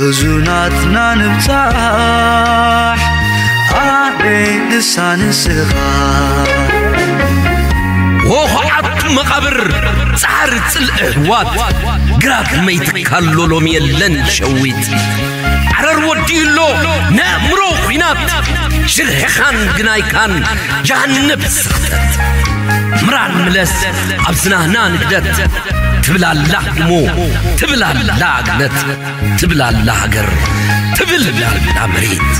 ሕዙናትና ንብጻሕ ኣበይ ንሳ ንስኻ። ወኹዓት መቓብር ጻዕሪ ጽልኢ ኣሕዋት፣ ግራት መይትካሎ ሎሚ የለን ሸዊት። ዓረር ወዲኡ ኣሎ ነእምሮ ኲናት፣ ሽርሕኻን ግናይካን ጃሃንብ ስኽተት። ምራን ምለስ ኣብ ዝናህና ንግደት፣ ትብል ኣላ ህድሞ፣ ትብል ኣላ ግነት፣ ትብል ኣላ ሃገር፣ ትብል ኣላ መሬት።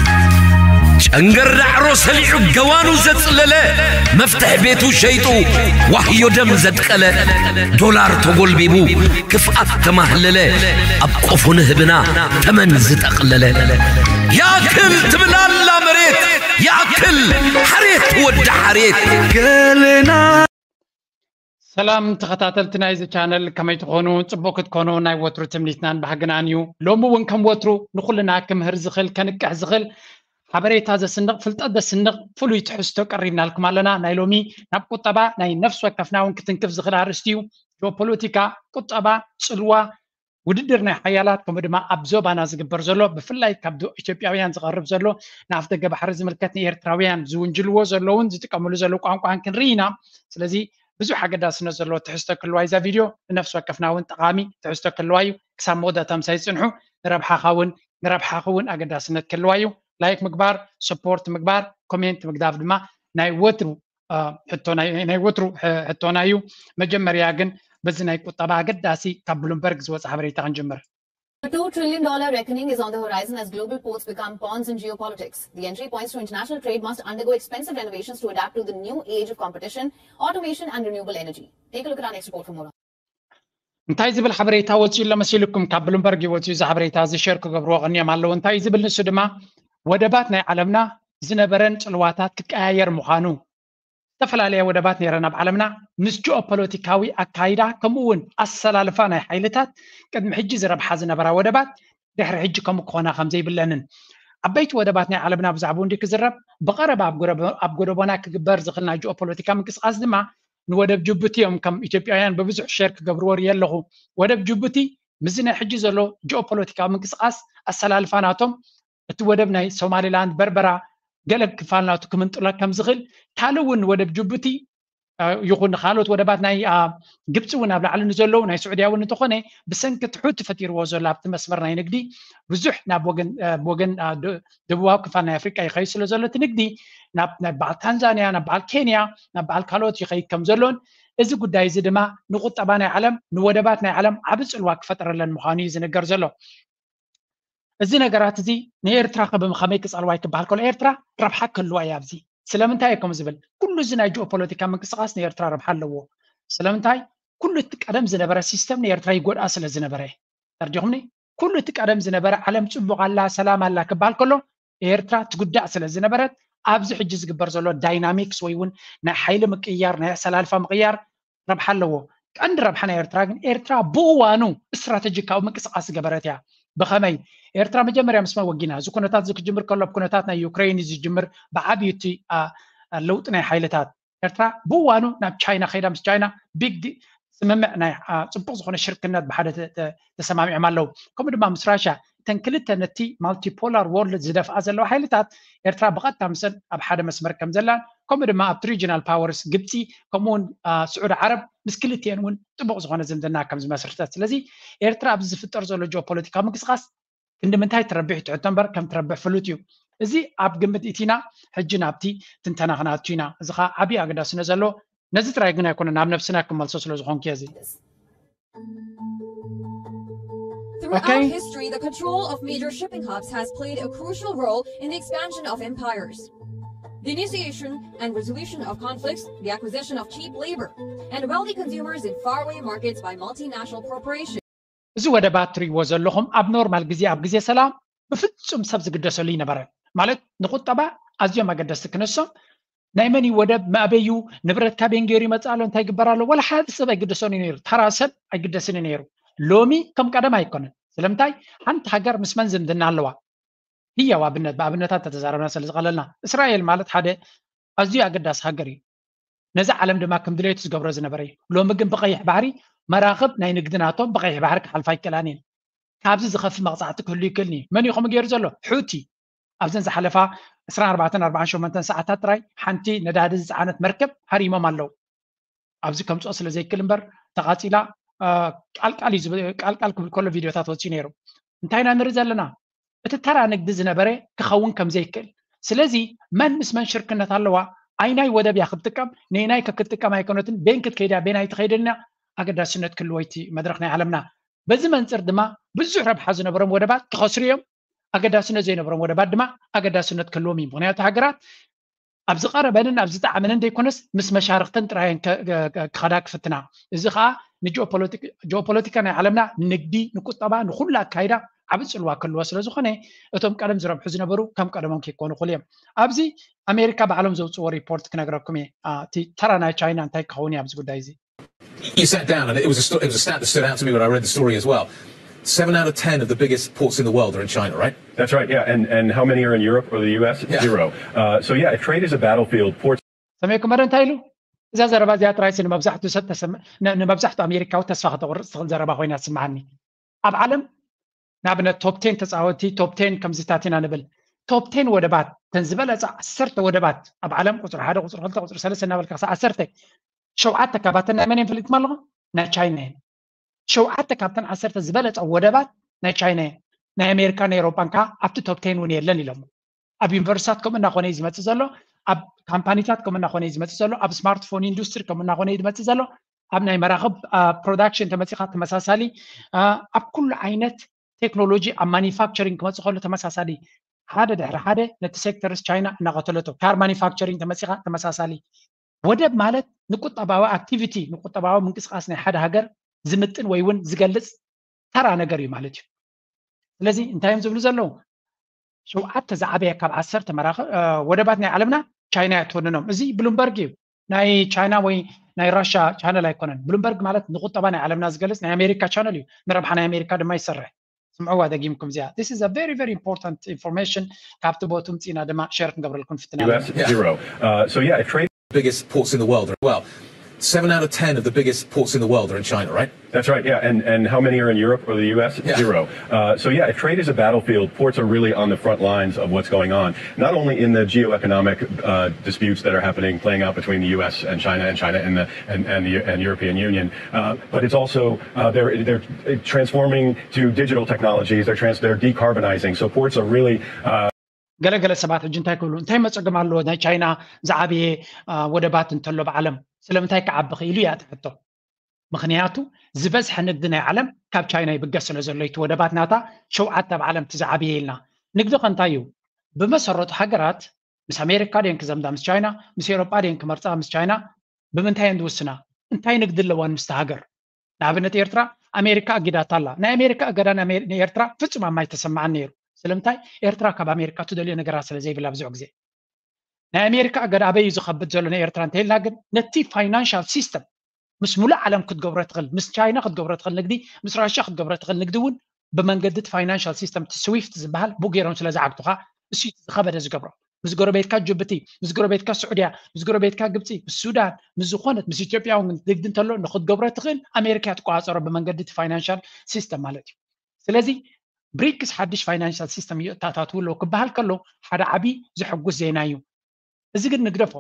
ጨንገር ዳዕሮ ሰሊዑ ገዋኑ ዘጽለለ፣ መፍትሕ ቤቱ ሸይጡ ዋህዮ ደም ዘድቀለ፣ ዶላር ተጎልቢቡ ክፍኣት ተማህለለ፣ ኣብ ቆፎ ንህብና ተመን ዝጠቕለለ። ያክል ትብል ኣላ መሬት፣ ያክል ሓሬት ወዲ ሓሬት። ገለና ሰላም ተኸታተልቲ ናይዚ ቻነል፣ ከመይ ትኾኑ? ጽቡቕ ክትኮኑ ናይ ወትሩ ትምኒትናን ባህግናን እዩ። ሎሚ እውን ከም ወትሩ ንኹልና ክምህር ዝኽእል፣ ከንቅሕ ዝኽእል ሓበሬታ ዘስንቕ፣ ፍልጠት ዘስንቕ ፍሉይ ትሕዝቶ ቀሪብናልኩም ኣለና። ናይ ሎሚ ናብ ቁጠባ ናይ ነፍሲ ወከፍና እውን ክትንክፍ ዝኽእል ኣርእስቲ እዩ። ጂኦፖለቲካ፣ ቁጠባ፣ ጽልዋ፣ ውድድር ናይ ሓያላት፣ ከምኡ ድማ ኣብ ዞባና ዝግበር ዘሎ፣ ብፍላይ ካብ ዶ-፣ ኢትዮጵያውያን ዝቐርብ ዘሎ፣ ንኣፍ ደገ ባሕሪ ዝምልከት፣ ንኤርትራውያን ዝውንጅልዎ ዘለውን ዝጥቀምሉ ዘለዉ ቋንቋን ክንርኢ ኢና። ስለዚ ብዙሕ ኣገዳስነት ዘለዎ ትሕዝቶ ክህልዋ እዩ እዛ ቪድዮ። ንነፍሲ ወከፍና እውን ጠቓሚ ትሕዝቶ ክህልዋ እዩ። ክሳብ መወዳእታ ምሳይ ጽንሑ። ንረብሓኻ እውን፣ ንረብሓኺ እውን ኣገዳስነት ክህልዋ እዩ። ላይክ ምግባር፣ ሰፖርት ምግባር፣ ኮሜንት ምግዳፍ ድማ ናይ ወትሩ፣ እ፣ ሕቶ ናይ፣ ናይ ወትሩ ሕ-፣ ሕቶና እዩ። መጀመርያ ግን በዚ ናይ ቁጠባ ኣገዳሲ ካብ ብሉምበርግ ዝወጸ ሓበሬታ ክንጅምር። A two trillion dollar reckoning is on the horizon as global ports become pawns in geopolitics. The entry points to international trade must undergo expensive renovations to adapt to the new age of competition, automation, and renewable energy. Take a look at our next report for more. እንታይ ዝብል ሓበሬታ ወፂኡ ኣሎ መሲልኩም? ካብ ብሉምበርግ እዩ ወፂኡ። እዚ ሓበሬታ እዚ ሸር ክገብርዎ ቀኒዮም ኣለዉ። እንታይ ዝብል ንሱ ድማ፣ ወደባት ናይ ዓለምና ዝነበረን ጽልዋታት ክቀያየር ምዃኑ። ዝተፈላለያ ወደባት ነይረን ኣብ ዓለምና። ምስ ጂኦፖለቲካዊ ኣካይዳ ከምኡ እውን ኣሰላልፋ ናይ ሓይልታት፣ ቅድሚ ሕጂ ዝረብሓ ዝነበራ ወደባት ድሕሪ ሕጂ ከምኡ ክኾና ከም ዘይብለንን፣ ዓበይቲ ወደባት ናይ ዓለምና ብዛዕባኡ እንዲ ክዝረብ፣ ብቐረባ ኣብ ጎረቦ-፣ ኣብ ጎደቦና ክግበር ዝኽእል ናይ ጂኦፖለቲካ ምንቅስቓስ ድማ ንወደብ ጅቡቲ እዮም ከም ኢትዮጵያውያን ብብዙሕ ሸር ክገብርዎ ርኢ ኣለኹ። ወደብ ጅቡቲ ምስዚ ናይ ሕጂ ዘሎ ጂኦፖለቲካዊ ምንቅስቓስ ኣሰላልፋ ናቶም፣ እቲ ወደብ ናይ ሶማሊላንድ፣ በርበራ፣ ገለ ክፋል ናቱ ክምንጥሎ ከም ዝኽእል፣ ካልእ እውን ወደብ ጅቡቲ፣ እ፣ ይኹን ካልኦት ወደባት ናይ፣ እ፣ ግብፂ እውን ኣብ ላዕሊ ንዘለዉ፣ ናይ ስዑድያ እውን እንተኾነ፣ ብሰንኪ እቲ ሑቲ ፈጢርዎ ዘሎ ኣብቲ መስመር ናይ ንግዲ ብዙሕ ናብ ወገን፣ እ፣ ወገን፣ እ፣ ደ-፣ ደቡባዊ ክፋል ናይ ኣፍሪቃ ይኸይድ ስለ ዘሎ፣ እቲ ንግዲ ናብ፣ ናብ በዓል ታንዛንያ፣ ናብ በዓል ኬንያ፣ ናብ በዓል ካልኦት ይኸይድ ከም ዘሎን፣ እዚ ጉዳይ እዚ ድማ ንቁጠባ ናይ ዓለም፣ ንወደባት ናይ ዓለም ዓቢ ጽልዋ ክፈጥረለን ምዃኑ እዩ ዝንገር ዘሎ። እዚ ነገራት እዚ ንኤርትራ ከ ብኸመይ ክጸልዋ ይክበሃል ከሎ፣ ኤርትራ ረብሓ ክህልዋ እያ ኣብዚ። ስለምንታይ እየ ከምኡ ዝብል? ኩሉ እዚ ናይ ጂኦፖለቲካ ምንቅስቓስ ንኤርትራ ረብሓ ኣለዎ። ስለምንታይ? ኩሉ እቲ ቀደም ዝነበረ ሲስተም ንኤርትራ ይጎድኣ ስለ ዝነበረ። ተረዲኹምኒ? ኩሉ እቲ ቀደም ዝነበረ ዓለም ጽቡቕ ኣላ፣ ሰላም ኣላ ክበሃል ከሎ፣ ኤርትራ ትጉዳእ ስለ ዝነበረት፣ ኣብዚ ሕጂ ዝግበር ዘሎ ዳይናሚክስ ወይ እውን ናይ ሓይሊ ምቅይያር፣ ናይ ኣሰላልፋ ምቅያር ረብሓ ኣለዎ። ቀንዲ ረብሓ ናይ ኤርትራ ግን፣ ኤርትራ ብእዋኑ ስትራተጂካዊ ምንቅስቓስ ዝገበረት እያ። ብኸመይ? ኤርትራ መጀመርያ ምስ መን ወጊና? እዚ ኩነታት እዚ ክጅምር ከሎ፣ ኣብ ኩነታት ናይ ዩክሬን እዩ ዝጅምር፣ ብዓብዩ እቲ፣ ኣ፣ ኣ፣ ለውጢ ናይ ሓይልታት። ኤርትራ ብእዋኑ ናብ ቻይና ከይዳ፣ ምስ ቻይና ቢግ ዲ-፣ ስምምዕ ናይ፣ ኣ፣ ጽቡቕ ዝኾነ ሽርክነት ብሓደ ተ-፣ ተ-፣ ተሰማሚዖም ኣለዉ። ከምኡ ድማ ምስ ራሽያ፣ እተን ክልተ ነቲ ማልቲፖላር ወርልድ ዝደፍኣ ዘለዋ ሓይልታት፣ ኤርትራ ብቐጥታ ምስን ኣብ ሓደ መስመር ከም ዘላን፣ ከምኡ ድማ ኣብቲ regional powers ግብፂ ከምኡውን ስዑድ ዓረብ ምስ ክልቲኤን እውን ጥቡቕ ዝኾነ ዝምድና ከም ዝመስርተት። ስለዚ ኤርትራ ኣብዚ ዝፍጠር ዘሎ ጂኦፖለቲካዊ ምንቅስቃስ ክንዲ ምንታይ ትረብሕ ትሕቶ እምበር ከም ትረብሕ ፍሉጥ እዩ። እዚ ኣብ ግምት ኢቲና ሕጂ ናብቲ ትንተና ክንኣቱ ኢና። እዚ ከዓ ዓብዪ ኣገዳስነት ዘለዎ ነዚ ጥራይ ግን ኣይኮነን ኣብ ነብስና ክመልሶ ስለ ዝኾንኩ እዚ Throughout okay. history, the control of major shipping hubs has played a crucial role in the expansion of empires. The initiation and resolution of conflicts, the acquisition of cheap labor, and wealthy consumers in faraway markets by multinational corporations. እዚ ወደባት ትሪእዎ ዘለኹም ኣብ ኖርማል ግዜ ኣብ ግዜ ሰላም ብፍጹም ሰብ ዝግደሰሉ ይነበረ። ማለት ንቁጠባ ኣዝዮም ኣገደስቲ ክነሶም ናይ መን እዩ ወደብ መኣበዩ ንብረትካ ቤን ገይሩ ይመፅእ ኣሎ እንታይ ይግበር ኣሎ ወላ ሓደ ሰብ ኣይግደሰን እዩ ነይሩ። ተራ ሰብ ኣይግደስን እዩ ነይሩ። ሎሚ ከም ቀደም ኣይኮነን። ስለምንታይ ሓንቲ ሃገር ምስ መን ዝምድና ኣለዋ? ህያው ኣብነት ብኣብነታት ተተዛረብና ስለ ዝቐለልና እስራኤል ማለት ሓደ ኣዝዩ ኣገዳሲ ሃገር እዩ። ነዚ ዓለም ድማ ከም ድሌቱ ዝገብሮ ዝነበረ እዩ። ሎሚ ግን ብቐይሕ ባሕሪ መራኽብ ናይ ንግዲ ናቶም ብቐይሕ ባሕሪ ክሓልፋ ኣይክእላን እየን። ካብዚ ዝኸፍእ መቕፃዕቲ ክህሉ ይክእልኒ እዩ። መን እዩ ከምኡ ገይሩ ዘሎ? ሑቲ ኣብዘን ዝሓለፋ ዕስራን ኣርባዕተን ኣርባዓን ሸሞንተን ሰዓታት ጥራይ ሓንቲ ነዳዲ ዝፀዓነት መርከብ ሃሪሞም ኣለዉ። ኣብዚ ከምፅኦ ስለ ዘይክእል እምበር ተቓፂላ ቃልቃል እዩ ዝብ- ቃልቃል ክብል ከሎ ቪድዮታት ወፂኡ ነይሩ። እንታይ ኢና ንርኢ ዘለና? እቲ ተራ ንግዲ ዝነበረ ክኸውን ከም ዘይክእል። ስለዚ መን ምስ መን ሽርክነት ኣለዋ? ኣይናይ ወደብ እያ ክትጥቀም፣ ነይናይ ከ ክትጥቀም ኣይኮነትን፣ ቤን ክትከይድ እያ፣ ቤን ኣይትኸይድን እያ። ኣገዳስነት ክህልዎ እቲ መድረኽ ናይ ዓለምና። በዚ መንፅር ድማ ብዙሕ ረብሓ ዝነበሮም ወደባት ክኸስሩ እዮም። ኣገዳስነት ዘይነበሮም ወደባት ድማ ኣገዳስነት ክህልዎም እዩ። ምክንያቱ ሃገራት ኣብ ዝቐረበንን ኣብ ዝጠዓመንን ዘይኮነስ ምስ መሻርክተን ጥራየን ክኸዳ ክፍትና። እዚ ከዓ ንጂኦፖለቲካ ናይ ዓለምና ንንግዲ ንቁጠባ ንኩሉ ኣካይዳ ዓብ ፅልዋ ክህልዎ ስለ ዝኾነ እቶም ቀደም ዝረብሑ ዝነበሩ ከም ቀደሞም ከይኮኑ ክሉ እዮም። ኣብዚ ኣሜሪካ ባዕሎም ዘውፅዎ ሪፖርት ክነግረኩም እየ። እቲ ተራ ናይ ቻይና እንታይ ክኸውን እዩ ኣብዚ ጉዳይ እዚ? You sat down and it was a, sto- it was a stat that stood out to me when I read the story as well. Seven out of ten of the biggest ports in the world are in China, right? That's right, yeah. And and how many are in Europe or the U S? Yeah. Zero. Uh, so yeah, if trade is a battlefield, ports. ሰሚዕኩም መረ እንታይ ኢሉ? እዛ ዘረባ እዚኣ ጥራይሲ ንመብዛሕትኡ ሰብ ተሰም- ን- ንመብዛሕትኡ ኣሜሪካዊ ተስፋ ከተቑርፅ ትኽእል ዘረባ ኮይና ትስምዓኒ። ኣብ ዓለም ንኣብነት ቶፕ ቴን ተፃወቲ ቶፕ ቴን ከምዚታት ኢና ንብል። ቶፕ ቴን ወደባት ተን ዝበለፃ ዓሰርተ ወደባት ኣብ ዓለም ቁፅሪ ሓደ ቁፅሪ ክልተ ቁፅሪ ሰለስተ እናበልካ ክሳብ ዓሰርተ ሸውዓተ ካባተን ናይ መን እየን ፈሊጥኩም ኣለኹም? ናይ ቻይና እየን። ሸውዓተ ካብተን ዓሰርተ ዝበለፃ ወደባት ናይ ቻይና እየን። ናይ ኣሜሪካ ናይ ኤሮጳን ከዓ ኣብቲ ቶፕ ቴን እውን የለን ኢሎም። ኣብ ዩኒቨርሲታት ከምኡ እናኾነ እዩ ዝመፅእ ዘሎ። ኣብ ካምፓኒታት ከምኡ እናኾነ እዩ ዝመፅእ ዘሎ። ኣብ ስማርትፎን ኢንዱስትሪ ከምኡ እናኾነ እዩ ዝመፅእ ዘሎ። ኣብ ናይ መራኽብ ፕሮዳክሽን ተመፂኻ ተመሳሳሊ፣ ኣብ ኩሉ ዓይነት ቴክኖሎጂ ኣብ ማኒፋክቸሪንግ ክመፅእ ከሎ ተመሳሳሊ። ሓደ ድሕሪ ሓደ ነቲ ሴክተርስ ቻይና እናቐተለቶ። ካር ማኒፋክቸሪንግ ተመፂኻ ተመሳሳሊ። ወደብ ማለት ንቁጠባዊ ኣክቲቪቲ ንቁጠባዊ ምንቅስቃስ ናይ ሓደ ሃገር ዝምጥን ወይ እውን ዝገልፅ ተራ ነገር እዩ ማለት እዩ። ስለዚ እንታይ እዮም ዝብሉ ዘለዉ? ሸውዓተ ዝዓበየ ካብ ዓሰርተ መራኸ ወደባት ናይ ዓለምና ቻይና እያ ትወንኖም። እዚ ብሉምበርግ እዩ። ናይ ቻይና ወይ ናይ ራሻ ቻነል ኣይኮነን። ብሉምበርግ ማለት ንቁጠባ ናይ ዓለምና ዝገልፅ ናይ ኣሜሪካ ቻነል እዩ። ንረብሓ ናይ ኣሜሪካ ድማ ይሰርሕ። ስምዕዋ ደጊምኩም እዚኣ። This is a very very important information። ካብቲ ቦቱ ምፅና ድማ ሸር ክንገብረልኩም ፍትና። U S zero. Uh, so yeah, if trade biggest ports in the world. Well, seven out of ten of the biggest ports in the world are in China, right? That's right, yeah. And and how many are in Europe or the U S? Yeah. Zero. Uh, so yeah, if trade is a battlefield, ports are really on the front lines of what's going on. Not only in the geoeconomic uh, disputes that are happening, playing out between the U S and China, and China and the and, and the and European Union, uh, but it's also uh, they're they're transforming to digital technologies. They're trans they're decarbonizing. So ports are really uh, ገለገለ ሰባት ሕጂ እንታይ ክብሉ እንታይ መፀገም ኣለዎ ናይ ቻይና ዝዓበየ ወደባት እንተሎ ብዓለም ስለምንታይ ክዓቢ ክኢሉ እያ ትሕቶ። ምክንያቱ ዝበዝሐ ንግዲ ናይ ዓለም ካብ ቻይና ይብገስ ስለ ዘሎ እቲ ወደባት ናታ ሸውዓተ ኣብ ዓለም እቲ ዝዓበየ ኢልና። ንግዲ ከ እንታይ እዩ? ብመሰረቱ ሃገራት ምስ ኣሜሪካ ድየን ክዘምዳ ምስ ቻይና፣ ምስ ኤሮጳ ድየን ክመርፃ ምስ ቻይና? ብምንታይ እየን ዝውስና? እንታይ ንግዲ ኣለዋን ምስቲ ሃገር? ንኣብነት ኤርትራ ኣሜሪካ ኣጊዳታ ኣላ። ናይ ኣሜሪካ እገዳ ንኤርትራ ፍጹም ኣብ ማይ ተሰማዓን ነይሩ። ስለምንታይ? ኤርትራ ካብ ኣሜሪካ ትደልዮ ነገራት ስለ ዘይብላ ብዙሕ ግዜ። ናይ ኣሜሪካ እገዳ ኣበይ እዩ ዝኸብድ ዘሎ ንኤርትራ እንተኢልና ግን ነቲ ፋይናንሻል ሲስተም ምስ ሙሉእ ዓለም ክትገብሮ ትኽእል፣ ምስ ቻይና ክትገብሮ ትኽእል ንግዲ፣ ምስ ራሽያ ክትገብሮ ትኽእል ንግዲ እውን ብመንገዲ እቲ ፋይናንሻል ሲስተም እቲ ስዊፍት ዝበሃል ብኡ ገይሮም ስለ ዝዓግቱኻ እሱ እዩ ዝኸበደ ዝገብሮ። ምስ ጎረቤትካ ጅቡቲ፣ ምስ ጎረቤትካ ስዑድያ፣ ምስ ጎረቤትካ ግብፂ፣ ምስ ሱዳን፣ ምስ ዝኾነት ምስ ኢትዮጵያ እውን ንግዲ እንተሎ ንክትገብሮ ትኽእል ኣሜሪካ እያ ትቆፃፀሮ ብመንገዲ እቲ ፋይናንሻል ሲስተም ማለት እዩ። ስለዚ ብሪክስ ሓድሽ ፋይናንሻል ሲስተም እዩ እታታትው ኣለዎ ክበሃል ከሎ ሓደ ዓብዪ ዘሐጉስ ዜና እዩ። እዚ ግን ንግደፎ።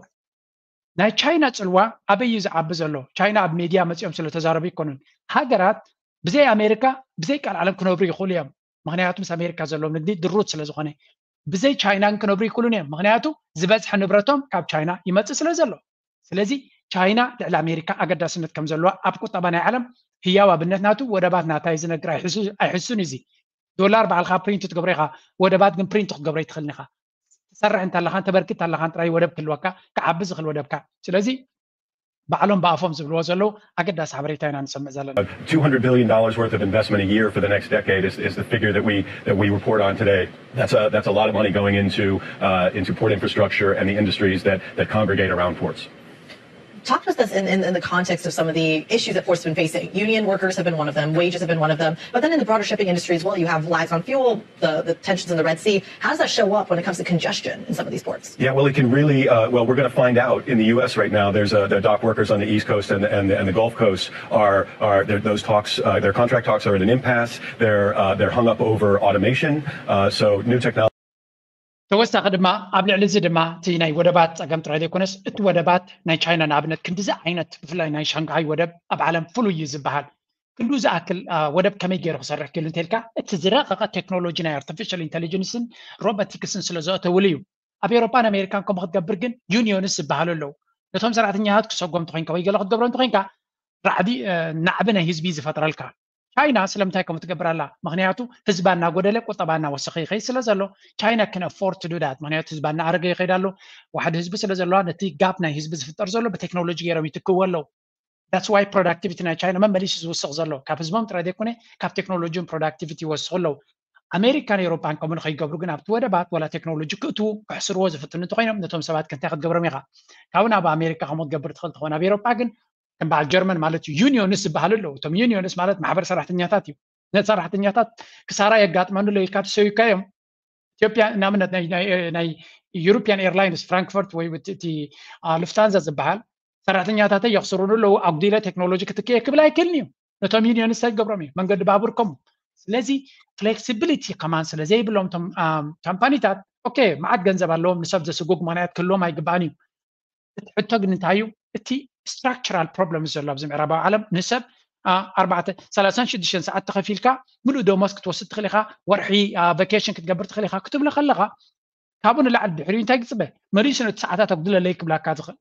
ናይ ቻይና ፅልዋ ኣበይ እዩ ዝዓቢ ዘሎ? ቻይና ኣብ ሜድያ መፂኦም ስለተዛረቡ ይኮኑን። ሃገራት ብዘይ ኣሜሪካ ብዘይ ቃል ዓለም ክነብሩ ይኽእሉ እዮም። ምክንያቱ ምስ ኣሜሪካ ዘለዎም ንግዲ ድሩት ስለዝኾነ፣ ብዘይ ቻይና ግን ክነብሩ ይክእሉን እዮም። ምክንያቱ ዝበዝሐ ንብረቶም ካብ ቻይና ይመፅእ ስለ ዘሎ። ስለዚ ቻይና ልዕሊ ኣሜሪካ ኣገዳስነት ከም ዘለዋ ኣብ ቁጠባ ናይ ዓለም ህያው ኣብነት ናቱ ወደባት ናታ እዩ ዝነግር ኣይሕሱን እዚ ዶላር ባዕልካ ፕሪንት ትገብሮ ኢካ። ወደባት ግን ፕሪንት ክትገብሮ ይትኽእልን ኢካ። ትሰርሕ እንተለኻን ተበርክት ኣለኻን ጥራይ ወደብ ክህልወካ ክዓቢ ዝኽእል ወደብካ። ስለዚ ባዕሎም ብኣፎም ዝብልዎ ዘለዉ ኣገዳሲ ሓበሬታ ኢና ንሰምዕ ዘለና። Two hundred billion dollars worth of investment a year for the next decade is, is the figure that we that we report on today. That's a that's a lot of money going into uh, into port infrastructure and the industries that that congregate around ports. Talk to us in, in, in the context of some of the issues that ports have been facing. Union workers have been one of them. Wages have been one of them. But then in the broader shipping industry as well, you have lags on fuel, the, the tensions in the Red Sea. How does that show up when it comes to congestion in some of these ports? Yeah, well, it can really, uh, well, we're going to find out in the U S right now. There's uh, the dock workers on the East Coast and the, and the, and the Gulf Coast are, are those talks, uh, their contract talks are at an impasse. They're, uh, they're hung up over automation. Uh, so new technology. ተወሳኺ ድማ ኣብ ልዕሊ እዚ ድማ እቲ ናይ ወደባት ፀገም ጥራይ ዘይኮነስ እቲ ወደባት ናይ ቻይና ንኣብነት ክንዲዚ ዓይነት ብፍላይ ናይ ሻንግሃይ ወደብ ኣብ ዓለም ፍሉይ እዩ ዝበሃል። ክንዱ ዝኣክል ወደብ ከመይ ገይሩ ክሰርሕ ክኢሉ እንተልካ እቲ ዝረቐቐ ቴክኖሎጂ ናይ ኣርቲፊሻል ኢንቴሊጀንስን ሮቦቲክስን ስለ ዘእተውሉ እዩ። ኣብ ኤውሮፓን ኣሜሪካን ከምኡ ክትገብር ግን ዩኒዮንስ ዝበሃሉ ኣለዉ። ነቶም ሰራሕተኛታት ክሰጎም እንተኮይንካ ወይ ገለ ክትገብሮ እንተኮይንካ ራዕዲ ናዕቢ ናይ ህዝቢ ዝፈጥረልካ። ቻይና ስለምንታይ ከምኡ ትገብር ኣላ? ምክንያቱ ህዝባ እናጎደለ ቁጠባ እናወሰኸ ይኸይድ ስለ ዘሎ ቻይና can afford to do that። ምክንያቱ ህዝባ እናኣረገ ይኸይድ ኣሎ። ዋሕዲ ህዝቢ ስለ ዘለዋ ነቲ ጋፕ ናይ ህዝቢ ዝፍጠር ዘሎ ብቴክኖሎጂ ገይሮም ይትክዎ ኣለዉ። That's why productivity ናይ ቻይና መመሊሱ ዝውስኽ ዘሎ ካብ ህዝቦም ጥራይ ዘይኮነ ካብ ቴክኖሎጂን productivity ይወስኹ ኣለዉ። ኣሜሪካን ኤውሮፓን ከምኡ ንኸይገብሩ ግን ኣብቲ ወደባት ዋላ ቴክኖሎጂ ክእትዉ ክሕስርዎ ዝፍትኑ እንተኮይኖም ነቶም ሰባት ከንታይ ክትገብሮም ኢኻ? ካብኡ ናብ ኣሜሪካ ከምኡ ክትገብር ትኽእል ትኾን። ኣብ ኤውሮፓ ግን ከም በዓል ጀርመን ማለት እዩ ዩኒዮንስ ዝበሃሉ ኣለዉ። እቶም ዩኒዮንስ ማለት ማሕበር ሰራሕተኛታት እዩ። ነቲ ሰራሕተኛታት ክሳራ የጋጥመኑ ኣሎ ኢልካ ተሰዩካዮም። ኢትዮጵያ ንኣብነት ናይ ዩሮፒያን ኤርላይንስ ፍራንክፈርት ወይ እቲ ሉፍታንዛ ዝበሃል ሰራሕተኛታተይ የኽስሩኒ ኣለዉ ኣጉዲለ ቴክኖሎጂ ክትክየ ክብል ኣይክእልን እዩ። ነቶም ዩኒዮንስ እንታይ ክገብሮም እዩ? መንገዲ ባቡር ከምኡ። ስለዚ ፍሌክሲቢሊቲ ከማን ስለ ዘይብሎም እቶም ካምፓኒታት ኦኬ መዓት ገንዘብ ኣለዎም ንሰብ ዘስጉግ ምክንያት ክህልዎም ኣይግባእን እዩ። እቲ ሕቶ ግን እንታይ እዩ? እቲ structural problem ዘሎ ኣብዚ ምዕራባዊ ዓለም ንሰብ ኣርባዕተ ሰላሳን ሽዱሽተን ሰዓት ተኸፊልካ ምሉእ ደሞዝ ክትወስድ ትኽእል ኢኻ፣ ወርሒ ቨኬሽን ክትገብር ትኽእል ኢኻ ክትብሎ ከለኻ ካብኡ ንላዕሊ ድሕሪኡ እንታይ ክፅበ መሊሱ ነቲ ሰዓታት ኣጉድለለይ ክብላካ ዝኽእል።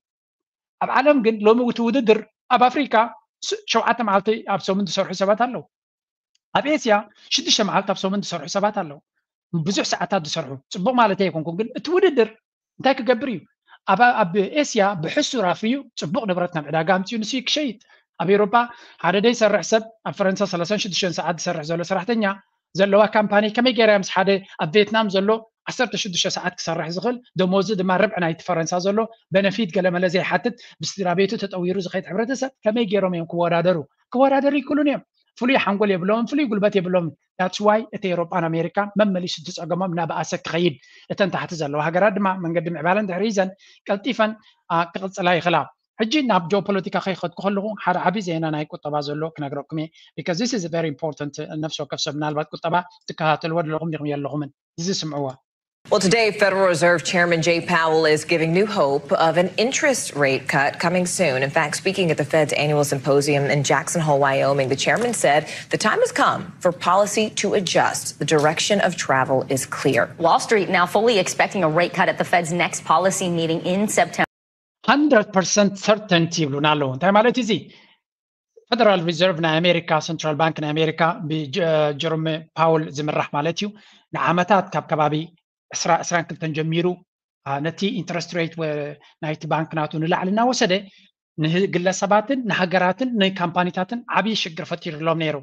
ኣብ ዓለም ግን ሎሚ እቲ ውድድር ኣብ ኣፍሪካ ሸውዓተ መዓልቲ ኣብ ሰሙን ዝሰርሑ ሰባት ኣለዉ። ኣብ ኤስያ ሽዱሽተ መዓልቲ ኣብ ሰሙን ዝሰርሑ ሰባት ኣለዉ። ብዙሕ ሰዓታት ዝሰርሑ ፅቡቅ ማለት ኣይኮንኩም፣ ግን እቲ ውድድር እንታይ ክገብር እዩ? ኣብ ኣብ ኤስያ ብሕሱር ኣፍርዩ ፅቡቅ ንብረት ናብ ዕዳጋ ኣምፅኡ ንሱ ክሸይጥ። ኣብ ኤውሮፓ ሓደ ደይሰርሕ ሰብ ኣብ ፈረንሳ ሰላሳን ሽዱሽተን ሰዓት ዝሰርሕ ዘሎ ሰራሕተኛ ዘለዋ ካምፓኒ ከመይ ገይራ ምስ ሓደ ኣብ ቬትናም ዘሎ ዓሰርተ ሽዱሽተ ሰዓት ክሰርሕ ዝኽእል ደሞዙ ድማ ርብዒ ናይቲ ፈረንሳ ዘሎ በነፊት ገለመለ ዘይሓትት ብስድራ ቤቱ ተጠዊሩ ዝኸይድ ሕብረተሰብ ከመይ ገይሮም እዮም ክወዳደሩ? ክወዳደሩ ይክእሉን እዮም። ፍሉይ ሓንጎል የብሎምን ፍሉይ ጉልበት የብሎምን። That's why እቲ ኤውሮጳን ኣሜሪካን መመሊሱ እቲ ጸገሞም እናበኣሰ ክኸይድ እተን ታሕቲ ዘለዋ ሃገራት ድማ መንገዲ ምዕባለን ድሕሪ ሒዘን ቀልጢፈን ክቕጽላ ይኽእላ። ሕጂ ናብ ጂኦፖለቲካ ከይኸድኩ ከለኹ ሓደ ዓቢ ዜና ናይ ቁጠባ ዘሎ ክነግረኩም እየ። Because this is very important። ነፍሲ ወከፍ ሰብ ምናልባት ቁጠባ ትከታተልዎ ኣለኹም ዲኹም የለኹምን እዚ ስምዕዎ። Well, today, Federal Reserve Chairman Jay Powell is giving new hope of an interest rate cut coming soon. In fact, speaking at the Fed's annual symposium in Jackson Hole, Wyoming, the chairman said the time has come for policy to adjust. The direction of travel is clear. Wall Street now fully expecting a rate cut at the Fed's next policy meeting in September. Hundred percent certainty ይብሉና ኣለዉ። እንታይ ማለት እዚ? ፈደራል ሪዘርቭ ናይ ኣሜሪካ፣ ሰንትራል ባንክ ናይ ኣሜሪካ ብጀሮም ፓውል ዝምራሕ ማለት እዩ። ንዓመታት ካብ ከባቢ ዕስራ ዕስራን ክልተን ጀሚሩ ነቲ ኢንትረስት ሬት ናይቲ ባንክ ናቱ ንላዕሊ እናወሰደ ንግለሰባትን ንሃገራትን ንካምፓኒታትን ዓብዪ ሽግር ፈጢሩሎም ነይሩ።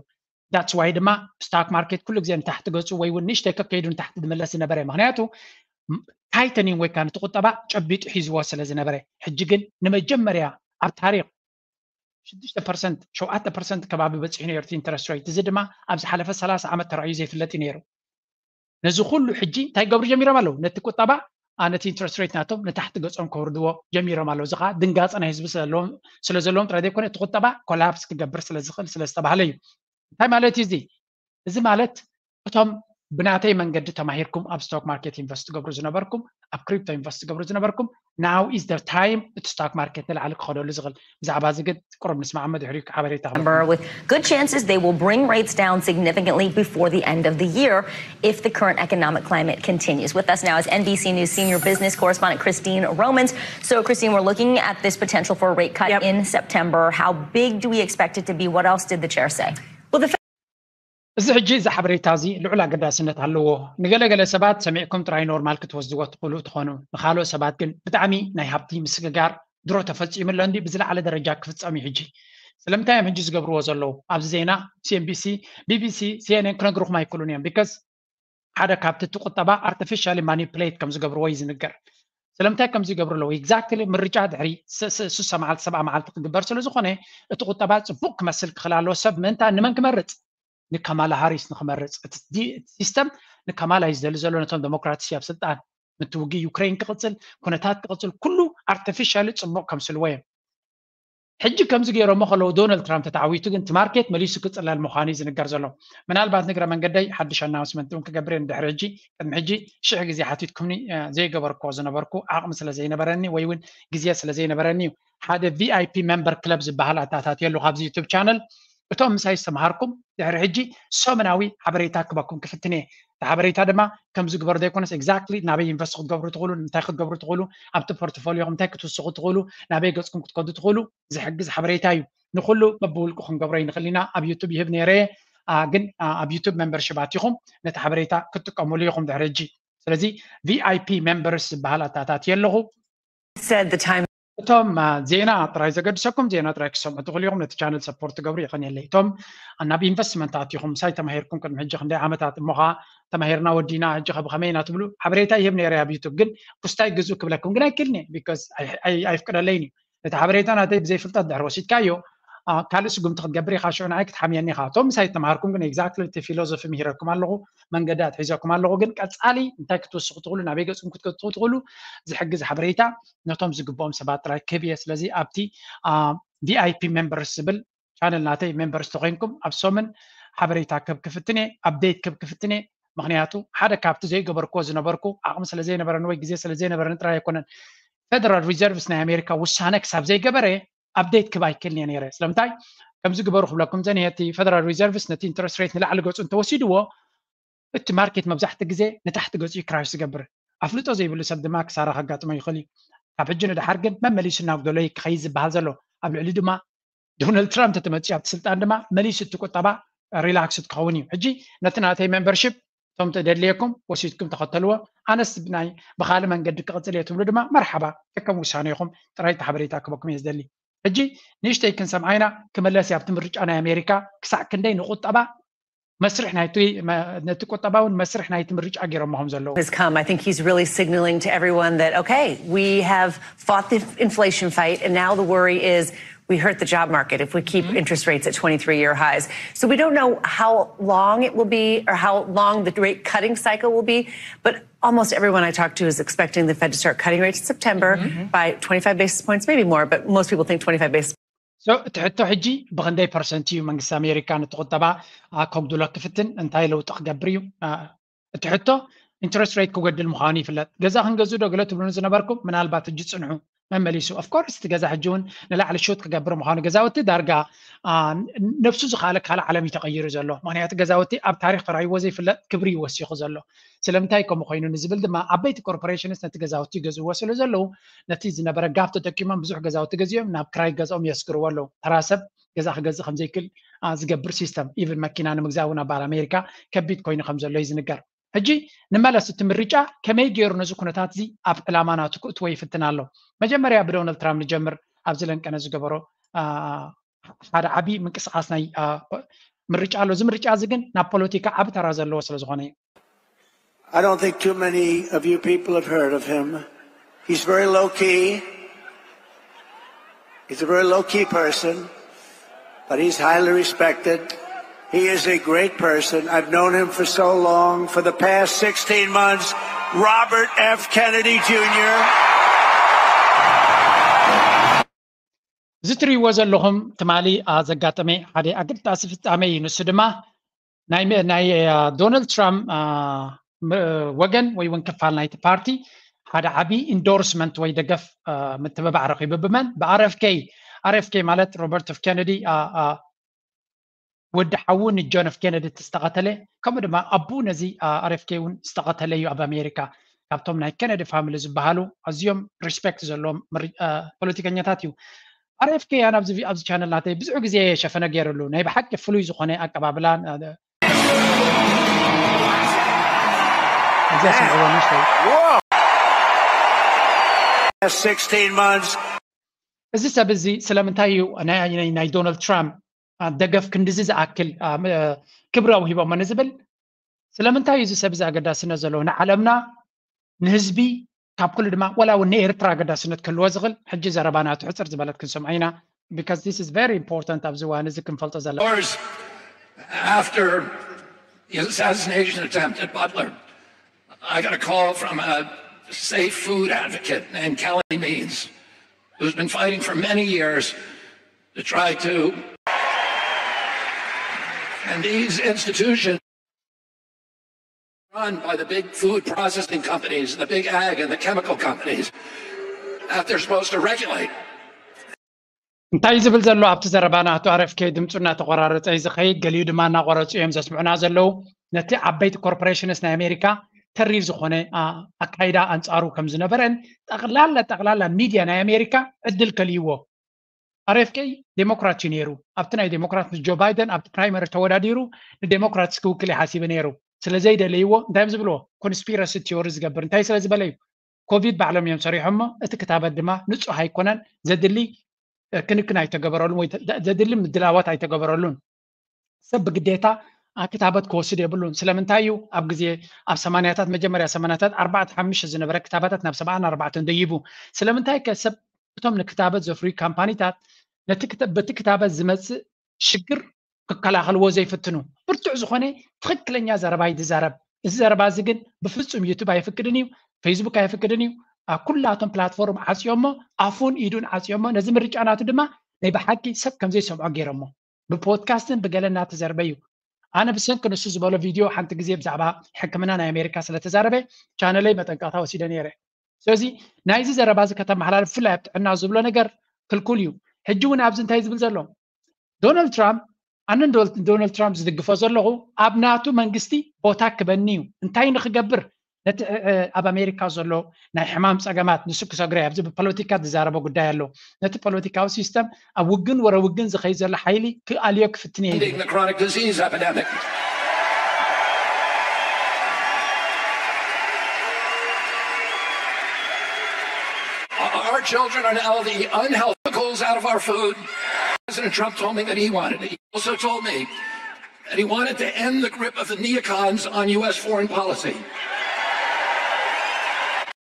That's why ድማ ስታክ ማርኬት ኩሉ ግዜ ንታሕቲ ገፁ ወይ እውን ንእሽተይ ከከይዱ ንታሕቲ ዝምለስ ዝነበረ፣ ምክንያቱ ታይተኒንግ ወይ ከዓ ነቲ ቁጠባ ጨቢጡ ሒዝዎ ስለ ዝነበረ። ሕጂ ግን ንመጀመርያ ኣብ ታሪክ ሽዱሽተ ፐርሰንት ሸውዓተ ፐርሰንት ከባቢ በፂሑ ነይሩ እቲ ኢንተረስት ሬት። እዚ ድማ ኣብ ዝሓለፈ ሰላሳ ዓመት ተራእዩ ዘይፍለጥ እዩ ነይሩ። ነዚ ኩሉ ሕጂ እንታይ ክገብሩ ጀሚሮም ኣለዉ? ነቲ ቁጠባ ነቲ ኢንተረስት ሬት ናቶም ንታሕቲ ገፆም ከውርድዎ ጀሚሮም ኣለዉ። እዚ ከዓ ድንጋፀ ናይ ህዝቢ ስለ ዘለዎም ጥራይ ዘይኮነ እቲ ቁጠባ ኮላፕስ ክገብር ስለ ዝኽእል ስለ ዝተባህለ እዩ። እንታይ ማለት እዩ እዚ? እዚ ማለት እቶም ብናተይ መንገዲ ተማሂርኩም ኣብ stock market invest ትገብሩ ዝነበርኩም፣ ኣብ crypto invest ትገብሩ ዝነበርኩም፣ now is the time እቲ stock market ንላዕሊ ክኸደሉ ዝኽእል። ብዛዕባ እዚ ግን ቁሩብ ንስማዕ፣ ድሕሪኡ ሓበሬታ ክህበኩም። With good chances they will bring rates down significantly before the end of the year if the current economic climate continues. With us now is N B C News senior business correspondent Christine Romans. So, Christine, we're looking at this potential for a rate cut in September. How big do we expect it to be? What else did the chair say? እዚ ሕጂ እዚ ሓበሬታ እዚ ልዑል ኣገዳስነት ኣለዎ። ንገለገለ ሰባት ሰሚዕኩም ጥራይ ኖርማል ክትወስድዎ ትኽእሉ ትኾኑ፣ ንኻልኦት ሰባት ግን ብጣዕሚ ናይ ሃብቲ ምስግጋር ድሮ ተፈጺሙ ኣሎ እንዲ ብዝለዓለ ደረጃ ክፍጸም እዩ። ሕጂ ስለምንታይ እዮም ሕጂ ዝገብርዎ ዘለዉ? ኣብዚ ዜና C N B C፣ B B C፣ C N N ክነግርኹም ኣይክእሉን እዮም። Because ሓደ ካብቲ እቲ ቁጠባ artificially manipulate ከም ዝገብርዎ እዩ ዝንገር። ስለምንታይ ከም ዝገብሩ ኣለዉ? Exactly ምርጫ ድሕሪ ስሳ መዓልቲ ሰብዓ መዓልቲ ክግበር ስለ ዝኾነ እቲ ቁጠባ ጽቡቅ ክመስል ክኽእል ኣለዎ። ሰብ ምእንታ ንመን ክመርጽ? ንካማላ ሃሪስ ንክመርጽ። እቲ ሲስተም ንካማላ እዩ ዝደሊ ዘሎ፣ ነቶም ዴሞክራትስ ኣብ ስልጣን። ምትውጊ ዩክሬን ክቕጽል፣ ኩነታት ክቕጽል፣ ኩሉ artificially ጽቡቕ ከምስልዎ እዮም። ሕጂ ከምዚ ገይሮሞ ከለዉ ዶናልድ ትራምፕ ተተዓዊቱ ግን እቲ ማርኬት መሊሱ ክጽለል ምዃኑ እዩ ዝንገር ዘሎ። ምናልባት ንግረ መንገደይ ሓድሽ ኣናውንስመንት እውን ክገብር እየ። ንድሕሪ ሕጂ ቅድሚ ሕጂ ሽሕ ግዜ ሓቲትኩምኒ ዘይገበርክዎ ዝነበርኩ ዓቕሚ ስለ ዘይነበረኒ ወይ እውን ግዜ ስለ ዘይነበረኒ እዩ ሓደ V I P member club ዝበሃል ኣተኣታትየሉ ካብዚ ዩቱብ ቻነል። እቶም ምሳይ ዝተምሃርኩም ድሕሪ ሕጂ ሰሙናዊ ሓበሬታ ክበኩም ክፍትን እየ። እቲ ሓበሬታ ድማ ከምዚ ግበሩ ዘይኮነስ exactly ናበይ ኢንቨስት ክትገብሩ ትኽእሉ፣ እንታይ ክትገብሩ ትኽእሉ፣ ኣብቲ ፖርትፎሊዮኹም እንታይ ክትውስኹ ትኽእሉ፣ ናበይ ገጽኩም ክትከዱ ትኽእሉ ዝሕግዝ ሓበሬታ እዩ። ንኹሉ በብውልቁ ክንገብሮ ይንኽእል ኢና። ኣብ ዩቱብ ይህብ ነይረ እየ፣ ግን ኣብ ዩቱብ ሜምበርሺፕ ኣቲኹም ነቲ ሓበሬታ ክትጥቀሙሉ ኢኹም ድሕሪ ሕጂ። ስለዚ V I P members ዝበሃል ኣተኣታትየ ኣለኹ። እቶም ዜና ጥራይ ዘገድሰኩም ዜና ጥራይ ክሰምዑ ትኽእሉ ኢኹም። ነቲ ቻነል ሰፖርት ትገብሩ የቐንየለይ። እቶም ናብ ኢንቨስትመንት ኣቲኹም ምሳይ ተማሂርኩም ቅድሚ ሕጂ ክንደይ ዓመታት እሞ ኸዓ ተማሂርና ወዲና ሕጂ ኸ ብኸመይ ኢና ትብሉ ሓበሬታ ይህብ ነይረ ኣብ ዩቱብ። ግን ኩስታይ ግዝኡ ክብለኩም ግን ኣይክእልን እየ። ቢካዝ ኣይፍቅደለይን እዩ። ነቲ ሓበሬታ ናተይ ብዘይፍልጠት ድሕሪ ወሲድካዮ ካልእ ስጉምቲ ክትገብር ኢኻ። ሽዑ ንዓይ ክትሓምየኒ ኢኻ። እቶም ምሳይ ተማሃርኩም ግን ኤግዛክትሊ እቲ ፊሎዞፊ ምሂረኩም ኣለኹ፣ መንገዲ ኣትሒዘኩም ኣለኹ። ግን ቀጻሊ እንታይ ክትወስኹ ትኽእሉ፣ ናበይ ገጽኩም ክትከትኹ ትኽእሉ ዝሕግዝ ሓበሬታ ነቶም ዝግብኦም ሰባት ጥራይ ክህብ እየ። ስለዚ ኣብቲ V I P members ዝብል ቻነል ናተይ ሜምበርስ ተኮይንኩም ኣብ ሰሙን ሓበሬታ ክህብ ክፍትን እየ፣ ኣፕዴት ክህብ ክፍትን እየ። ምክንያቱ ሓደ ካብቲ ዘይገበርክዎ ዝነበርኩ ዓቕሚ ስለ ዘይነበረኒ ወይ ግዜ ስለ ዘይነበረኒ ጥራይ ኣይኮነን፣ ፌደራል ሪዘርቭስ ናይ ኣሜሪካ ውሳነ ክሳብ ዘይገበረ ኣፕዴት ክህብ ኣይክእልን እየ ነይረ። ስለምንታይ ከምዚ ግበሩ ክብለኩም ዘንየ፣ እቲ ፌደራል ሪዘርቭስ ነቲ ኢንትረስት ሬት ንላዕሊ ገጹ እንተወሲድዎ እቲ ማርኬት መብዛሕትኡ ግዜ ንታሕቲ ገጹ እዩ ክራሽ ዝገብር። ኣፍልጦ ዘይብሉ ሰብ ድማ ክሳራ ከጋጥሞ ይኽእል እዩ። ካብ ሕጂ ንደሓር ግን መመሊሱ እናጉደሎ እዩ ክኸይድ ዝበሃል ዘሎ። ኣብ ልዕሊ ድማ ዶናልድ ትራምፕ ተተመፅዩ ኣብቲ ስልጣን ድማ መሊሱ እቲ ቁጠባ ሪላክስድ ክኸውን እዩ። ሕጂ ነቲ ናተይ ሜምበርሺፕ እቶም ተደልየኩም ወሲድኩም ተኸተልዎ። ኣነስ ናይ ብኻልእ መንገዲ ክቕፅል እየ ትብሉ ድማ መርሓባ፣ ከከም ውሳኔኹም። ጥራይ እቲ ሓበሬታ ክበኩም እየ ዝደሊ። ሕጂ ንእሽተይ ክንሰምዓ ኢና። ክመለስ እየ ኣብቲ ምርጫ ናይ ኣሜሪካ ክሳዕ ክንደይ ንቁጠባ መስርሕ ናይቲ ነቲ ቁጠባውን መስርሕ ናይቲ ምርጫ ገይሮሞ ከም ዘለዉ። Has come. I think he's really signaling to everyone that, okay, we have fought the inflation fight, and now the worry is we hurt the job market if we keep interest rates at twenty-three year highs. So we don't know how long it will be or how long the rate cutting cycle will be, but almost everyone I talk to is expecting the Fed to start cutting rates in September by twenty-five basis points, maybe more, but most people think twenty-five basis. So እቲ ሕቶ ሕጂ ብክንደይ ፐርሰንት እዩ መንግስቲ ኣሜሪካ ነቲ ቁጠባ ከጉድሎ ክፍትን፣ እንታይ ለውጢ ክገብር እዩ? እቲ ሕቶ ኢንትረስት ሬት ክጎድል ምዃኑ ይፍለጥ። ገዛ ክንገዝእ ዶ ገለ ትብሉኒ ዝነበርኩም ምናልባት ሕጂ ጽንሑ መመሊሱ። ኦፍኮርስ እቲ ገዛ ሕጂ እውን ንላዕሊ ሹት ክገብር ምዃኑ፣ ገዛውቲ ዳርጋ ነብሱ ዝኻለ ካልእ ዓለም እዩ ተቐይሩ ዘሎ። ምክንያቱ ገዛውቲ ኣብ ታሪክ ተራይዎ ዘይፍለጥ ክብሪ ይወሲኹ ዘሎ። ስለምንታይ ከምኡ ኮይኑ ንዝብል ድማ ዓበይቲ ኮርፖሬሽንስ ነቲ ገዛውቲ ይገዝእዎ ስለ ዘለዉ ነቲ ዝነበረ ጋፕ ተጠቂሞም ብዙሕ ገዛውቲ ገዚኦም ናብ ክራይ ገዝኦም የስግርዎ ኣለዉ። ተራ ሰብ ገዛ ክገዝእ ከምዘይክእል ዝገብር ሲስተም፣ ኢቭን መኪና ንምግዛእ እውን ኣብ በዓል ኣሜሪካ ከቢድ ኮይኑ ከም ዘሎ እዩ ዝንገር። ሕጂ ንመለስ፣ እቲ ምርጫ ከመይ ገይሩ ነዚ ኩነታት እዚ ኣብ ዕላማ ናቱ ክእትዎ ይፍትን ኣሎ? መጀመርያ ብዶናልድ ትራምፕ ንጀምር። ኣብዚ ለንቀነ ዝገበሮ ሓደ ዓብዪ ምንቅስቃስ ናይ ምርጫ ኣሎ። እዚ ምርጫ እዚ ግን ናብ ፖለቲካ ዓቢ ተራ ዘለዎ ስለ ዝኾነ እዩ። I don't think too many of you people have heard of him. He's very low key. He's a very low key person, but he's highly respected. He is a great person. I've known him for so long. For the past sixteen months, Robert F. Kennedy Junior እዚ ትርእይዎ ዘለኹም ትማሊ ዘጋጠመ ሓደ ኣገዳሲ ፍጻመ እዩ። ንሱ ድማ ናይ ዶናልድ ትራምፕ ወገን ወይ እውን ክፋል ናይቲ ፓርቲ ሓደ ዓብዪ ኢንዶርስመንት ወይ ደገፍ ምትብባዕ ረኺቡ። ብመን? ብኣር ኤፍ ኬ። ኣር ኤፍ ኬ ማለት ሮበርት ኤፍ ኬነዲ ወዲ ሓዉ ንጆን ኤፍ ኬነዲ ዝተቐተለ፣ ከምኡ ድማ ኣቡ ነዚ ኣር ኤፍ ኬ እውን ዝተቐተለ እዩ ኣብ ኣሜሪካ። ካብቶም ናይ ኬነዲ ፋሚሊ ዝበሃሉ ኣዝዮም ሪስፔክት ዘለዎም ፖለቲከኛታት እዩ። ኣር ኤፍ ኬ ኣነ ኣብዚ ቻነል ናተይ ብዙሕ ግዜ ሸፈነ ገይርሉ ናይ ብሓቂ ፍሉይ ዝኾነ ኣቀባብላን እዚ ሰብ እዚ ስለምንታይ እዩ ናይ ዶናልድ ትራምፕ ደገፍ ክንድዚ ዝኣክል ክብሪ ኣውሂቦሞ ንዝብል ስለምንታይ እዩ እዚ ሰብ እዚ ኣገዳስነት ዘለዎ ንዓለምና ንህዝቢ ካብ ኩሉ ድማ ወላ እውን ንኤርትራ ኣገዳስነት ክህልዎ ዝኽእል ሕጂ ዘረባ ናቱ ሕፅር ዝበለት ክንሰምዖ ኢና because this is very important ኣብዚ እዋን እዚ ክንፈልጦ ዘለና after the assassination attempt at Butler, I got a call from a safe food advocate named Kelly Means, who's been fighting for many years to try to. And these institutions run by the big food processing companies, the big ag and the chemical companies that they're supposed to regulate. እንታይ ዝብል ዘሎ ኣብቲ ዘረባ ናቱ ኣር ኤፍ ኬ ድምፁ እናተቆራረፀ እዩ ዝኸይድ። ገሊኡ ድማ እናቆረፁ እዮም ዘስምዑና ዘለዉ። ነቲ ዓበይቲ ኮርፖሬሽንስ ናይ ኣሜሪካ ተሪር ዝኾነ ኣካይዳ ኣንፃሩ ከም ዝነበረን ጠቕላላ ጠቕላላ ሚድያ ናይ ኣሜሪካ ዕድል ከልይዎ። ኣር ኤፍ ኬ ዴሞክራት እዩ ነይሩ። ኣብቲ ናይ ዴሞክራት ምስ ጆ ባይደን ኣብቲ ፕራይመሪ ተወዳዲሩ ንዴሞክራትስ ክውክል ይሓሲቡ ነይሩ። ስለ ዘይደለይዎ እንታይ እዮም ዝብልዎ? ኮንስፒረሲ ቲዮሪ ዝገብር እንታይ ስለ ዝበለ እዩ? ኮቪድ ባዕሎም እዮም ሰሪሖሞ። እቲ ክታበት ድማ ንፁህ ኣይኮነን። ዘድሊ ክንክን ኣይተገበረሉን ወይ ዘድሊ ምድላዋት ኣይተገበረሉን። ሰብ ብግዴታ ክታበት ክወስድ የብሉን። ስለምንታይ እዩ ኣብ ግዜ ኣብ ሰማንያታት መጀመርያ ሰማንያታት ኣርባዕተ ሓሙሽተ ዝነበረ ክታባታት ናብ ሰብዓን ኣርባዕተን ደይቡ? ስለምንታይ ከ ሰብ እቶም ንክታበት ዘፍርዩ ካምፓኒታት ነቲ በቲ ክታበት ዝመፅእ ሽግር ክከላኸልዎ ዘይፍትኑ? ብርቱዕ ዝኾነ ትኽክለኛ ዘረባ እዩ ዝዛረብ። እዚ ዘረባ እዚ ግን ብፍፁም ዩቱብ ኣይፍቅድን እዩ፣ ፌስቡክ ኣይፍቅድን እዩ። ኣብ ኩላቶም ፕላትፎርም ዓፅዮሞ ኣፉን ኢዱን ዓፅዮሞ ነዚ ምርጫ ናቱ ድማ ናይ ብሓቂ ሰብ ከምዘይሰምዖ ገይሮሞ ብፖድካስትን ብገለ እናተዘርበ እዩ። ኣነ ብሰንኪ ንሱ ዝበሎ ቪድዮ ሓንቲ ግዜ ብዛዕባ ሕክምና ናይ ኣሜሪካ ስለተዛረበ ቻነለይ መጠንቀቕታ ወሲደ ነይረ። ስለዚ ናይዚ ዘረባ እዚ ከተመሓላልፍ ብፍላይ ኣብ ጥዕና ዝብሎ ነገር ክልኩል እዩ። ሕጂ እውን ኣብዚ እንታይ ዝብል ዘሎ ዶናልድ ትራምፕ ኣነ ዶናልድ ትራምፕ ዝድግፎ ዘለኹ ኣብ ናቱ መንግስቲ ቦታ ክበኒ እዩ። እንታይ ንክገብር ነቲ ኣብ ኣሜሪካ ዘሎ ናይ ሕማም ፀገማት ንሱ ክሰግሮ ኣብዚ ብፖለቲካ ዝዛረበ ጉዳይ ኣሎ። ነቲ ፖለቲካዊ ሲስተም ኣብ ውግን ወረ ውግን ዝኸይድ ዘሎ ሓይሊ ክኣልዮ ክፍትን እየ። Our children are now the unhealthicals out of our food. President Trump told me that he wanted it. He also told me that he wanted to end the grip of the neocons on U S foreign policy.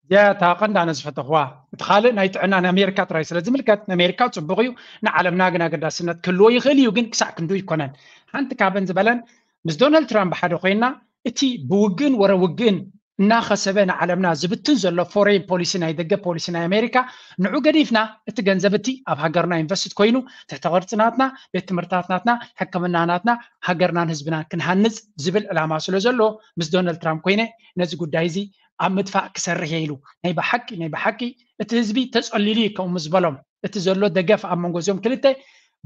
እዚኣ እታ ቀንዲ ኣነ ዝፈተኽዋ። እቲ ካልእ ናይ ጥዕና ንኣሜሪካ ጥራይ ስለ ዝምልከት ንኣሜሪካ ፅቡቕ እዩ፣ ንዓለምና ግን ኣገዳስነት ክህልዎ ይኽእል እዩ፣ ግን ክሳዕ ክንዱ ይኮነን። ሓንቲ ካብን ዝበለን ምስ ዶናልድ ትራምፕ ሓደ ኮይና እቲ ብውግን ወረ ውግን እናኸሰበ ንዓለምና ዝብትን ዘሎ ፎሬን ፖሊሲ ናይ ደገ ፖሊሲ ናይ ኣሜሪካ ንዑ ገዲፍና እቲ ገንዘብ እቲ ኣብ ሃገርና ኢንቨስት ኮይኑ ትሕተ ቅርፂ ናትና ቤት ትምህርታት ናትና ሕክምና ናትና ሃገርናን ህዝብናን ክንሃንፅ ዝብል ዕላማ ስለ ዘሎ ምስ ዶናልድ ትራምፕ ኮይነ ነዚ ጉዳይ እዚ ኣብ ምጥፋእ ክሰርሕ እየ ኢሉ ናይ ብሓቂ ናይ ብሓቂ እቲ ህዝቢ ተፀሊሉ እዩ ከምኡ ዝበሎም እቲ ዘሎ ደገፍ ኣብ መንጎ እዚኦም ክልተ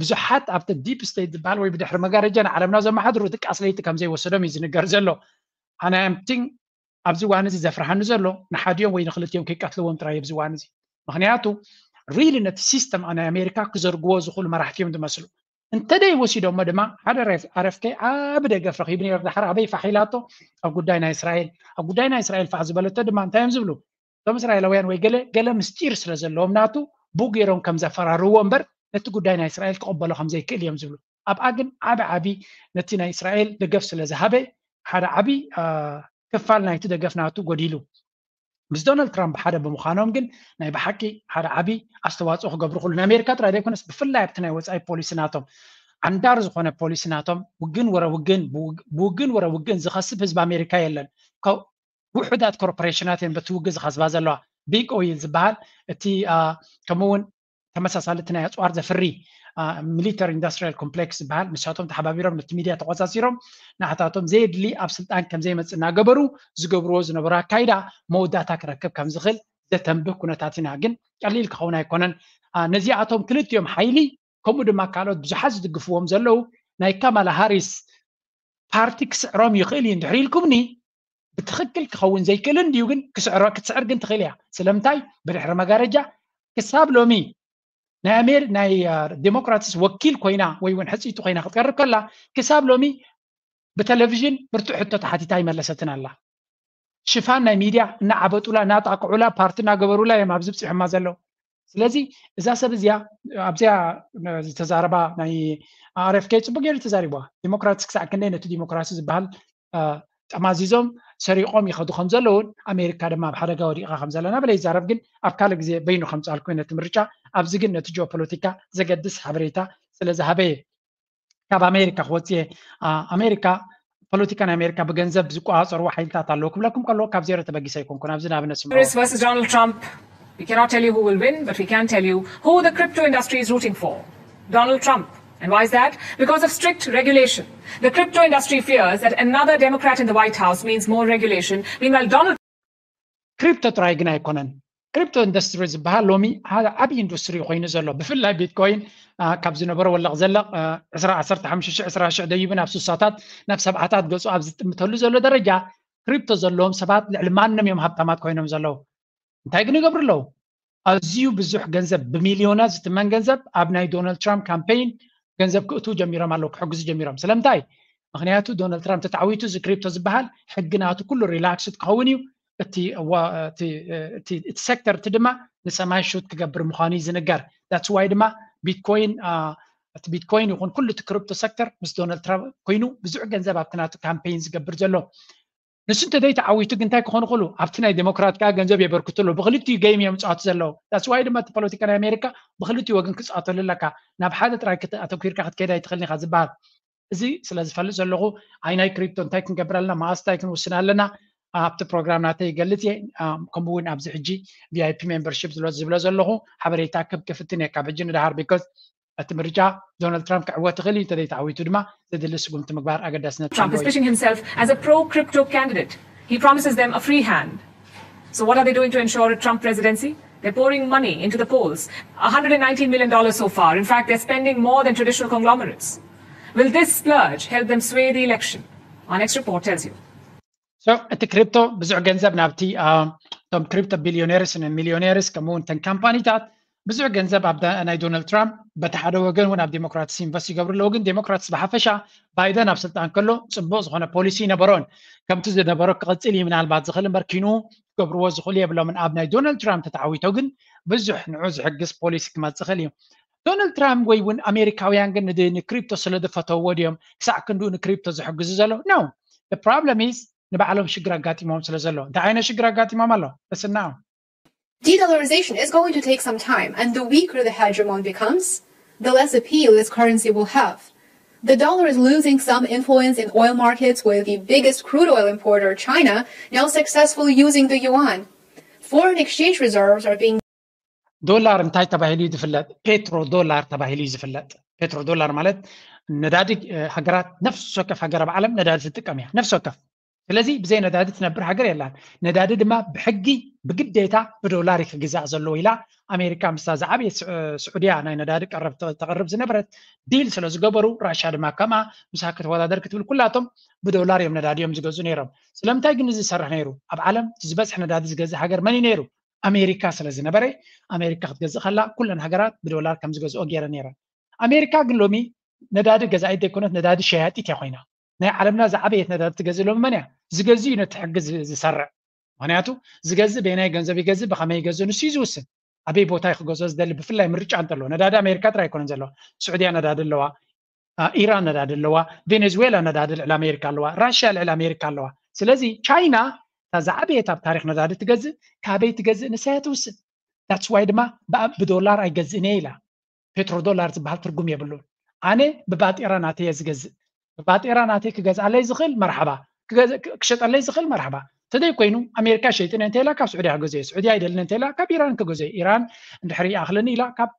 ብዙሓት ኣብቲ ዲፕ ስቴት ዝበሃል ወይ ብድሕሪ መጋረጃ ንዓለምና ዘመሓድሩ ድቃስ ለይቲ ከም ዘይወሰዶም እዩ ዝንገር ዘሎ ኣናምቲንግ ኣብዚ ዋን እዚ ዘፍርሃኒ ዘሎ ንሓዲኦም ወይ ንክልቲኦም ከይቀትልዎም ጥራይ ኣብዚ ዋን እዚ ምክንያቱ ሪሊ ነቲ ሲስተም ናይ ኣሜሪካ ክዘርግዎ ዝኽእሉ መራሕቲ እዮም ዝመስሉ እንተደይ ወሲዶሞ ድማ ሓደ ኣረፍከ ዓቢ ደገፍ ረኺቡ ነይሩ ዳሕር ኣበይ ፋሕ ኢላቶ ኣብ ጉዳይ ናይ እስራኤል ኣብ ጉዳይ ናይ እስራኤል ፋሕ ዝበለቶ ድማ እንታይ እዮም ዝብሉ እቶም እስራኤላውያን ወይ ገለ ገለ ምስጢር ስለ ዘለዎም ናቱ ብኡ ገይሮም ከም ዘፈራርዎ እምበር ነቲ ጉዳይ ናይ እስራኤል ክቕበሎ ከም ዘይክእል እዮም ዝብሉ ኣብኣ ግን ዓቢ ዓቢ ነቲ ናይ እስራኤል ደገፍ ስለ ዝሃበ ሓደ ዓቢ ክፋል ናይቲ ደገፍ ናቱ ጎዲሉ ምስ ዶናልድ ትራምፕ ሓደ ብምዃኖም ግን ናይ ብሓቂ ሓደ ዓቢ ኣስተዋፅኦ ክገብሩ ክሉ ንኣሜሪካ ጥራይ ዘይኮነስ ብፍላይ ኣብቲ ናይ ወፃኢ ፖሊሲ ናቶም ዓንዳር ዝኾነ ፖሊሲ ናቶም ውግን ወረ ውግን ብውግን ወረ ውግን ዝኸስብ ህዝቢ ኣሜሪካ የለን ውሑዳት ኮርፖሬሽናት እየን በቲ ውግን ዝኸስባ ዘለዋ ቢግ ኦይል ዝበሃል እቲ ከምኡውን ተመሳሳሊ እቲ ናይ ኣፅዋር ዘፍሪ ሚሊተሪ ኢንዱስትሪያል ኮምፕሌክስ ዝበሃል ንሳቶም ተሓባቢሮም ነቲ ሚድያ ተቆፃፂሮም ንዓታቶም ዘየድሊ ኣብ ስልጣን ከም ዘይመፅእ እናገበሩ ዝገብርዎ ዝነበሩ ኣካይዳ መወዳእታ ክረክብ ከም ዝኽእል ዘተንብህ ኩነታት ኢና። ግን ቀሊል ክኸውን ኣይኮነን። ነዚኣቶም ክልቲኦም ሓይሊ ከምኡ ድማ ካልኦት ብዙሓት ዝድግፍዎም ዘለዉ ናይ ካማላ ሃሪስ ፓርቲ ክስዕሮም ይኽእል እዩ እንድሕር ኢልኩምኒ ብትኽክል ክኸውን ዘይክእል እንድዩ። ግን ክትስዕር ግን ትኽእል እያ። ስለምንታይ? ብድሕሪ መጋረጃ ክሳብ ሎሚ ናይ ኣሜር ናይ ዴሞክራትስ ወኪል ኮይና ወይ እውን ሕፅይቲ ኮይና ክትቀርብ ከላ ክሳብ ሎሚ ብቴሌቪዥን ብርቱዕ ሕቶ ተሓቲታ ኣይመለሰትን ኣላ። ሽፋን ናይ ሚድያ እናዓበጡላ እናጣቅዑላ ፓርቲ እናገበሩላ እዮም ኣብዚ ብፂሖማ ዘለዉ። ስለዚ እዛ ሰብ እዚኣ ኣብዚኣ ዝተዛረባ ናይ RFK ፅቡቅ ገይሩ ተዛሪብዋ። ዲሞክራትስ ክሳዕ ክንደይ ነቲ ዲሞክራሲ ዝበሃል ጠማዚዞም ሰሪቆም ይኸዱ ከም ዘለውን ኣሜሪካ ድማ ኣብ ሓደጋ ወዲቃ ከም ዘለና በለ ይዛረብ። ግን ኣብ ካልእ ግዜ በይኑ ከምፅኣልኩ ነቲ ምርጫ ኣብዚ ግን ነቲ ጂኦፖለቲካ ዘገድስ ሓበሬታ ስለ ዝሃበየ ካብ ኣሜሪካ ክወፅየ ኣሜሪካ ፖለቲካ ናይ ኣሜሪካ ብገንዘብ ዝቆፃፀርዎ ሓይልታት ኣለዉ ክብለኩም ከለዎ ካብ ዜሮ ተበጊሰ ኣይኮንኩን። ኣብዚ ንኣብነት ስምዑ። Harris versus Donald Trump. We cannot tell you who will win, but we can tell you who the crypto industry is rooting for. Donald Trump. And why is that? Because of strict regulation. The crypto industry fears that another Democrat in the White House means more regulation. Meanwhile, Donald ክሪፕቶ ጥራይ ግን ኣይኮነን። ክሪፕቶ ኢንዱስትሪ ዝበሃል ሎሚ ሓደ ዓብዪ ኢንዱስትሪ ኮይኑ ዘሎ ብፍላይ ቢትኮይን ካብ ዝነበሮ ወለቕ ዘለቕ ዕስራ ዓሰርተ ሓሙሽተ ሺሕ ዕስራ ሺሕ ደይቡ ናብ ስሳታት ናብ ሰብዓታት ገፁ ኣብ ዝጥምተሉ ዘሎ ደረጃ ክሪፕቶ ዘለዎም ሰባት ልዕሊ ማንም እዮም ሃብታማት ኮይኖም ዘለዉ። እንታይ ግን ይገብሩ ኣለዉ? ኣዝዩ ብዙሕ ገንዘብ ብሚልዮናት ዝትመን ገንዘብ ኣብ ናይ ዶናልድ ትራምፕ ካምፔይን ገንዘብ ክእትዉ ጀሚሮም ኣለዉ፣ ክሕግዙ ጀሚሮም። ስለምንታይ? ምክንያቱ ዶናልድ ትራምፕ ተተዓዊቱ እዚ ክሪፕቶ ዝበሃል ሕጊ ናቱ ኩሉ ሪላክስድ ክኸውን እዩ። እቲ ዋ- እቲ እቲ እቲ ሴክተር እቲ ድማ ንሰማይ ሹት ክገብር ምዃኑ እዩ ዝንገር። That's why ድማ ቢትኮይን አ፣ እቲ ቢትኮይን ይኹን ኩሉ እቲ ክሪፕቶ ሴክተር ምስ ዶናልድ ትራምፕ ኮይኑ ብዙሕ ገንዘብ ኣብቲ ናቱ ካምፔይን ዝገብር ዘሎ ንሱ እንተዘይ ተዓዊቱ ግን እንታይ ክኾኑ ክእሉ ኣብቲ ናይ ዴሞክራት ከዓ ገንዘብ የበርክቱ ኣለዉ። ብክልቲኡ ገይም እዮም ዝፃወቱ ዘለዉ። That's why ድማ እቲ ፖለቲካ ናይ ኣሜሪካ ብክልቲኡ ወገን ክፃወተሉ ኣለካ። ናብ ሓደ ጥራይ ክት- ኣተኲርካ ክትከይድ ኣይትኽእልን ኢኻ ዝበሃል እዚ ስለ ዝፈልጥ ዘለኹ ኣይ ናይ ክሪፕቶ እንታይ ክንገብር ኣለና መዓስ እንታይ ክንውስን ኣለና ኣብቲ ፕሮግራም ናተይ ይገልፅ እየ። ከምኡ እውን ኣብዚ ሕጂ VIP ሜምበርሺፕ ዝብሎ ዘለኹ ሓበሬታ ክብ ክፍትን እየ ካብ ሕጂ ንድሃር because እቲ ምርጫ ዶናልድ ትራምፕ ክዕወት ይኽእል እዩ እንተዘይተዓዊቱ ድማ ዘድሊ ስጉምቲ ምግባር ኣገዳስነት Trump is pitching himself as a pro crypto candidate. He promises them a free hand. So what are they doing to ensure a Trump presidency? They're pouring money into the polls, one hundred nineteen million dollars so far. In fact, they're spending more than traditional conglomerates. Will this splurge help them sway the election? Our next report tells you. So እቲ ክሪፕቶ ብዙሕ ገንዘብ ናብቲ እቶም ክሪፕቶ ቢሊዮኔርስ ሚሊዮኔርስ ከምኡ እውን ተን ካምፓኒታት ብዙሕ ገንዘብ ኣብ ናይ ዶናልድ ትራምፕ በቲ ሓደ ወገን እውን ኣብ ዴሞክራትስ ኢንቨስት ይገብሩ ኣለዉ። ግን ዴሞክራትስ ብሓፈሻ ባይደን ኣብ ስልጣን ከሎ ፅቡቅ ዝኾነ ፖሊሲ ይነበሮን ከምቲ ዝነበሮ ክቕፅል እዩ ምናልባት ዝኽእል እምበር ኪኑ ክገብርዎ ዝኽእሉ የብሎምን። ኣብ ናይ ዶናልድ ትራምፕ ተተዓዊቶ ግን ብዙሕ ንዑ ዝሕግዝ ፖሊሲ ክመፅእ ይኽእል እዩ። ዶናልድ ትራምፕ ወይ እውን ኣሜሪካውያን ግን ንክሪፕቶ ስለ ዝፈተውዎ ድዮም ክሳዕ ክንድኡ ንክሪፕቶ ዝሕግዙ ዘለዉ? No. The problem is ንባዕሎም ሽግር ኣጋጢሞም ስለ ዘሎ። እንታይ ዓይነት ሽግር ኣጋጢሞም ኣሎ? እስና De-dollarization is going to take some time, and the weaker the hegemon becomes, the less appeal this currency will have. The dollar is losing some influence in oil markets, with the biggest crude oil importer, China, now successfully using the yuan. Foreign exchange reserves are being ዶላር እንታይ ተባሂሉ እዩ ዝፍለጥ? ፔትሮ ዶላር ተባሂሉ እዩ ዝፍለጥ። ፔትሮ ዶላር ማለት ነዳዲ ሃገራት ነፍሲ ወከፍ ሃገር ኣብ ዓለም ነዳዲ ትጥቀም እያ ነፍሲ ወከፍ። ስለዚ ብዘይ ነዳዲ ትነብር ሃገር የላን። ነዳዲ ድማ ብሕጊ ብግዴታ ብዶላር ክግዛእ ዘለዎ ኢላ ኣሜሪካ ምስታ ዝዓበየ ስዑድያ ናይ ነዳዲ ቀረብ ተቕርብ ዝነበረት ዲል ስለ ዝገበሩ ራሻ ድማ ከምኣ ምሳ ክትወዳደር ክትብል ኩላቶም ብዶላር እዮም ነዳዲ እዮም ዝገዝኡ ነይሮም። ስለምንታይ ግን እዚ ዝሰርሕ ነይሩ? ኣብ ዓለም ዝበዝሕ ነዳዲ ዝገዝእ ሃገር መን እዩ ነይሩ? ኣሜሪካ ስለ ዝነበረ ኣሜሪካ ክትገዝእ ከላ ኩለን ሃገራት ብዶላር ከም ዝገዝኦ ገይረ ነይረ። ኣሜሪካ ግን ሎሚ ነዳዲ ገዛኢት ዘይኮነት ነዳዲ ሸያጢት እያ ኮይና። ናይ ዓለምና ዝዓበየት ነዳዲ ትገዝእ ሎሚ መን እያ? ዝገዝእ እዩ ነቲ ሕጊ ዝሰርዕ። ምክንያቱ ዝገዝእ በየናይ ገንዘብ ይገዝእ ብከመይ ይገዝእ ንሱ እዩ ዝውስን። ኣበይ ቦታ ክገዝኦ ዝደሊ ብፍላይ ምርጫ እንተሎ ነዳዲ ኣሜሪካ ጥራይ ኣይኮነን ዘለዋ። ስዑድያ ነዳዲ ኣለዋ፣ ኢራን ነዳዲ ኣለዋ፣ ቬኔዙዌላ ነዳዲ ልዕሊ ኣሜሪካ ኣለዋ፣ ራሽያ ልዕሊ ኣሜሪካ ኣለዋ። ስለዚ ቻይና እታ ዝዓበየት ኣብ ታሪክ ነዳዲ ትገዝእ ካበይ ትገዝእ ንሳ እያ ትውስን። That's why ድማ ብዶላር ኣይገዝእን እየ ኢላ። ፔትሮ ዶላር ዝበሃል ትርጉም የብሉን። ኣነ ብባጤራ ናተይ እየ ዝገዝእ። ብባጤራ ናተይ ክገዝኣለይ ዝኽእል መርሓባ፣ ክሸጠለይ ዝኽእል መርሓባ። ተደይ ኮይኑ ኣሜሪካ ሸይጥን እንተ ኢላ ካብ ስዑድያ ክገዝኦ እየ። ስዑድያ ኣይደልን እንተ ኢላ ካብ ኢራን ክገዝኦ እየ። ኢራን እንድሕር ይኣኽለኒ ኢላ ካብ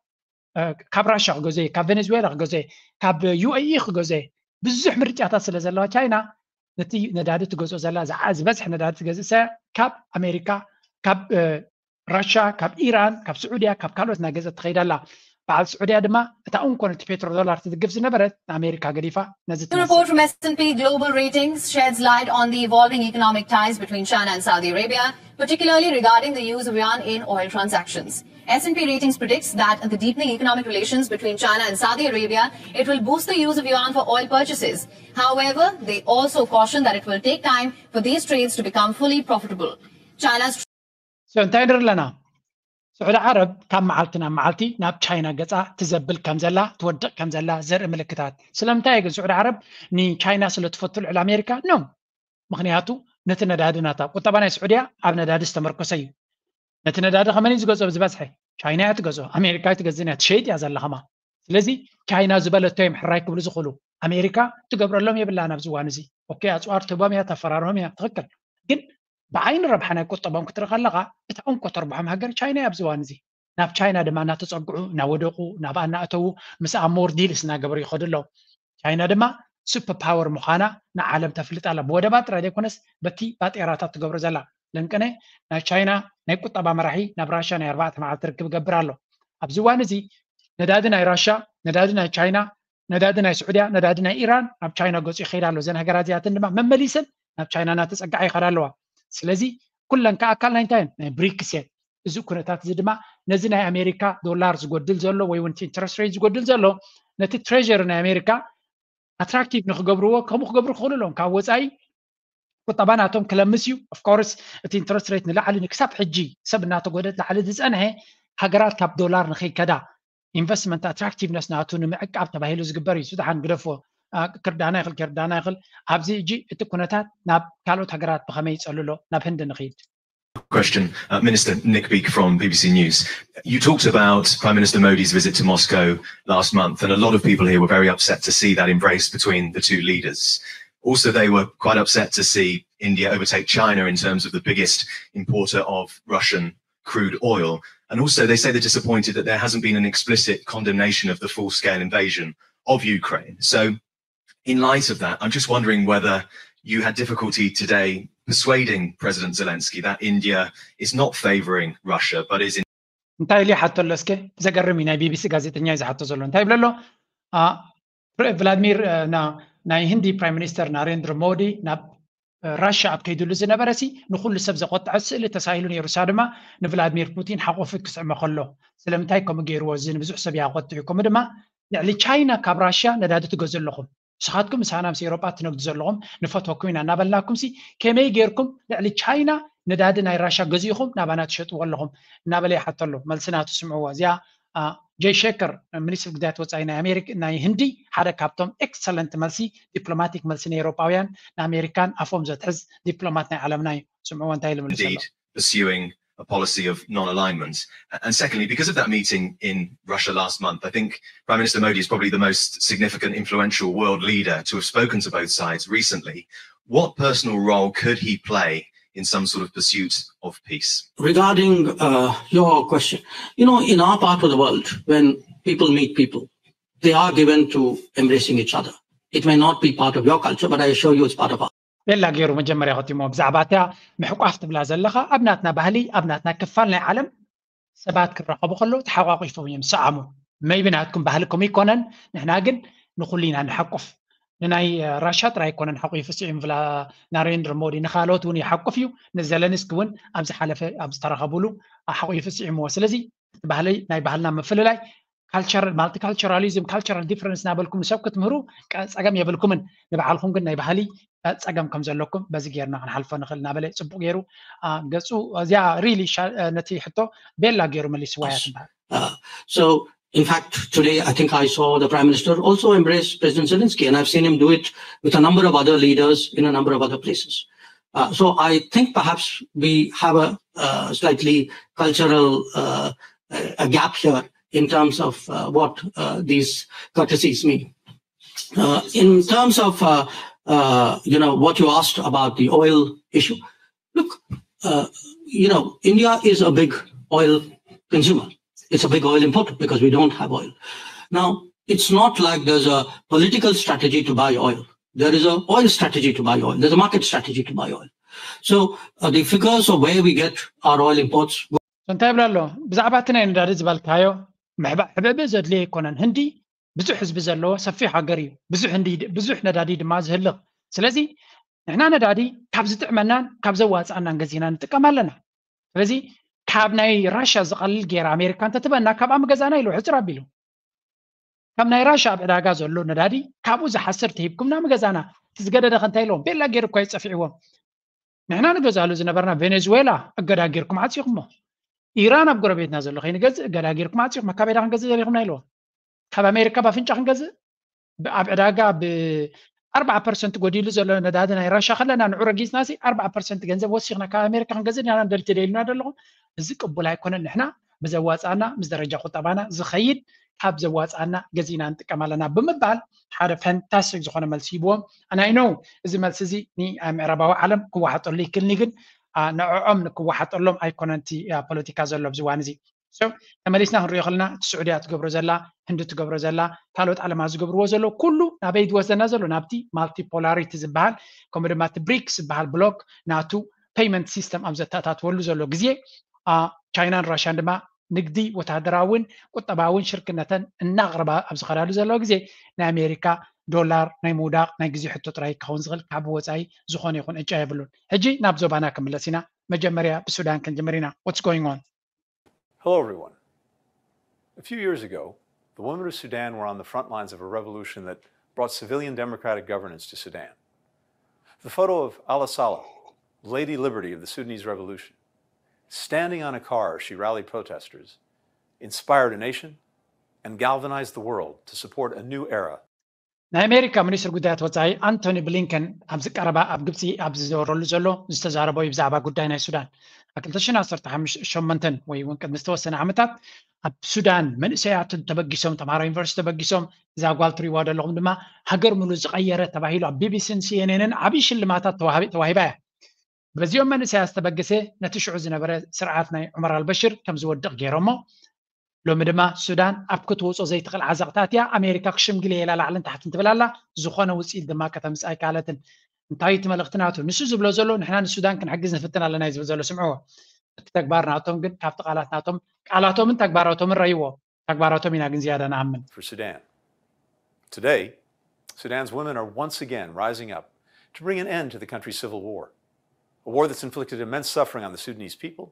ካብ ራሻ ክገዝኦ እየ፣ ካብ ቬኔዙዌላ ክገዝኦ እየ፣ ካብ ዩ ኤ ኢ ክገዝኦ እየ። ብዙሕ ምርጫታት ስለ ዘለዋ ቻይና ነቲ ነዳዲ ትገዝኦ ዘላ፣ ዝበዝሕ ነዳዲ ትገዝእ ሰብ ካብ ኣሜሪካ፣ ካብ ራሻ፣ ካብ ኢራን፣ ካብ ስዑድያ፣ ካብ ካልኦት እናገዘት ትኸይድ ኣላ። በዓል ስዑድያ ድማ እታ እንኮ ነቲ ፔትሮ ዶላር ትድግፍ ዝነበረት ንኣሜሪካ ገዲፋ ነዚ ትመስል። Report from S and P Global Ratings sheds light on the evolving economic ties between China and Saudi Arabia, particularly regarding the use of yuan in oil transactions. S and P Ratings predicts that the deepening economic relations between China and Saudi Arabia, it will boost the use of yuan for oil purchases. However, they also caution that it will take time for these trades to become fully profitable. China's እንታይ ንርኢ ኣለና? ስዑዲ ዓረብ ካብ መዓልቲ ናብ መዓልቲ ናብ ቻይና ገፃ ትዘብል ከም ዘላ፣ ትወድቕ ከም ዘላ ዘርኢ ምልክታት። ስለምንታይ ግን ስዑዲ ዓረብ ንቻይና ስለ ትፈቱ ልዕሊ ኣሜሪካ? ኖ። ምክንያቱ ነቲ ነዳዲ ናታ፣ ቁጠባ ናይ ስዑድያ ኣብ ነዳዲ ዝተመርኮሰ እዩ። ነቲ ነዳዲ ከመን እዩ ዝገዝኦ? ብዝበዝሐ ቻይና እያ ትገዝኦ፣ ኣሜሪካ ኣይትገዝእን እያ፣ ትሸይጥ እያ ዘላ ከማ። ስለዚ ቻይና ዝበለቶ እዮም ሕራይ ክብሉ ዝኽእሉ። ኣሜሪካ ትገብረሎም የብላን ኣብዚ እዋን እዚ። ኦኬ፣ ኣፅዋር ትህቦም እያ፣ ተፈራርሆም እያ፣ ትኽክል። ግን ብዓይኒ ረብሓ ናይ ቁጠቦም ክትርኢ ከለኻ፣ እታ እንኮ ተርብሖም ሃገር ቻይና እያ ኣብዚ እዋን እዚ። ናብ ቻይና ድማ እናተፀግዑ፣ እናወደቑ፣ ናብኣ እናእተዉ፣ ምስኣ ሞር ዲልስ እናገበሩ ይኸዱ ኣለዉ። ቻይና ድማ ሱፐር ፓወር ምዃና ንዓለም ተፍልጥ ኣላ። ብወደባት ጥራይ ዘይኮነስ በቲ ባጤራታት ትገብሮ ዘላ። ለንቅነ ናይ ቻይና ናይ ቁጠባ መራሒ ናብ ራሻ ናይ ኣርባዕተ መዓልቲ ርክብ ይገብር ኣሎ። ኣብዚ እዋን እዚ ነዳዲ ናይ ራሻ፣ ነዳዲ ናይ ቻይና፣ ነዳዲ ናይ ስዑድያ፣ ነዳዲ ናይ ኢራን ናብ ቻይና ገፁ ይኸይድ ኣሎ። እዘን ሃገራት እዚኣተን ድማ መመሊሰን ናብ ቻይና እናተፀግዓ ይኸዳ ኣለዋ። ስለዚ ኩለን ከዓ ኣካል ናይ እንታይ እየን? ናይ ብሪክስ እየን። እዚ ኩነታት እዚ ድማ ነዚ ናይ ኣሜሪካ ዶላር ዝጎድል ዘሎ ወይ እውን ኢንትረስት ሬት ዝጎድል ዘሎ ነቲ ትሬዥሪ ናይ ኣሜሪካ ኣትራክቲቭ ንክገብርዎ ከምኡ ክገብሩ ክኽእሉ ኣለዎም። ካብ ወፃኢ ቁጠባ ናቶም ክለምስ እዩ። ኦፍኮርስ እቲ ኢንትረስት ሬት ንላዕሊ ንክሳብ ሕጂ ሰብ እናተጎደት ላዕሊ ዝፀንሐ ሃገራት ካብ ዶላር ንከይከዳ ኢንቨስትመንት ኣትራክቲቭነስ ናቱ ንምዕቃብ ተባሂሉ ዝግበር እዩ። ስድሓን ግደፎ ክርዳና ይኽእል ከርዳና ይኽእል። ኣብዚ እጂ እቲ ኩነታት ናብ ካልኦት ሃገራት ብኸመይ ይፀልሎ ናብ ህንዲ ንኽይድ። Question, uh, Minister Nick Beake from B B C News. You talked about Prime Minister Modi's visit to Moscow last month, and a lot of people here were very upset to see that embrace between the two leaders. Also, they were quite upset to see India overtake China in terms of the biggest importer of Russian crude oil. And also, they say they're disappointed that there hasn't been an explicit condemnation of the full scale invasion of Ukraine. So, in light of that, I'm just wondering whether you had difficulty today persuading President Zelensky that India is not favouring Russia but is in እንታይ ኢሉ ይሓቶ ኣሎ? እስከ ዘገርም እዩ። ናይ ቢቢሲ ጋዜጠኛ እዩ ዝሓቶ ዘሎ። እንታይ ይብሎ ኣሎ? ፕረ- ቭላድሚር እ፣ ና- ናይ ህንዲ ፕራይም ሚኒስተር ናሬንድሮ ሞዲ ናብ እ፣ ራሻ ኣብ ከይድሉ ዝነበረ ሲ ንኩሉ ሰብ ዘቆጥዐ ስእሊ ተሳኢሉ ነይሩ። እሳ ድማ ንቭላድሚር ፑቲን ሓቆፊ ክስዕሞ ከሎ ስለምንታይ ከምኡ ገይርዎ እዚ ንብዙሕ ሰብ ይቆጥዕ እዩ። ከምኡ ድማ ልዕሊ ቻይና ካብ ራሻ ነዳዲ ትገዙ ኣለኹም ንስኻትኩም ምሳና ምስ ኤሮጳ ትነግዱ ዘለኹም ንፈትወኩም ኢና እናበልናኩም ሲ ከመይ ጌርኩም ልዕሊ ቻይና ነዳዲ ናይ ራሻ ገዚእኹም ናባና ትሸጥዎ ኣለኹም እናበለ ይሓቶ ኣሎ። መልሲ ናቱ ስምዕዎ። እዚኣ ጀይ ሸከር ሚኒስትር ጉዳያት ወፃኢ ናይ ኣሜሪካ ናይ ህንዲ ሓደ ካብቶም ኤክሰለንት መልሲ ዲፕሎማቲክ መልሲ ንኤሮጳውያን ንኣሜሪካን ኣፎም ዘትሕዝ ዲፕሎማት ናይ ዓለምና እዩ። ስምዕዎ እንታይ ኢሉ መልሱ ኣሎ። Indeed pursuing a policy of non-alignment. And secondly, because of that meeting in Russia last month, I think Prime Minister Modi is probably the most significant, influential world leader to have spoken to both sides recently. What personal role could he play in some sort of pursuit of peace? Regarding uh, your question, you know, in our part of the world, when people meet people, they are given to embracing each other. It may not be part of your culture, but I assure you it's part of ours. ቤላ ገይሩ መጀመርያ ከቲሞ ብዛዕባ እታ ምሕቋፍ ትብላ ዘለኻ ኣብ ናትና ባህሊ ኣብ ናትና ክፋል ናይ ዓለም ሰባት ክራኸቡ ከለዉ ተሓቋቂፎም እዮም ዝሰዓሙ። መይቢ ናትኩም ባህሊ ከምኡ ይኮነን። ንሕና ግን ንኩሉ ኢና ንሓቁፍ። ንናይ ራሻ ጥራይ ኣይኮነን ሓቂፉ ስዒሙ ናሬንድሮ ሞዲ ንካልኦት እውን ይሓቁፍ እዩ። ንዘለንስኪ እውን ኣብ ዝሓለፈ ኣብ ዝተረኸብሉ ሓቂፉ ስዒምዎ። ስለዚ እቲ ባህሊ ናይ ባህልና ምፍልላይ ካልቸራል ማልቲካልቸራሊዝም ካልቸራል ዲፈረንስ እናበልኩም ንሰብ ክትምህሩ ጸገም የብልኩምን። ንባዕልኩም ግን ናይ ባህሊ ጸገም ከም ዘለኩም በዚ ጌርና ክንሓልፎ ንኽእል እናበለ ጽቡቕ ገይሩ ገጹ እዚኣ ሪሊ ነቲ ሕቶ ቤላ ገይሩ መሊስዋ እያ ትበሃል። So in fact, today I think I saw the Prime Minister also embrace President Zelensky, and I've seen him do it with a number of other leaders in a number of other places. Uh, so I think perhaps we have a, uh slightly cultural uh, a gap here in terms of uh, what uh, these courtesies mean. Uh, in terms of uh, uh, you know what you asked about the oil issue, look, uh, you know India is a big oil consumer. It's a big oil import because we don't have oil. Now, it's not like there's a political strategy to buy oil. There is an oil strategy to buy oil. There's a market strategy to buy oil. So uh, the figures of where we get our oil imports. እንታይ ይብላ ኣሎ? ብዛዕባ እቲ ናይ ነዳዲ ዝበልካዮ ምሕባእ ሕብእብእ ዘድልዮ ኣይኮነን። ህንዲ ብዙሕ ህዝቢ ዘለዎ ሰፊሕ ሃገር እዩ። ብዙሕ ህንዲ ብዙሕ ነዳዲ ድማ ዝህልኽ። ስለዚ ንሕና ነዳዲ ካብ ዝጥዕመናን ካብ ዘዋፅኣናን ገዚና ንጥቀም ኣለና። ስለዚ ካብ ናይ ራሻ ዝቐልል ገይራ ኣሜሪካ እንተትበና ካብኣ ምገዛና ኢሉ ሕፅር ኣቢሉ። ካብ ናይ ራሻ ኣብ ዕዳጋ ዘሎ ነዳዲ ካብኡ ዝሓስር ተሂብኩምና ምገዛና። እቲ ዝገደደ ከ እንታይ ኢለዎም? ቤላ ገይሩ እኳ ይፀፊዕዎም። ንሕና ንገዛሉ ዝነበርና ቬኔዙዌላ እገዳ ጌርኩም ዓፂኹሞ። ኢራን ኣብ ጎረቤትና ዘሎ ከይንገዝእ እገዳ ጌርኩም ዓፂኹም። ካበይ ዳ ክንገዝእ ዘሪኹምና ኢለዎም። ካብ ኣሜሪካ ባፍንጫ ክንገዝእ ኣብ ዕዳጋ ብ ኣርባዓ ፐርሰንት ጎዲሉ ዘሎ ነዳዲ ናይ ራሻ ከለና ንዑ ረጊፅና ሲ ኣርባዓ ፐርሰንት ገንዘብ ወሲኽና ካብ ኣሜሪካ ክንገዝእ ኢና ንደሊ ተደይሉና ደለኹም። እዚ ቅቡል ኣይኮነን። ንሕና ብዘዋፃና ምስ ደረጃ ቁጠባና ዝኸይድ ካብ ዘዋፃና ገዚእና ንጥቀም ኣለና ብምባል ሓደ ፈንታስቲክ ዝኾነ መልሲ ሂብዎም። ኣናይ ነው እዚ መልሲ እዚ ምዕራባዊ ዓለም ክወሓጠሉ ይክልኒ ግን ንዕዖም ንክወሓጠሎም ኣይኮነን እቲ ፖለቲካ ዘሎ ኣብዚ ዋን እዚ። ተመሊስና ክንሪኦ ከለና እቲ ስዑድያ ትገብሮ ዘላ፣ ህንዲ ትገብሮ ዘላ፣ ካልኦት ዓለማት ዝገብርዎ ዘሎ ኩሉ ናበይ ዝወስደና ዘሎ? ናብቲ ማልቲፖላሪቲ ዝበሃል ከምኡ ድማ እቲ ብሪክስ ዝበሃል ብሎክ ናቱ ፔይመንት ሲስተም ኣብ ዘተኣታትወሉ ዘሎ ግዜ ቻይናን ራሽያን ድማ ንግዲ፣ ወታደራዊን ቁጠባዊን ሽርክነተን እናቕረባ ኣብ ዝኸዳሉ ዘለዋ ግዜ ናይ ኣሜሪካ ዶላር ናይ ምውዳቕ ናይ ግዜ ሕቶ ጥራይ ክኸውን ዝኽእል፣ ካብ ወፃኢ ዝኾነ ይኹን ዕጫ የብሉን። ሕጂ ናብ ዞባና ክምለስ ኢና። መጀመርያ ብሱዳን ክንጅምር ኢና። What's going on? Hello, everyone. A few years ago, the women of Sudan were on the front lines of a revolution that brought civilian democratic governance to Sudan. The photo of Ala Saleh, Lady Liberty of the Sudanese Revolution, standing on a car as she rallied protesters, inspired a nation and galvanized the world to support a new era. ናይ ኣሜሪካ ሚኒስትር ጉዳያት ወፃኢ ኣንቶኒ ብሊንከን ኣብዚ ቀረባ ኣብ ግብፂ ኣብ ዝዘወረሉ ዘሎ ዝተዛረቦ እዩ ብዛዕባ ጉዳይ ናይ ሱዳን። ኣብ ክልተ ሽሕን ዓሰርተ ሸሞንተን ወይ እውን ቅድሚ ዝተወሰነ ዓመታት ኣብ ሱዳን መንእሰያት ተበጊሶም፣ ተምሃሮ ዩኒቨርሲቲ ተበጊሶም፣ እዛ ጓል ትሪእዋ ዘለኹም ድማ ሃገር ሙሉ ዝቐየረ ተባሂሉ ኣብ ቢቢሲን ሲኤንኤንን ዓብዪ ሽልማታት ተዋሂባ እያ። በዚኦም መንእሰያት ዝተበገሰ ነቲ ሽዑ ዝነበረ ስርዓት ናይ ዑመር ኣልበሽር ከም ዝወድቕ ገይሮሞ። ሎሚ ድማ ሱዳን ኣብ ክትወፆ ዘይትኽእል ዓዘቕቲ ኣትያ ኣሜሪካ ክሽምግል እየ ኢላ ላዕልን ታሕትን ትብል ኣላ። ዝኾነ ውፅኢት ድማ ከተምፅእ ኣይከኣለትን። እንታይ እቲ መልእኽቲ ናቱ? ንሱ ዝብሎ ዘሎ ንሕና ንሱዳን ክንሕግዝ ንፍትን ኣለና እዩ ዝብል ዘሎ። ስምዕዎ። እቲ ተግባር ናቶም ግን ካብቲ ቃላት ናቶም ቃላቶምን ተግባራቶምን ረይዎ። ተግባራቶም ኢና ግን ዝያዳ ንኣምን። For Sudan. Today, Sudan's women are once again rising up to bring an end to the country's civil war, a war that's inflicted immense suffering on the Sudanese people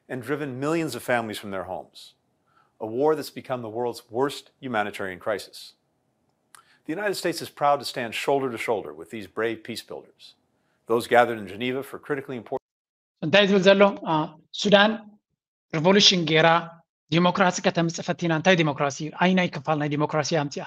and driven millions of families from their homes, a war that's become the world's worst humanitarian crisis. The United States is proud to stand shoulder to shoulder with these brave peace builders, those gathered in Geneva for critically important እንታይ ዝብል ዘሎ? ሱዳን ሪቮሉሽን ገይራ ዲሞክራሲ ከተምፅእ ፈቲና። እንታይ ዲሞክራሲ? ኣይናይ ክፋል ናይ ዲሞክራሲ ኣምፅኣ።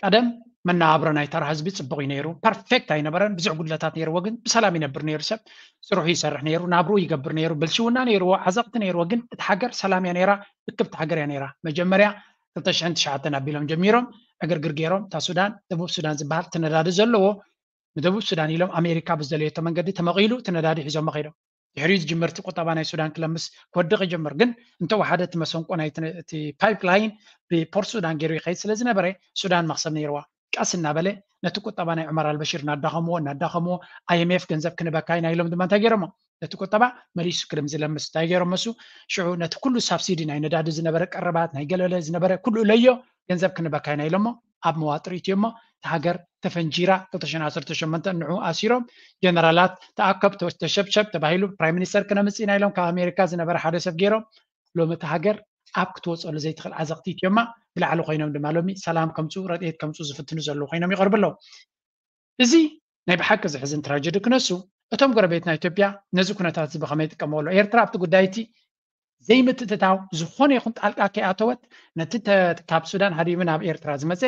ቀደም መነባብሮ ናይ ተራ ህዝቢ ፅቡቕ እዩ ነይሩ። ፐርፌክት ኣይነበረን፣ ብዙሕ ጉድለታት ነይርዎ፣ ግን ብሰላም ይነብር ነይሩ። ሰብ ስርሑ ይሰርሕ ነይሩ፣ ናብሩ ይገብር ነይሩ፣ ብልሽውና ነይርዎ፣ ዓዘቕቲ ነይርዎ። ግን እቲ ሃገር ሰላም እያ ነይራ፣ እክብቲ ሃገር እያ ነይራ። መጀመርያ ክልተ ሽሕን ትሽዓተን ኣቢሎም ጀሚሮም ዕግርግር ገይሮም እታ ሱዳን፣ ደቡብ ሱዳን ዝበሃል እቲ ነዳዲ ዘለዎ ንደቡብ ሱዳን ኢሎም ኣሜሪካ ብዝደለየቶ መንገዲ ተመቒሉ እቲ ነዳዲ ሒዞሞ ከይዶም። ድሕሪኡ ዝጅምር እቲ ቁጠባ ናይ ሱዳን ክለምስ ክወድቕ ይጀምር። ግን እንተወሓደ እቲ መሰንቆ ናይ እቲ ፓይፕላይን ብፖርት ሱዳን ገይሩ ይኸይድ ስለ ዝነበረ ሱዳን መኽሰብ ነይርዋ። ቀስ እናበለ ነቲ ቁጠባ ናይ ዑመር ኣልበሽር እናዳኸምዎ እናዳኸምዎ ኣይኤምኤፍ ገንዘብ ክንበካ ኢና ኢሎም ድማ እንታይ ገይሮሞ? ነቲ ቁጠባ መሊሱ ክልም ዝለምስ እንታይ ገይሮሞ? እሱ ሽዑ ነቲ ኩሉ ሳብሲዲ ናይ ነዳዲ ዝነበረ ቀረባት ናይ ገለለ ዝነበረ ኩሉ ለዮ ገንዘብ ክንበካ ኢና ኢሎሞ ኣብ መዋጥር ኢትዮሞ እቲ ሃገር ተፈንጂራ ክልተ ሽሕን ዓሰርተ ሸሞንተ ንዑ ኣሲሮም ጀነራላት ተኣከብ ተሸብሸብ ተባሂሉ ፕራይም ሚኒስተር ክነምፅእ ኢና ኢሎም ካብ ኣሜሪካ ዝነበረ ሓደ ሰብ ገይሮም ሎሚ እቲ ሃገር ኣብ ክትወፀሉ ዘይትኽእል ዓዘቕቲ ኢትዮማ ብላዕሊ ኮይኖም ድማ ሎሚ ሰላም ከምፅኡ ረድኤት ከምፅኡ ዝፍትኑ ዘለዉ ኮይኖም ይቐርቡ ኣለዉ። እዚ ናይ ብሓቂ ዝሕዝን ትራጀዲ ክነሱ እቶም ጎረቤትና ኢትዮጵያ ነዚ ኩነታት እዚ ብኸመይ ይጥቀመሉ? ኤርትራ ኣብቲ ጉዳይ እቲ ዘይምትእትታው ዝኾነ ይኹን ጣልቃ ከይኣተወት ነቲ ካብ ሱዳን ሃዲሙ ናብ ኤርትራ ዝመፀ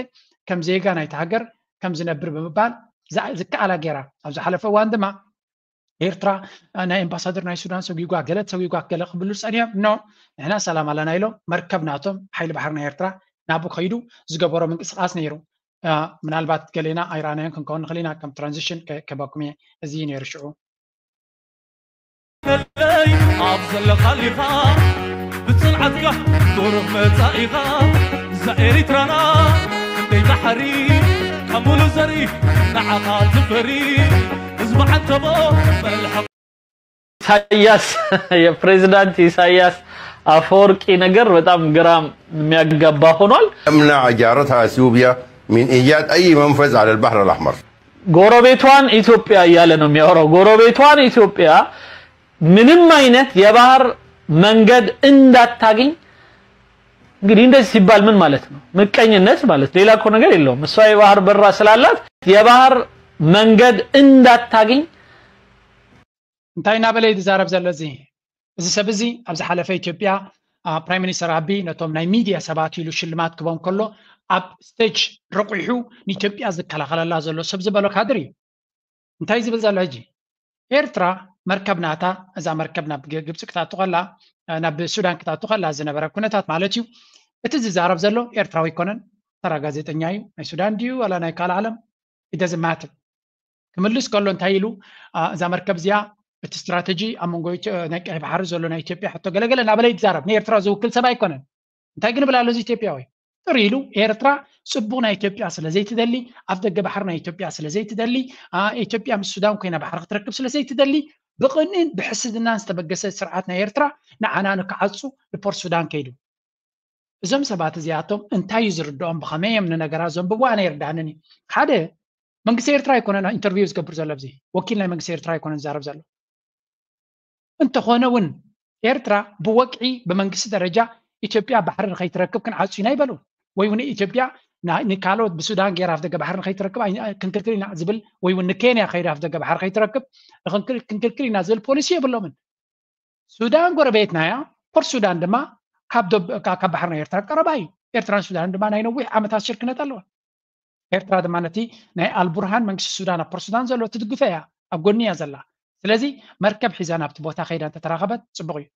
ከም ዜጋ ናይቲ ሃገር ከም ዝነብር ብምባል ዝከኣላ ገይራ ኣብ ዝሓለፈ እዋን ድማ ኤርትራ ናይ ኤምባሳደር ናይ ሱዳን ሰጒጓ ገለ ሰጒጓ ገለ ክብሉ ፀኒሖም ኖ ንሕና ሰላም ኣለና ኢሎም መርከብ ናቶም ሓይሊ ባሕሪ ናይ ኤርትራ ናብኡ ከይዱ ዝገበሮ ምንቅስቃስ ነይሩ። ምናልባት ገሌና ኣይረኣናዮን ክንከውን ንኽእል ኢና ከም ትራንዚሽን ክህበኩም እየ። እዚ እዩ ነይሩ ሽዑ። ከለይ ኣብ ዘለኻሊኻ ብፅንዓት ኣትካ ቁሩብ መጻኢኻ እዛ ኤሪትራና ክንደይ ዳሕሪ ካብ ሙሉ ዘሪ ንዓኻ ትፈሪ ህዝቢ ዓንተቦ መልሓቕ ኢሳያስ የፕሬዚዳንት ኢሳያስ አፈወርቂ ነገር በጣም ግራ የሚያጋባ ሆኗል። تمنع جارتها اثيوبيا من ايجاد اي منفذ على البحر الاحمر. ጎረቤቷን ኢትዮጵያ እያለ ነው የሚያወራው። ጎረቤቷን ኢትዮጵያ ምንም አይነት የባህር መንገድ እንዳታገኝ። እንግዲህ እንደዚህ ሲባል ምን ማለት ነው? ምቀኝነት ማለት ሌላ እኮ ነገር የለውም። እሷ የባህር በራ ስላላት የባህር መንገድ እንዳታገኝ እንታይ እናበለ እዩ ዝዛረብ ዘሎ እዚ እዚ ሰብ እዚ ኣብ ዝሓለፈ ኢትዮጵያ ፕራይም ሚኒስተር ኣቢ ነቶም ናይ ሚድያ ሰባት ኢሉ ሽልማት ክቦም ከሎ ኣብ ስቴጅ ረቑሑ ንኢትዮጵያ ዝከላኸለላ ዘሎ ሰብ ዝበሎ ካድር እዩ። እንታይ ዝብል ዘሎ ሕጂ? ኤርትራ መርከብ ናታ እዛ መርከብ ናብ ግብፂ ክትኣቱ ከላ ናብ ሱዳን ክትኣቱ ከላ ዝነበረ ኩነታት ማለት እዩ። እቲ ዝዛረብ ዘሎ ኤርትራዊ ኣይኮነን፣ ተራ ጋዜጠኛ እዩ። ናይ ሱዳን ድዩ ዋላ ናይ ካልእ ዓለም? ኢደዝማትር ክምልስ ከሎ እንታይ ኢሉ? እዛ መርከብ እዚኣ እቲ ስትራተጂ ኣብ መንጎ ናይ ቀይ ባሕሪ ዘሎ ናይ ኢትዮጵያ ሕቶ ገለገለ እናበለ ይዛረብ። ንኤርትራ ዝውክል ሰብ ኣይኮነን። እንታይ ግን ብላ ኣሎ እዚ ኢትዮጵያዊ? ጥር ኢሉ ኤርትራ ፅቡቕ ናይ ኢትዮጵያ ስለ ዘይትደሊ፣ ኣፍ ደገ ባሕሪ ናይ ኢትዮጵያ ስለ ዘይትደሊ፣ ኢትዮጵያ ምስ ሱዳን ኮይና ባሕሪ ክትረክብ ስለ ዘይትደሊ ብቕንእን ብሕስድናን ዝተበገሰ ስርዓት ናይ ኤርትራ ንዓና ንክዓፁ ንፖርት ሱዳን ከይዱ። እዞም ሰባት እዚኣቶም እንታይ እዩ ዝርድኦም? ብኸመይ እዮም ንነገራት ዘንብቡ? ኣነ ይርዳንን እዩ። ሓደ መንግስቲ ኤርትራ ኣይኮነን ኢንተርቪው ዝገብር ዘሎ ኣብዚ ወኪል ናይ መንግስቲ ኤርትራ ኣይኮነን ዝዛረብ ዘሎ። እንተኾነ እውን ኤርትራ ብወግዒ ብመንግስቲ ደረጃ ኢትዮጵያ ባሕሪ ንኸይትረክብ ክንዓጹ ኢና ይበሉ ወይ እውን ኢትዮጵያ ንካልኦት ብሱዳን ገይራ ኣፍደገ ባሕሪ ንኸይትረክብ ክንክልክል ኢና ዝብል ወይ እውን ንኬንያ ከይዳ ኣፍደገ ባሕሪ ከይትረክብ ክንክልክል ኢና ዝብል ፖሊሲ የብሎምን። ሱዳን ጎረቤትና እያ። ፖርት ሱዳን ድማ ካብ ባሕሪ ናይ ኤርትራ ቀረባ እዩ። ኤርትራን ሱዳንን ድማ ናይ ነዊሕ ዓመታት ሽርክነት ኣለዋ። ኤርትራ ድማ ነቲ ናይ ኣልቡርሃን መንግስቲ ሱዳን ኣብ ፖርት ሱዳን ዘሎ ትድግፈ እያ፣ ኣብ ጎኒ እያ ዘላ። ስለዚ መርከብ ሒዛ ናብቲ ቦታ ከይዳ እንተተራኸበት ፅቡቕ እዩ።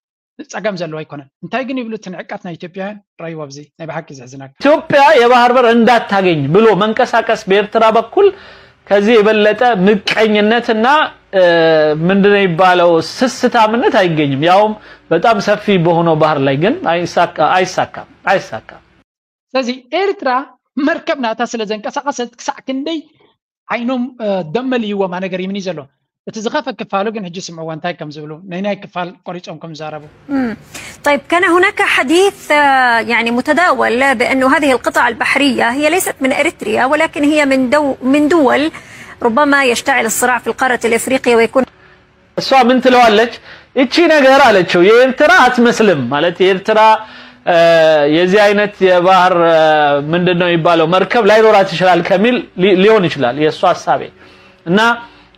ጸገም ዘለዎ ኣይኮነን። እንታይ ግን ይብሉ እቲ ንዕቀት ናይ ኢትዮጵያውያን ረይዎ ኣብዚ ናይ ብሓቂ ዘሕዝነካ። ኢትዮጵያ የባህር በር እንዳታገኝ ብሎ መንቀሳቀስ በኤርትራ በኩል ከዚህ የበለጠ ምቀኝነትና ምንድነው የሚባለው ስስታምነት አይገኝም። ያውም በጣም ሰፊ በሆነው ባህር ላይ ግን አይሳካም አይሳካም። ስለዚ ኤርትራ መርከብ ናታ ስለ ዘንቀሳቀሰት ክሳዕ ክንደይ ዓይኖም ደመልይዎም ነገር ይምኒ ዘሎ እቲ ዝኸፈ ክፋሉ ግን ሕጂ ስምዕዎ እንታይ ከም ዝብሉ ናይ ናይ ክፋል ቆሪጾም ከም ዝዛረቡ طيب كان هناك حديث يعني متداول بأنه هذه القطع البحرية هي ليست من إريتريا ولكن هي من دو من دول ربما يشتعل الصراع في القارة الإفريقية ويكون እሷ ምን ትለዋለች? እቺ ነገር አለችው የኤርትራ አትመስልም ማለት የኤርትራ የዚህ አይነት የባህር ምንድነው የሚባለው መርከብ ላይኖራት ይችላል ከሚል ሊሆን ይችላል የእሷ ሀሳቤ እና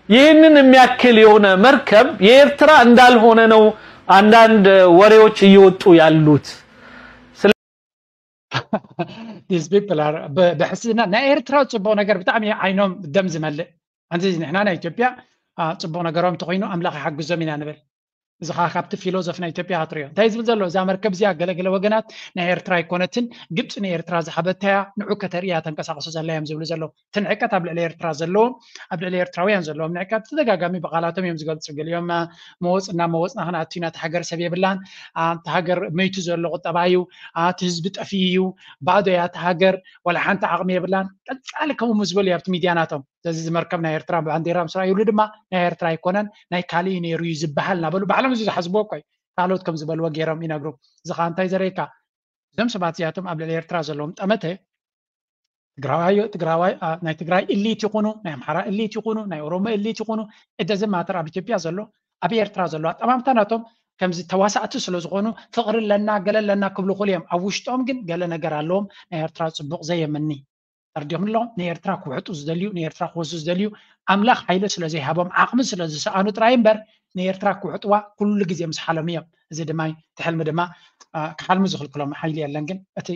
ይህንን የሚያክል የሆነ መርከብ የኤርትራ እንዳልሆነ ነው አንዳንድ ወሬዎች እየወጡ ያሉት። These people are ብሕስድና ናይ ኤርትራ ፅቡቕ ነገር ብጣዕሚ ዓይኖም ደም ዝመልእ። ኣንዚ ንሕና ናይ ኢትዮጵያ ፅቡቕ ነገሮም እንተኮይኑ ኣምላኽ ይሓግዞም ኢና ንብል። እዚ ከዓ ካብቲ ፊሎዞፍ ናይ ኢትዮጵያ ክትሪኦ እንታይ ዝብል ዘሎ እዛ መርከብ እዚኣ ገለገለ ወገናት ናይ ኤርትራ ኣይኮነትን ግብፂ ንኤርትራ ዝሃበታያ ንዑ ከተርእያ ተንቀሳቀሱ ዘላ እዮም ዝብሉ ዘለዉ። እቲ ንዕቀት ኣብ ልዕሊ ኤርትራ ዘለዎም ኣብ ልዕሊ ኤርትራውያን ዘለዎም ንዕቀት ተደጋጋሚ ብቃላቶም እዮም ዝገልፁ። ገሊኦም መወፅና መወፅና ክንኣቱ ኢና እቲ ሃገር ሰብ የብላን እቲ ሃገር መይቱ ዘሎ ቁጠባ እዩ እቲ ህዝቢ ጠፊኡ እዩ ባዶ እያ እቲ ሃገር ወላ ሓንቲ ዓቕሚ የብላን ቀፃሊ ከምኡ ምስ በሉ ኣብቲ ሚድያ ናቶም እዚ ዝመርከብ ናይ ኤርትራ ባንዴራ ምስ ረኣዩሉ ድማ ናይ ኤርትራ ኣይኮነን ናይ ካሊእ ነይሩ እዩ ዝበሃል እናበሉ ባዕሎም እዚ ዝሓስብዎ እኮ እዩ ካልኦት ከም ዝበልዎ ገይሮም ይነግሩ እዚ ከዓ እንታይ ዘርእየካ እዞም ሰባት እዚኣቶም ኣብ ልዕሊ ኤርትራ ዘለዎም ጠመተ ትግራዋይ ትግራዋይ ናይ ትግራይ እሊት ይኹኑ ናይ ኣምሓራ እሊት ይኹኑ ናይ ኦሮሞ እሊት ይኹኑ እደዚ ማተር ኣብ ኢትዮጵያ ዘሎ ኣብ ኤርትራ ዘሎ ኣጠማምታ ናቶም ከምዚ ተዋሳእቲ ስለ ዝኾኑ ፍቕሪ ኣለና ገለ ኣለና ክብሉ ክእሉ እዮም ኣብ ውሽጦም ግን ገለ ነገር ኣለዎም ናይ ኤርትራ ፅቡቕ ዘየምኒ ተርዲኦም ኣለዎም ንኤርትራ ክውሕጡ ዝደልዩ ንኤርትራ ክወስዱ ዝደልዩ ኣምላኽ ሓይሊ ስለ ዘይሃቦም ዓቕሚ ስለ ዝሰኣኑ ጥራይ እምበር ንኤርትራ ክውሕጥዋ ኩሉ ግዜ ምስ ሓለሙ እዮም እዚ ድማ እቲ ሕልሚ ድማ ክሓልሙ ዝኽልክሎም ሓይሊ የለን ግን እቲ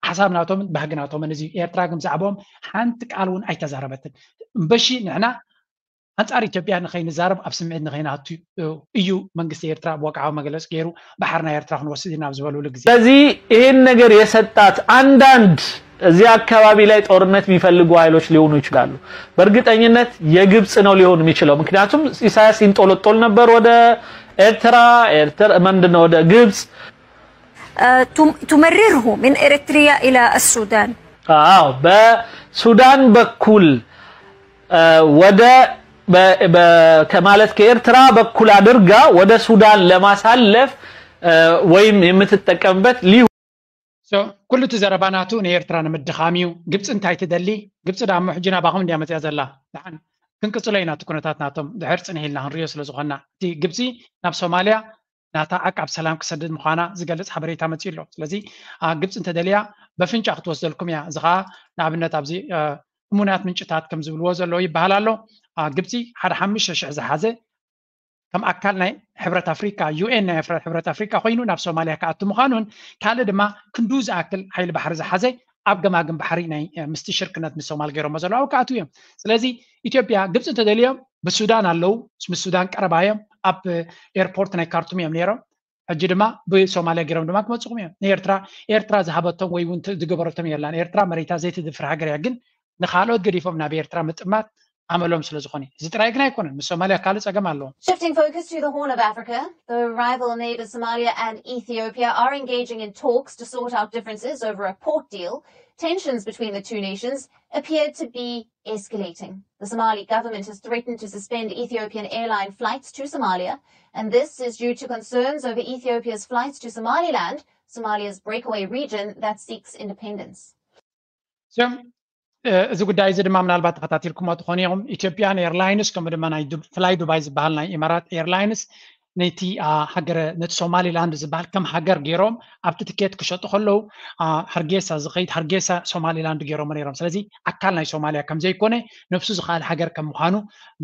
ሓሳብ ናቶምን ባህጊ ናቶምን እዚ ኤርትራ ግን ብዛዕባኦም ሓንቲ ቃል እውን ኣይተዛረበትን እምበሺ ንሕና ኣንጻር ኢትዮጵያ ንኸይንዛረብ ኣብ ስምዒት ንኸይንኣቱ እዩ መንግስቲ ኤርትራ ብወግዓዊ መግለፂ ገይሩ ባሕሪ ናይ ኤርትራ ክንወስድ ኢና ኣብ ዝበልሉ ግዜ ስለዚህ ይህን ነገር የሰጣት አንዳንድ እዚህ አካባቢ ላይ ጦርነት የሚፈልጉ ኃይሎች ሊሆኑ ይችላሉ። በእርግጠኝነት የግብጽ ነው ሊሆን የሚችለው። ምክንያቱም ኢሳያስ ይንጦለጦል ነበር ወደ ኤርትራ፣ ኤርትራ ምንድነው ወደ ግብጽ تمرره من إريتريا إلى السودان. አዎ በሱዳን በኩል ወደ ከማለት ከኤርትራ በኩል አድርጋ ወደ ሱዳን ለማሳለፍ ወይም የምትጠቀምበት ሊ ኩሉ እቲ ዘረባ ናቱ ንኤርትራ ንምድኻም እዩ። ግብፂ እንታይ ትደሊ? ግብፂ ዳሞ ሕጂ ናባኹም እንድያ መፅያ ዘላ። ደሓን ክንቅፅሎ ኢና እቲ ኩነታት ናቶም ድሕር ፅንሕ ኢልና ክንሪኦ ስለ ዝኾንና። እቲ ግብፂ ናብ ሶማልያ ናታ ዓቃብ ሰላም ክሰድድ ምዃና ዝገልፅ ሓበሬታ መፅዩ ኣሎ። ስለዚ ግብፂ እንተደልያ በፍንጫ ክትወስደልኩም እያ። እዚ ከዓ ንኣብነት ኣብዚ እሙናት ምንጭታት ከም ዝብልዎ ዘለዉ ይበሃል ኣሎ። ግብፂ ሓደ ሓሙሽተ ሽሕ ዝሓዘ ከም ኣካል ናይ ሕብረት ኣፍሪካ ዩኤን ናይ ሕብረት ኣፍሪካ ኮይኑ ናብ ሶማልያ ክኣቱ ምዃኑን ካልእ ድማ ክንዱ ዝኣክል ሓይሊ ባሕሪ ዝሓዘ ኣብ ገማግም ባሕሪ ናይ ምስቲ ሽርክነት ምስ ሶማል ገይሮሞ ዘለዉ ክኣትዉ እዮም። ስለዚ ኢትዮጵያ ግብፂ እንተደልዮም ብሱዳን ኣለዉ፣ ምስ ሱዳን ቀረባ እዮም። ኣብ ኤርፖርት ናይ ካርቱም እዮም ነይሮም። ሕጂ ድማ ብሶማልያ ገይሮም ድማ ክመፅኹም እዮም። ንኤርትራ ኤርትራ ዝሃበቶም ወይ እውን ዝገበረቶም የላን። ኤርትራ መሬታ ዘይትድፍር ሃገር እያ። ግን ንካልኦት ገዲፎም ናብ ኤርትራ ምጥማት ኣመሎም ስለ ዝኾነ እዚ ጥራይ ግን ኣይኮነን። ምስ ሶማልያ ካልእ ፀገም ኣለዎም። Shifting focus to the Horn of Africa, the rival neighbours Somalia and Ethiopia are engaging in talks to sort out differences over a port deal. Tensions between the two nations appear to be escalating. The Somali government has threatened to suspend Ethiopian airline flights to Somalia, and this is due to concerns over Ethiopia's flights to Somaliland, Somalia's breakaway region that seeks independence. እዚ ጉዳይ እዚ ድማ ምናልባት ተኸታቲልኩሞ ትኾኑ ኢኹም። ኢትዮጵያን ኤርላይንስ ከምኡ ድማ ናይ ፍላይ ዱባይ ዝበሃል ናይ ኢማራት ኤርላይንስ ነቲ ሃገረ ነቲ ሶማሊላንድ ዝበሃል ከም ሃገር ገይሮም ኣብቲ ትኬት ክሸጡ ከለዉ ሃርጌሳ ዝኸይድ ሃርጌሳ ሶማሊላንድ ገይሮሞ ነይሮም። ስለዚ ኣካል ናይ ሶማልያ ከም ዘይኮነ ነብሱ ዝኸኣል ሃገር ከም ምዃኑ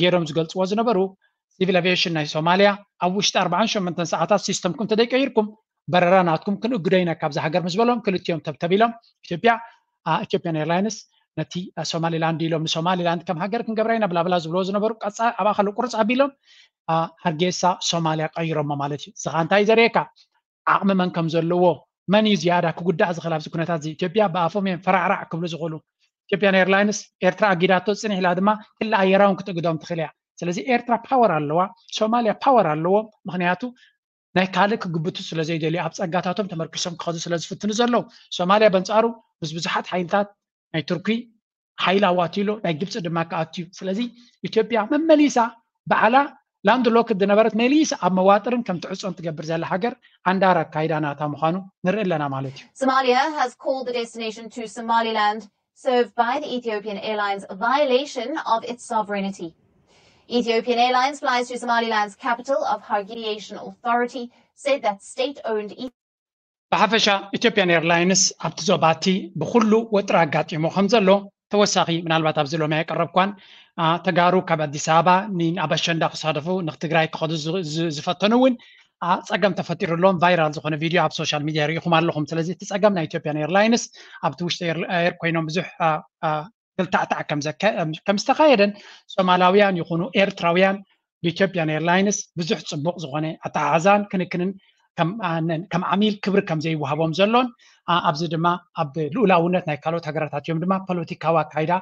ገይሮም ዝገልፅዎ ዝነበሩ ሲቪል ኣቪዬሽን ናይ ሶማልያ ኣብ ውሽጢ ኣርባዓን ሸሞንተን ሰዓታት ሲስተምኩም ተደይቀይርኩም በረራ ናትኩም ክንእግዶ ኢና ካብዚ ሃገር ምስ በሎም ክልቲኦም ተብተቢሎም ኢትዮጵያ ኢትዮጵያን ኤርላይንስ ነቲ ሶማሊላንድ ኢሎም ንሶማሊላንድ ከም ሃገር ክንገብራ ኢና ብላብላ ዝብልዎ ዝነበሩ ቀፃ ኣብኣ ከሎ ቁርፅ ኣቢሎም ሃርጌሳ ሶማልያ ቀይሮሞ ማለት እዩ። እዚ ከዓ እንታይ ዘርእየካ ዓቕሚ መን ከም ዘለዎ መን እዩ ዝያዳ ክጉዳእ ዝኽእል ኣብዚ ኩነታት እዚ ኢትዮጵያ ብኣፎም እዮም ፈራዕራዕ ክብሉ ዝኽእሉ። ኢትዮጵያን ኤርላይንስ ኤርትራ ኣጊዳቶ ፅንሕ ኢላ ድማ ክላ ኣየራውን ክትእግዶም ትኽእል እያ። ስለዚ ኤርትራ ፓወር ኣለዋ፣ ሶማልያ ፓወር ኣለዎ። ምክንያቱ ናይ ካልእ ክግብቱ ስለ ዘይደልዩ ኣብ ጸጋታቶም ተመርኪሶም ክኸዱ ስለ ዝፍትኑ ዘለዉ። ሶማልያ በንጻሩ ምስ ብዙሓት ሓይልታት ናይ ቱርኪ ሓይሊ ኣዋትዩ ኣሎ፣ ናይ ግብጺ ድማ ክኣቱ እዩ። ስለዚ ኢትዮጵያ መመሊሳ ባዕላ ላንድ ሎክድ ዝነበረት መሊሳ ኣብ መዋጥርን ከም ትዕጾን ትገብር ዘላ ሃገር ዓንዳር ኣካይዳ ናታ ምዃኑ ንርኢ ኣለና ማለት እዩ። Somalia has called the destination to Somaliland served by the Ethiopian Airlines violation of its sovereignty. Ethiopian Airlines flies to Somaliland's capital of Hargeisa Authority said that state-owned ብሓፈሻ ኢትዮጵያን ኤርላይንስ ኣብቲ ዞባ እቲ ብኩሉ ወጥሪ ኣጋጢሞ ከም ዘሎ ተወሳኺ ምናልባት ኣብዚ ሎሚ ኣየቀረብኳን ተጋሩ ካብ ኣዲስ ኣበባ ናብ ኣሸንዳ ክሳደፉ ንትግራይ ክኸዱ ዝፈተኑ እውን ፀገም ተፈጢሩሎም ቫይራል ዝኾነ ቪድዮ ኣብ ሶሻል ሚድያ ርኢኹም ኣለኹም። ስለዚ እቲ ፀገም ናይ ኢትዮጵያን ኤርላይንስ ኣብቲ ውሽጢ ኤር ኮይኖም ብዙሕ ክልታዕታዕ ከም ዝተኻየደን ሶማላውያን ይኹኑ ኤርትራውያን ብኢትዮጵያን ኤርላይንስ ብዙሕ ፅቡቕ ዝኾነ ኣተሓሕዛን ክንክንን ከም ዓሚል ክብሪ ከም ዘይወሃቦም ዘሎን ኣብዚ ድማ ኣብ ልኡላውነት ናይ ካልኦት ሃገራት ኣትዮም ድማ ፖለቲካዊ ኣካይዳ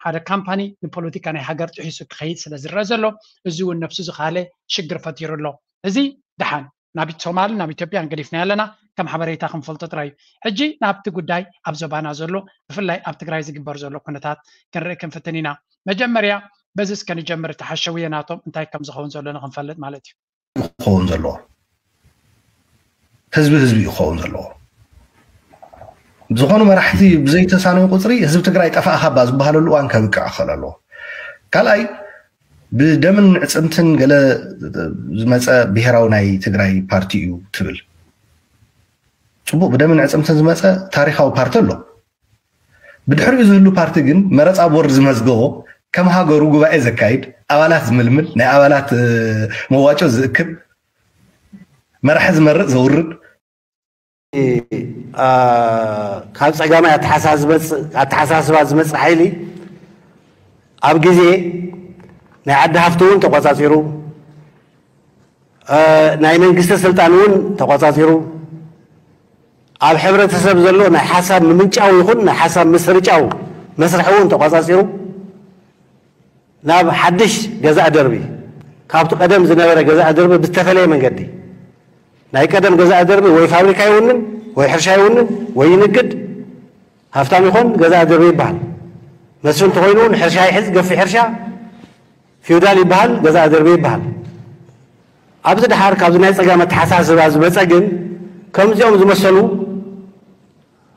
ሓደ ካምፓኒ ንፖለቲካ ናይ ሃገር ጥሒሱ ክኸይድ ስለ ዝረአ ዘሎ እዚ እውን ነብሱ ዝኻለ ሽግር ፈጢሩ ኣሎ። እዚ ደሓን ናብ ሶማልን ናብ ኢትዮጵያን ገዲፍና ኣለና ከም ሓበሬታ ክንፈልጦ ጥራይ እዩ። ሕጂ ናብቲ ጉዳይ ኣብ ዞባና ዘሎ ብፍላይ ኣብ ትግራይ ዝግበር ዘሎ ኩነታት ክንርኢ ክንፍትን ኢና። መጀመርያ በዚ እስከ ንጀምር፣ እቲ ሓሸውየ ናቶም እንታይ ከም ዝኸውን ዘሎ ንክንፈልጥ ማለት እዩ። ክኸውን ዘለዎ ህዝቢ ህዝቢ እዩ ክኸውን ዘለዎ። ዝኾኑ መራሕቲ ብዘይተሳነዩ ቁፅሪ ህዝቢ ትግራይ ጠፋእኻ እባ ዝበሃለሉ እዋን ከብቅዕ ክኽእል ኣለዎ። ካልኣይ ብደምን ዕፅምትን ገለ ዝመፀ ብሄራዊ ናይ ትግራይ ፓርቲ እዩ ትብል። ፅቡቅ ብደምን ዕፅምትን ዝመፀ ታሪካዊ ፓርቲ ኣሎ። ብድሕሪኡ ዝህሉ ፓርቲ ግን መረፃ ቦርድ ዝመዝገቦ ከም ሃገሩ ጉባኤ ዘካይድ ኣባላት ዝምልምል ናይ ኣባላት መዋጮ ዝእክብ መራሒ ዝመርፅ ዘውርድ ካብ ፀጋማይ ኣተሓሳስባ ዝመፅእ ሓይሊ ኣብ ግዜ ናይ ዓዲ ሃፍቲ እውን ተቆፃፂሩ ናይ መንግስቲ ስልጣን እውን ተቆፃፂሩ ኣብ ሕብረተሰብ ዘሎ ናይ ሓሳብ ምምንጫው ይኹን ናይ ሓሳብ ምስርጫው መስርሒ እውን ተቆፃፂሩ ናብ ሓድሽ ገዛእ ደርቢ ካብቲ ቀደም ዝነበረ ገዛእ ደርቢ ብዝተፈለየ መንገዲ ናይ ቀደም ገዛእ ደርቢ ወይ ፋብሪካ ይውንን ወይ ሕርሻ ይውንን ወይ ይንግድ፣ ሃፍታም ይኾን፣ ገዛ ኣደርበ ይበሃል። መስፍን እንተኾይኑ እውን ሕርሻ ይሕዝ፣ ገፊሕ ሕርሻ፣ ፊውዳል ይበሃል፣ ገዛ ኣደርበ ይበሃል። ኣብዚ ደሓር ካብዚ ናይ ጸጋም ኣተሓሳስባ ዝመጸ ግን፣ ከምዚኦም ዝመሰሉ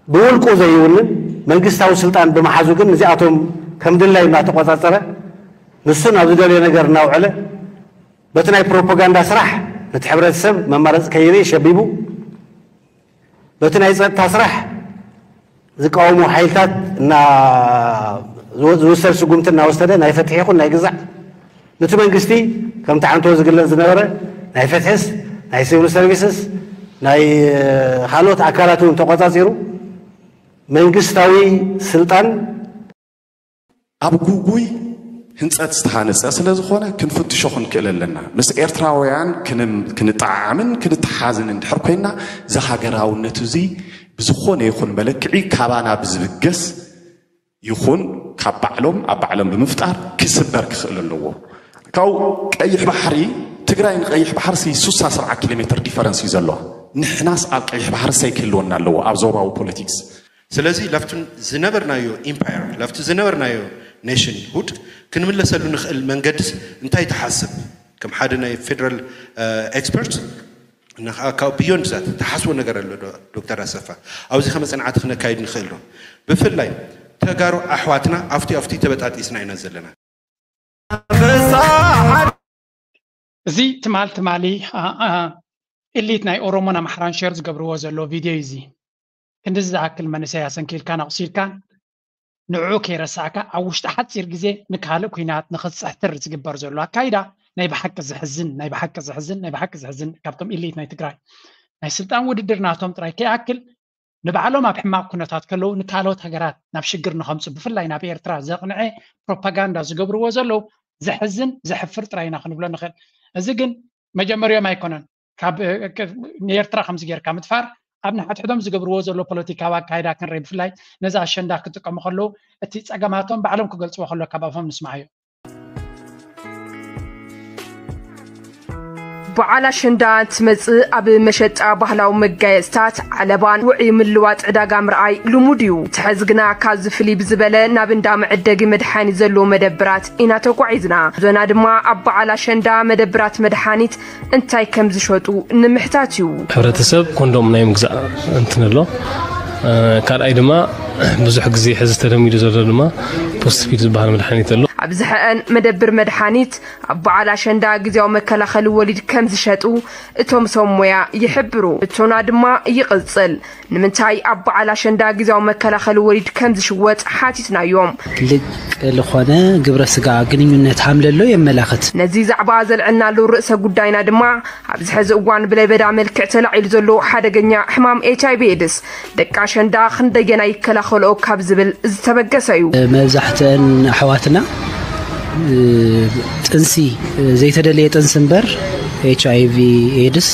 ብውልቁ ዘይውንን መንግስታዊ ስልጣን ብምሓዙ ግን፣ ንዚኣቶም ከም ድላይ እናተቆጻጸረ፣ ንሱ ናብ ዝደልዮ ነገር እናውዕለ፣ በቲ ናይ ፕሮፓጋንዳ ስራሕ ነቲ ሕብረተሰብ መማረፂ ከይርኢ ሸቢቡ፣ በቲ ናይ ጸጥታ ስራሕ ዝቃወሙ ሓይልታት እና ዝወ-፣ ዝውሰድ ስጉምቲ እናወሰደ፣ ናይ ፍትሒ ይኹን ናይ ግዛዕ፣ ነቲ መንግስቲ ከምቲ ዓንቶ ዝግለጽ ዝነበረ ናይ ፍትሕስ፣ ናይ ሲቪል ሰርቪስስ፣ ናይ ካልኦት ኣካላት እውን ተቆጻጺሩ፣ መንግስታዊ ስልጣን ኣብ ጉጉይ ህንጸት ዝተሃነጸ ስለ ዝኾነ፣ ክንፍትሾ ክንክእል ኣለና። ምስ ኤርትራውያን ክን-፣ ክንጠዓዓምን ክንተሓዝን እንድሕር ኮይና፣ እዚ ሃገራውነት እዚ ብዝኾነ ይኹን መለክዒ ካባና ብዝብገስ ይኹን ካብ ባዕሎም ኣብ ባዕሎም ብምፍጣር ክስበር ክኽእል ኣለዎ። ካብኡ ቀይሕ ባሕሪ፣ ትግራይ ንቀይሕ ባሕሪ ሲ ሱሳ ሰብዓ ኪሎ ሜትር ዲፈረንስ እዩ ዘለዋ። ንሕናስ ኣብ ቀይሕ ባሕሪ ሰይ ክህልወና ኣለዎ ኣብ ዞባዊ ፖለቲክስ። ስለዚ ለፍቱ ዝነበርናዮ ኢምፓየር፣ ለፍቱ ዝነበርናዮ ኔሽን ሁድ ክንምለሰሉ ንኽእል መንገድስ እንታይ ትሓስብ? ከም ሓደ ናይ ፌደራል ኤክስፐርት እና ካብ ቢዮንድ ዛት ትሓስቦ ነገር ኣሎ ዶ ዶክተር ኣሰፋ? ኣብዚ ከመ ጽንዓት ክነካይድ ንኽእል ዶ? ብፍላይ ተጋሩ ኣሕዋትና ኣብቲ ኣብቲ ተበጣጢስና ኢና ዘለና። እዚ ትማል ትማሊ ኢሊት ናይ ኦሮሞን ኣምሓራን ሸር ዝገብርዎ ዘሎ ቪድዮ እዩ። እዚ ክንድዚ ዝኣክል መንእሰይ ኣሰንኪልካን ኣቑሲልካን ንዕኡ ከይረሳዕካ ኣብ ውሽጢ ሓፂር ግዜ ንካልእ ኲናት ንኽትፅሕትር ዝግበር ዘሎ ኣካይዳ ናይ ብሓቂ ዘሕዝን ናይ ብሓቂ ዘሕዝን ናይ ብሓቂ ዘሕዝን ካብቶም ኢሊት ናይ ትግራይ ናይ ስልጣን ውድድር ናቶም ጥራይ ከይኣክል ንባዕሎም ኣብ ሕማቕ ኩነታት ከለዉ ንካልኦት ሃገራት ናብ ሽግር ንኸምፁ ብፍላይ ናብ ኤርትራ ዘቕንዐ ፕሮፓጋንዳ ዝገብርዎ ዘለዉ ዘሕዝን ዘሕፍር ጥራይ ኢና ክንብሎ ንኽእል። እዚ ግን መጀመርዮም ኣይኮነን። ካብ ንኤርትራ ከምዚ ጌርካ ምጥፋር ኣብ ንሓድሕዶም ዝገብርዎ ዘሎ ፖለቲካዊ ኣካይዳ ክንርኢ ብፍላይ ነዚ ኣሸንዳ ክጥቀሙ ከለዉ እቲ ጸገማቶም ባዕሎም ክገልጽዎ ከሎ ካብ ኣፎም ንስምዓዮ። በዓል ኣሸንዳ እንትመጽእ ኣብ መሸጣ ባህላዊ መጋየጽታት፣ ዓለባን ውዑይ ምልዋጥ ዕዳጋ ምርኣይ ልሙድ እዩ። እቲ ሕዚ ግና ካብዚ ፍልይ ብዝበለ ናብ እንዳ መዐደጊ መድሓኒት ዘለዎ መደብራት ኢና ተጓዒዝና። ጉዕዞና ድማ ኣብ በዓል ኣሸንዳ መደብራት መድሓኒት እንታይ ከም ዝሸጡ ንምሕታት እዩ። ሕብረተሰብ ኮንዶም ናይ ምግዛእ እንትን ኣሎ። ካልኣይ ድማ ብዙሕ ግዜ ሕዚ ተለሚዱ ዘሎ ድማ ፖስት ፒል ዝበሃል መድሓኒት ኣሎ። ኣብዝሐአን መደብር መድሓኒት ኣብ በዓል ኣሸንዳ ግዜያዊ መከላኸሊ ወሊድ ከም ዝሸጡ እቶም ሰብ ሞያ ይሕብሩ። እቶና ድማ ይቕጽል። ንምንታይ ኣብ በዓል ኣሸንዳ ግዜያዊ መከላኸሊ ወሊድ ከም ዝሽወጥ ሓቲትናዮም። ልቅ ልኾነ ግብረ ስጋ ግንኙነት ሃምለሎ የመላኽት። ነዚ ዛዕባ ዘልዐልናሉ ርእሰ ጉዳይና ድማ ኣብዚ ሕዚ እዋን ብለበዳ መልክዕ ተላዒሉ ዘሎ ሓደገኛ ሕማም ኤች ኣይ ቪ ኤድስ ደቂ ኣሸንዳ ክንደየናይ ይከላኸልኦ ካብ ዝብል ዝተበገሰ እዩ። መብዛሕትአን ኣሕዋትና ጥንሲ ዘይተደለየ ጥንሲ እምበር ኤች ኣይ ቪ ኤድስ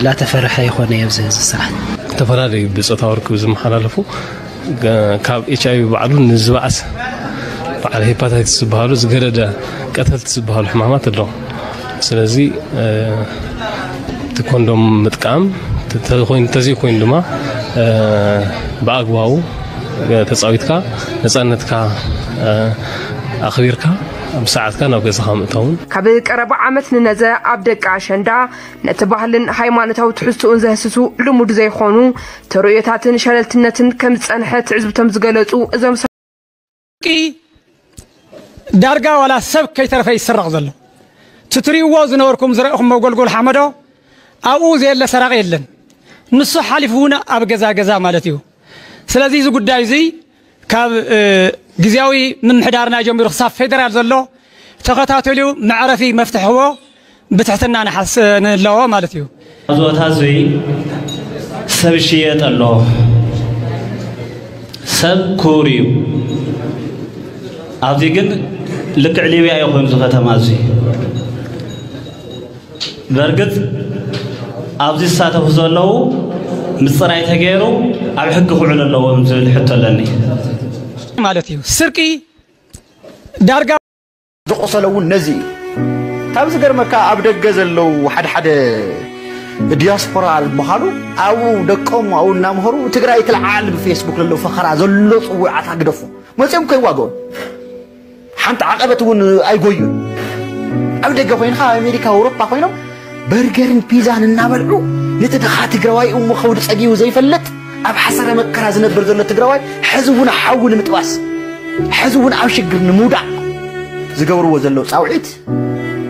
ላተፈረሐ ይኾነ ኣብዚ ሕዚ ሰዓት። ዝተፈላለዩ ብፆታዊ ርክብ ዝመሓላለፉ ካብ ኤች ኣይ ቪ ባዕሉ ንዝበኣሰ በዓል ሄፓታይትስ ዝበሃሉ ዝገደደ ቀተልቲ ዝበሃሉ ሕማማት ኣለዉ። ስለዚ እቲ ኮንዶም ምጥቃም ተዘይኮይኑ ድማ ብኣግባቡ ተፃዊትካ ነፃነትካ ኣኽቢርካ ብሰዓትካ ናብ ገዛኻ ምእታውን። ካብ ቀረባ ዓመት ንነዘ ኣብ ደቂ ኣሸንዳ ነቲ ባህልን ሃይማኖታዊ ትሕዝትኡን ዘህስሱ ልሙድ ዘይኾኑ ተርእዮታትን ሸለልትነትን ከም ዝፀንሐ ትዕዝብቶም ዝገለፁ እዞም ሰብ። ዳርጋ ዋላ ሰብ ከይተረፈ ይስረቕ ዘሎ። እቲ ትሪእዎ ዝነበርኩም ዝረእኹም መጎልጎል ሓመዶ ኣብኡ ዘየለ ሰራቒ የለን። ንሱ ሓሊፉ እውን ኣብ ገዛ ገዛ ማለት እዩ። ስለዚ እዚ ጉዳይ እዚ ካብ ግዝያዊ ምምሕዳርና ጀሚሩ ክሳብ ፌደራል ዘሎ ተኸታተልዩ መዕረፊ መፍትሕዎ ብትሕትና ንሓስ ንለዎ ማለት እዩ። ኣብዚ ቦታ እዙይ ሰብ ይሽየጥ ኣሎ። ሰብ ክቡር እዩ። ኣብዚ ግን ልክዕ ሊብያ እዩ ኮይኑ እዚ ከተማ እዙይ። በርግጥ ኣብዚ ዝሳተፉ ዘለዉ ምፅራይ ተገይሩ ኣብ ሕጊ ክውዕሉ ኣለዎም ዝብል ሕቶ ኣለኒ። ማለት እዩ ስርቂ ዳርጋ ዝቆሰለ እውን ነዚ እዩ። ካብ ዝገርመካ ኣብ ደገ ዘለዉ ሓድሓደ ዲያስፖራ ዝበሃሉ ኣብኡ ደቆም ኣብኡ እናምሃሩ ትግራይ ትልዓል ብፌስቡክ ዘሎ ፈኸራ ዘሎ ፅውዓት ኣግደፉ መፅኦም ከይዋገኡ ሓንቲ ዓቐበት እውን ኣይጎዩን ኣብ ደገ ኮይንካ ኣሜሪካ ኣውሮፓ ኮይኖም በርገርን ፒዛን እናበልዑ ነቲ ድኻ ትግራዋይ እሞ ከብዱ ፀጊቡ ዘይፈልጥ ኣብ ሓሰረ መከራ ዝነብር ዘሎ ትግራዋይ ሕዚ እውን ሓዊ ንምጥባስ ሕዚ እውን ኣብ ሽግር ንምውዳቕ ዝገብርዎ ዘለዉ ፃውዒት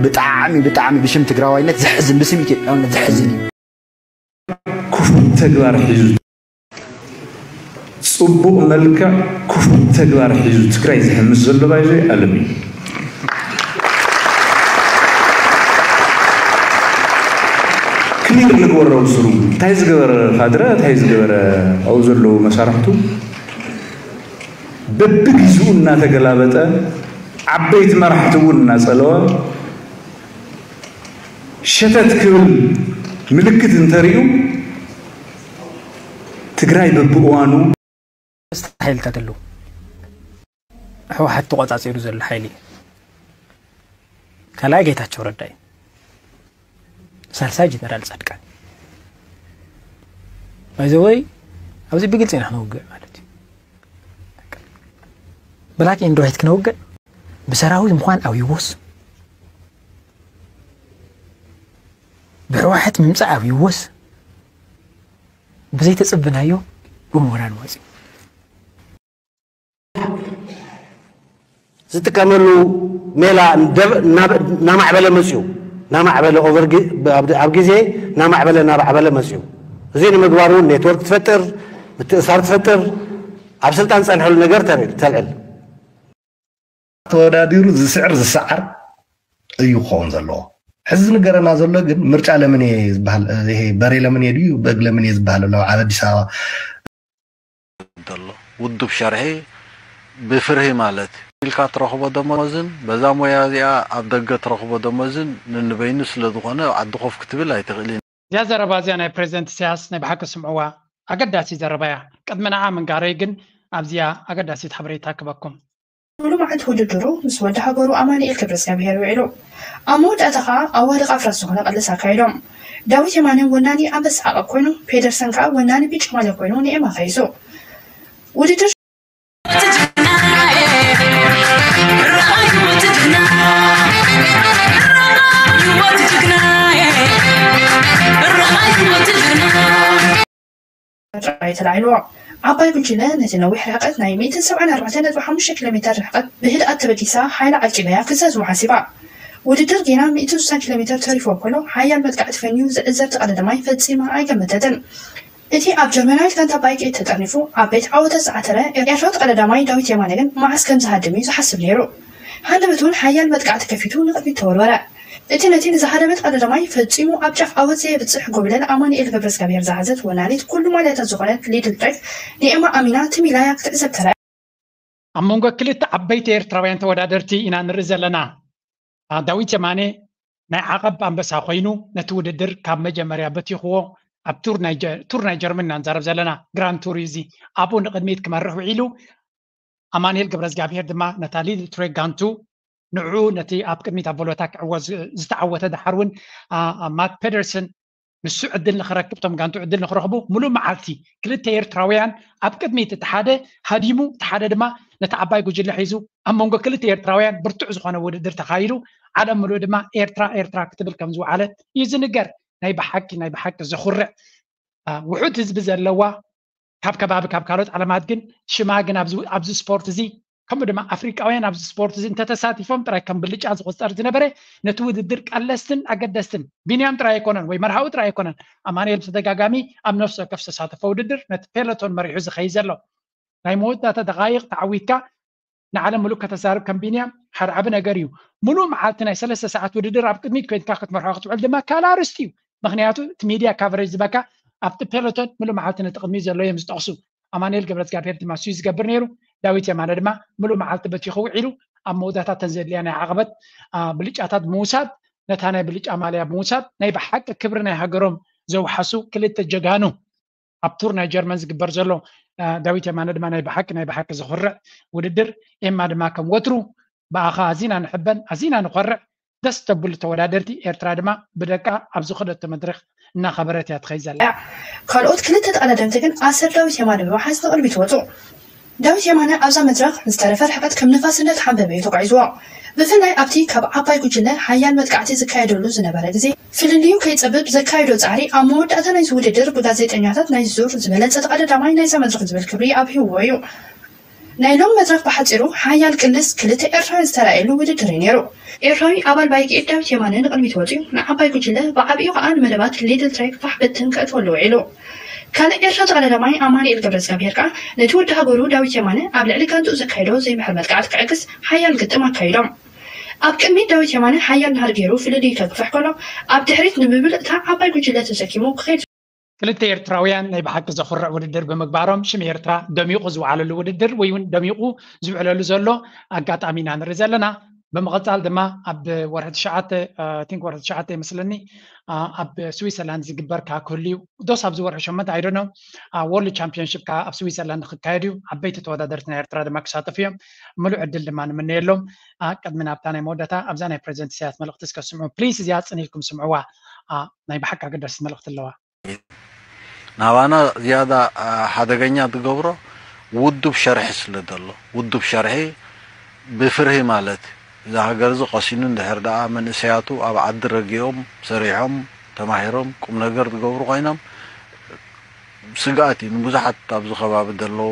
ብጣዕሚ ብጣዕሚ ብሽም ትግራዋይነት ዘሕዝን ብስም ኢትዮጵያውነት ዘሕዝን እዩ። ክፉእ ተግባር ሒዙ ፅቡቕ መልክዕ ክፉእ ተግባር ሒዙ ትግራይ ዝሕምስ ዘሎ ባይዞ ኣለም እዩ። ክሊር ንግበረው ስሩ እንታይ ዝገበረ ካድረ እንታይ ዝገበረ ኣብኡ ዘለዉ መሳርሕቱ በብግዝኡ እናተገላበጠ ዓበይቲ መራሕቲ እውን እናፀለወ ሸተት ክብል ምልክት እንተሪኡ ትግራይ በብእዋኑ ሓይልታት ኣለዉ። ህወሓት ተቆፃፂሩ ዘሎ ሓይሊ ካልኣይ ጌታቸው ረዳ እዩ። ሳልሳይ ጀነራል ፃድቃን ባይዘወይ ኣብዚ ብግልፂ ኢና ክነውግዕ ማለት እዩ። ብላክ ኤንድ ዋይት ክነውግዕ ብሰራዊት ምኳን ኣብይዎስ ብህወሓት ምምፃእ ኣብይዎስ ብዘይተፅብናዮ ብምሁራን ወፂ ዝጥቀመሉ ሜላ እናማዕበለ መፅኡ ናማዕበለ ኣብ ግዜ ናማዕበለ ናማዕበለ መፅኡ እዚ ንምግባር እውን ኔትወርክ ትፈጥር ምትእሳር ትፈጥር ኣብ ስልጣን ዝፀንሐሉ ነገር ተልዕል ተወዳዲሩ ዝስዕር ዝሰዓር እዩ ክኸውን ዘለዎ ሕዚ ዝንገረና ዘሎ ግን ምርጫ ለምን እየ ዝበሃል ይሄ በሬ ለምን እየ ድዩ በግ ለምን እየ ዝበሃል ኣሎ ኣብ ኣዲስ ኣበባ ዘሎ ውዱብ ሸርሒ ብፍርሂ ማለት ኢልካ ትረኽቦ ደሞዝን በዛ ሞያ እዚኣ ኣብ ደገ ትረኽቦ ደሞዝን ንንበይኑ ስለ ዝኾነ ኣብ ዓዲ ኮፍ ክትብል ኣይትኽእልን። እዚኣ ዘረባ እዚኣ ናይ ፕሬዚደንት ኢሳያስ ናይ ብሓቂ ስምዕዋ ኣገዳሲ ዘረባ እያ። ቅድሚ ንዓ ምንጋረይ ግን ኣብዚኣ ኣገዳሲት ሓበሬታ ክበኩም። ሙሉ መዓልቲ ውድድሩ ምስ ወዲ ሃገሩ ኣማኑኤል ገብረዝጋብሄር ውዒሉ። ኣብ መወዳእታ ከኣ ኣዋልቕ ኣፍራስ ዝኾነ ቅልስ ኣካይዶም። ዳዊት የማነ ወናኒ ኣንበሳ ዓቐብ ኮይኑ፣ ፔደርሰን ከኣ ወናኒ ብጫ ማልያ ኮይኑ ንኤማ ከይሱ። ውድድር። ጥራይ ተላዒልዎ። ዓባይ ጉጅለ ነቲ ነዊሕ ርሕቀት ናይ ሚእትን ሰብዓን ኣርባዕተን ነጥቢ ሓሙሽተ ኪሎ ሜተር ርሕቀት ብህድኣት ተበጊሳ ሓይላ ዓቂባ'ያ ክዘዝዎ ሓሲባ። ውድድር ጌና ሚእትን ስሳን ኪሎ ሜተር ተሪፍዎ ከሎ ሓያል መጥቃዕቲ ፈንዩ ዝዕዘብቲ ቀዳዳማይ ፈጺማ ኣይገመተትን። እቲ ኣብ ጀርመናዊት ጋንታ ባይክ ኤይት ተጠርኒፉ ዓበይቲ ዓወታት ዝዓተረ ኤርትራዊ ቀዳዳማይ ዳዊት የማነ ግን መዓስ ከም ዝሃድም እዩ ዝሓስብ ነይሩ። ሃንደበት እውን ሓያል መጥቃዕቲ ከፊቱ ንቕድሚት ተወርወረ። እቲ ነቲ ንዝሃደመት ቀዳዳማይ ፈጺሙ ኣብ ጫፍ ዓወት ዘየብጽሕ ጎብለል ኣማኑኤል ገብረዝጋብሄር ዝሓዘት ወናኒት ኩሉ ማልያታት ዝኾነት ሊድል ጣይፍ ንኤማ ኣሚና ትም ኢላ እያ ክትዕዘብ ተራእያ። ኣብ መንጎ ክልተ ዓበይቲ ኤርትራውያን ተወዳደርቲ ኢና ንርኢ ዘለና። ዳዊት የማነ ናይ ዓቐብ ኣንበሳ ኮይኑ ነቲ ውድድር ካብ መጀመርያ በቲኽዎ ኣብ ቱር ናይ ጀርመን ኢና ንዛረብ ዘለና ግራንድ ቱር እዩ እዚ ኣብኡ ንቕድሚት ክመርሕ ውዒሉ ኣማኑኤል ገብረዝጋብሄር ድማ ነታ ሊድል ትሬክ ጋንቱ ንዕኡ ነቲ ኣብ ቅድሚት ኣብ ቮሎታ ክዕወት ዝተዓወተ ደሓር እውን ማት ፔደርሰን ንሱ ዕድል ንኽረክብ እቶም ጋንቱ ዕድል ንኽረኽቡ ሙሉእ መዓልቲ ክልተ ኤርትራውያን ኣብ ቅድሚት እቲ ሓደ ሃዲሙ እቲ ሓደ ድማ ነቲ ዓባይ ጉጅለ ሒዙ ኣብ መንጎ ክልተ ኤርትራውያን ብርቱዕ ዝኾነ ውድድር ተኻይዱ ዓለም ሙሉእ ድማ ኤርትራ ኤርትራ ክትብል ከም ዝወዓለት እዩ ዝንገር ናይ ብሓቂ ናይ ብሓቂ ዘኹርዕ ውሑድ ህዝቢ ዘለዋ ካብ ከባቢ ካብ ካልኦት ዓለማት ግን ሽማ ግን ኣብዚ ስፖርት እዚ ከምኡ ድማ ኣፍሪቃውያን ኣብዚ ስፖርት እዚ እንተተሳቲፎም ጥራይ ከም ብልጫ ዝቁፀር ዝነበረ ነቲ ውድድር ቀለስትን ኣገደስትን ቢንያም ጥራይ ኣይኮነን ወይ መርሃዊ ጥራይ ኣይኮነን ኣማኑኤል ብተደጋጋሚ ኣብ ነፍሲ ወከፍ ዝተሳተፎ ውድድር ነቲ ፔሎቶን መሪሑ ዝኸይድ ዘሎ ናይ መወዳእታ ደቃይቕ ተዓዊትካ ንዓለም ሙሉእ ከተዛርብ ከም ቢንያም ሓደ ዓቢ ነገር እዩ። ሙሉእ መዓልቲ ናይ ሰለስተ ሰዓት ውድድር ኣብ ቅድሚት ኮይንካ ክትመርሖ ክትውዕል ድማ ካልእ ኣርእስቲ እዩ። ምኽንያቱ እቲ ሚድያ ካቨሬጅ ዝበካ ኣብቲ ፔሎቶን ሙሉእ መዓልቲ ነቲ ቅድሚት ዘሎ እዮም ዝጠቕሱ። ኣማኑኤል ገብረዝጋብሄር ድማ እሱ እዩ ዝገብር ነይሩ። ዳዊት የማነ ድማ ሙሉእ መዓልቲ በቲኹ ውዒሉ ኣብ መወዳእታ እተን ዘድልያ ናይ ዓቐበት ብልጫታት ብምውሳድ ነታ ናይ ብልጫ ማልያ ብምውሳድ ናይ ብሓቂ ክብሪ ናይ ሃገሮም ዘውሓሱ ክልተ ጀጋኑ ኣብ ቱር ናይ ጀርመን ዝግበር ዘሎ ዳዊት የማነ ድማ ናይ ብሓቂ ናይ ብሓቂ ዘኹርዕ ውድድር ኤማ ድማ ከም ወትሩ ብኣኻ ኣዚና ንሕበን ኣዚና ንኾርዕ ደስ ተብሉ ተወዳደርቲ። ኤርትራ ድማ ብደቃ ኣብ ዝኸደቶ መድረኽ እናኸበረት እያ ትኸይድ ዘላ። ካልኦት ክልተ ተቐዳደምቲ ግን ኣሰር ዳዊት የማነ ብምሓዝ ንቕድሚት ወፁ። ዳዊት የማነ ኣብዛ መድረኽ ንዝተረፈ ርሕቀት ከም ንፋስ እንዳተሓንበበ እዩ ተጓዒዝዎ። ብፍላይ ኣብቲ ካብ ዓባይ ጉጅለ ሓያል መጥቃዕቲ ዝካየደሉ ዝነበረ ግዜ ፍልልዩ ከይጸብብ ዘካየዶ ጻዕሪ ኣብ መወዳእታ ናይዚ ውድድር ብጋዜጠኛታት ናይዚ ዙር ዝበለጸ ተቐዳዳማይ ናይዛ መድረኽ ዝብል ክብሪ ኣብሂብዎ እዩ። ናይ ሎም መድረኽ ብሓጺሩ ሓያል ቅልስ ክልተ ኤርትራውያን ዝተራእየሉ ውድድር እዩ ነይሩ። ኤርትራዊ ኣባል ባይግኤት ዳዊት የማነ ንቕድሚት ወጺኡ ንዓባይ ጉጅለ ብዓብዩ ከኣ ንመደባት ሊድል ትሬክ ፋሕ ብትን ከእትወሉ ውዒሉ። ካልእ ኤርትራ ተቐዳዳማይ ኣማኑኤል ገብረእግዚኣብሄር ከኣ ነቲ ወዲ ሃገሩ ዳዊት የማነ ኣብ ልዕሊ ጋንትኡ ዘካየዶ ዘይምሕር መጥቃዕቲ ክዕግስ ሓያል ግጥም ኣካይዶም። ኣብ ቅድሚት ዳዊት የማነ ሓያል ናህሪ ገይሩ ፍልልዩ ከግፍሕ ከሎ ኣብ ድሕሪት ንምምልእታ ዓባይ ጉጅለ ተሰኪሙ ክኸይድ ክልተ ኤርትራውያን ናይ ብሓቂ ዘኹርዕ ውድድር ብምግባሮም ሽም ኤርትራ ደሚቑ ዝወዓለሉ ውድድር ወይ እውን ደሚቑ ዝውዕለሉ ዘሎ ኣጋጣሚ ኢና ንርኢ ዘለና። ብምቕጻል ድማ ኣብ ወርሒ ትሽዓተ ቲንክ ወርሒ ትሽዓተ ይመስለኒ ኣብ ስዊዘርላንድ ዝግበር ከዓ ክህሉ እዩ። ዶስ ኣብዚ ወርሒ ሸሞንተ ኣይደኖ ወርልድ ቻምፒዮንሽፕ ከዓ ኣብ ስዊዘርላንድ ክካየድ እዩ። ዓበይቲ ተወዳደርቲ ናይ ኤርትራ ድማ ክሳተፉ እዮም። ምሉእ ዕድል ድማ ንምነየሎም። ቅድሚ ናብታ ናይ መወዳእታ ኣብዛ ናይ ፕሬዚደንት ኢሳያስ መልእኽቲ እስከ ስምዑ ፕሊስ። እዚኣ ጽን ኢልኩም ስምዕዋ። ናይ ብሓቂ ኣገዳሲት መልእኽቲ ኣለዋ። ናባና ዝያዳ ሓደገኛ ዝገብሮ ውዱብ ሸርሒ ስለ ዘሎ፣ ውዱብ ሸርሒ ብፍርሂ ማለት እዩ። እዚ ሃገር እዚ ቀሲኑ እንድሕር ደኣ መንእሰያቱ ኣብ ዓዲ ረጊኦም ሰሪሖም ተማሂሮም ቁም ነገር ዝገብሩ ኮይኖም ስግኣት እዩ ንብዙሓት ኣብዚ ከባቢ ዘለዉ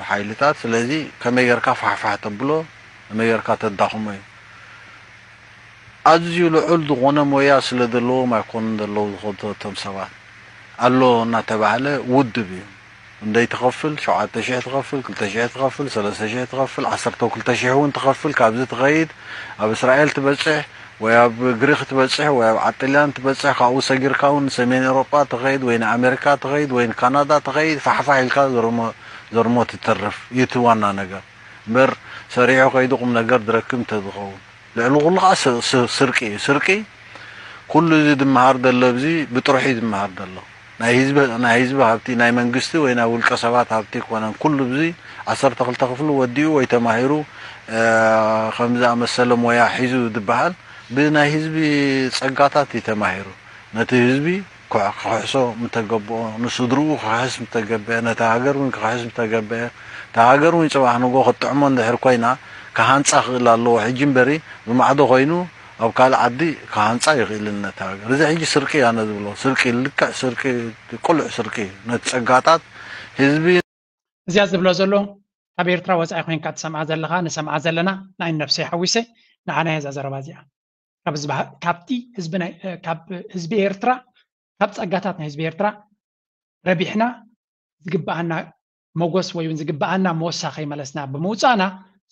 ሓይልታት። ስለዚ ከመይ ጌርካ ፋሕፋሕ ተብሎ ከመይ ጌርካ ተዳኽሞ እዩ። ኣዝዩ ልዑል ዝኾነ ሞያ ስለ ዘለዎም ኣይኮኑን ዘለዉ ዝኸዱ እቶም ሰባት። ኣሎ እናተባህለ ውድብ እዩ። ክንደይ ትኸፍል? ሸውዓተ ሽሕ ትኸፍል፣ ክልተ ሽሕ ትኸፍል፣ ሰለስተ ሽሕ ትኸፍል፣ ዓሰርተ ክልተ ሽሕ እውን ትኸፍል። ካብዚ ትኸይድ ኣብ እስራኤል ትበጽሕ ወይ ኣብ ግሪኽ ትበጽሕ ወይ ኣብ ዓጥልያን ትበጽሕ። ካብኡ ሰጊርካ እውን ንሰሜን ኤውሮጳ ትኸይድ ወይ ንኣሜሪካ ትኸይድ ወይ ንካናዳ ትኸይድ። ፋሕፋሕ ኢልካ ዘርሞ ዘርሞ ትተርፍ እዩ እቲ ዋና ነገር። እምበር ሰሪሑ ከይዱ ቁም ነገር ዝረክብ እንተዝኸውን ልዕሊ ኩሉ ከዓ ስርቂ እዩ። ስርቂ ኩሉ እዚ ዝመሃር ዘሎ ኣብዚ ብጥርሑ እዩ ዝመሃር ዘሎ። ናይ ህዝቢ ናይ ህዝቢ ሃብቲ ናይ መንግስቲ ወይ ናይ ውልቀ ሰባት ሃብቲ ኣይኮነን። ኩሉ እዚ ዓሰርተ ክልተ ክፍሊ ወዲኡ ወይ ተማሂሩ ከም ዝኣመሰለ ሞያ ሒዙ ዝበሃል ብናይ ህዝቢ ጸጋታት እዩ ተማሂሩ። ነቲ ህዝቢ ክሕሶ ምተገብኦ፣ ንስድርኡ ክኽሕስ ምተገበአ፣ ነታ ሃገር እውን ክኽሕስ ምተገበአ፣ እታ ሃገር እውን ጽባሕ ንግሆ ክትጥዕሞ እንድሕር ኮይና ክሃንጻ ክኽእል ኣለዎ። ሕጂ እምበሪ ብማዕዶ ኮይኑ ኣብ ካልእ ዓዲ ክሃንጻ ይኽእልን ነታ ሃገር። እዚ ሕጂ ስርቂ ኣነ ዝብሎ ስርቂ፣ ልክዕ ስርቂ፣ ቅሉዕ ስርቂ እዩ። ነቲ ጸጋታት ህዝቢ እዚኣ ዝብሎ ዘሎ ካብ ኤርትራ ወጻኢ ኮይንካ ትሰምዓ ዘለኻ ንሰምዓ ዘለና ንዓይ ነብሰይ ሓዊሰ ንዓና እያ እዛ ዘረባ እዚኣ። ካብ ህዝቢ ካብቲ ህዝቢ ናይ ካብ ህዝቢ ኤርትራ ካብ ጸጋታት ናይ ህዝቢ ኤርትራ ረቢሕና ዝግብኣና መጎስ ወይ እውን ዝግብኣና ሞሳ ከይመለስና ብምውጻእና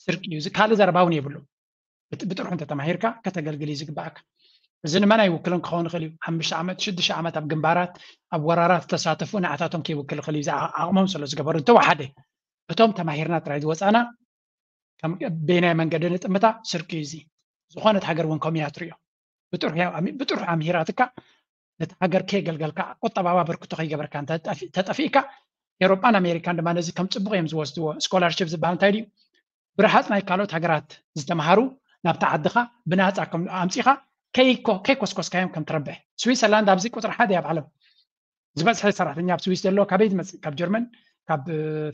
ስርቂ እዩ። ካልእ ዘረባ እውን የብሉ። ብጥርሑ እንተተማሂርካ ከተገልግል እዩ ዝግባኣካ። እዚ ንመን ኣይውክልን ክኸውን ይኽእል እዩ። ሓሙሽተ ዓመት ሽዱሽተ ዓመት ኣብ ግንባራት ኣብ ወራራት ዝተሳተፉ ንዓታቶም ከይውክል ይኽእል እዩ። ዓቕሞም ስለ ዝገበሩ እንተወሓደ እቶም ተማሂርና ጥራይ ዝወፃና በየናይ መንገዲ ንጥምታ ስርቂ እዩ። እዚ ዝኾነት ሃገር እውን ከምኡ እያ ትሪኦ። ብጥርሑ ኣምሂራትካ ነቲ ሃገር ከየገልገልካ ቁጠባዊ ኣበርክቶ ከይገበርካ ተጠፊእካ ኤሮጳን ኣሜሪካን ድማ ነዚ ከም ፅቡቕ እዮም ዝወስድዎ። ስኮላርሽፕ ዝበሃል እንታይ ድዩ? ብረሃፅ ናይ ካልኦት ሃገራት ዝተምሃሩ ናብቲ ዓድኻ ብናፃ ኣምፂኻ ከይኮስኮስካዮም ከም ትረብሕ። ስዊትዘርላንድ ኣብዚ ቁፅሪ ሓደ ኣብ ዓለም ዝበዝሐ ሰራሕተኛ ኣብ ስዊስ ዘሎ ካበይ ዝመፅእ? ካብ ጀርመን፣ ካብ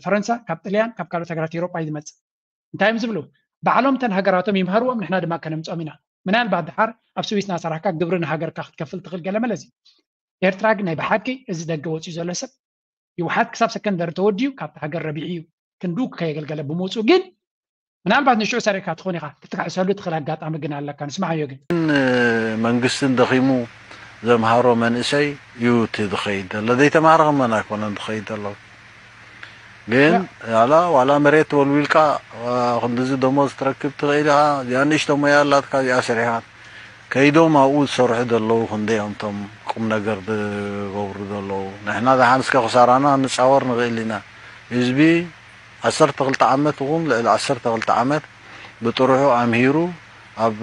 ፈረንሳ፣ ካብ ጥልያን፣ ካብ ካልኦት ሃገራት ኤሮጳ እዩ ዝመፅእ። እንታይ እዮም ዝብሉ? ባዕሎም እተን ሃገራቶም ይምሃርዎም ንሕና ድማ ከነምፅኦም ኢና። ምናልባት ድሓር ኣብ ስዊስ እናሰራሕካ ግብሪ ንሃገርካ ክትከፍል ትኽእል ገለ መለ እዚ። ኤርትራ ግን ናይ ብሓቂ እዚ ደገ ወፂኡ ዘሎ ሰብ ህወሓት ክሳብ ሰከንደሪ ተወዲኡ ካብቲ ሃገር ረቢሑ እዩ ክንዱ ከየገልገለ ብምውፅኡ ግን ምናልባት ንሽዑ ሰሪዕካ ትኾን ኢኻ ክትክሕሰሉ ትኽእል ኣጋጣሚ ግን ኣለካ ንስማዓዮ ግን መንግስትን ደኺሙ ዘምሃሮ መንእሰይ እዩ እቲ ዝኸይድ ዘሎ ዘይተማሃረ ከመን ኣይኮነን ዝኸይድ ዘሎ ግን ዋላ ዋላ መሬት ተወልዊልካ ክንድዚ ደሞዝ ትረክብ ትኽእል ኢኻ እዚኣ ንእሽቶ ሞያ ኣላትካ እዚኣ ሰሪሕካ ከይዶም ኣብኡ ዝሰርሑ ዘለዉ ክንደይ እዮም እቶም ቁም ነገር ዝገብሩ ዘለዉ ንሕና ደሓን እስከ ክሳራና ንፃወር ንኽእል ኢና ህዝቢ ዓሰርተ ክልተ ዓመት እውን ልዕሊ ዓሰርተ ክልተ ዓመት ብጥርሑ ኣምሂሩ ኣብ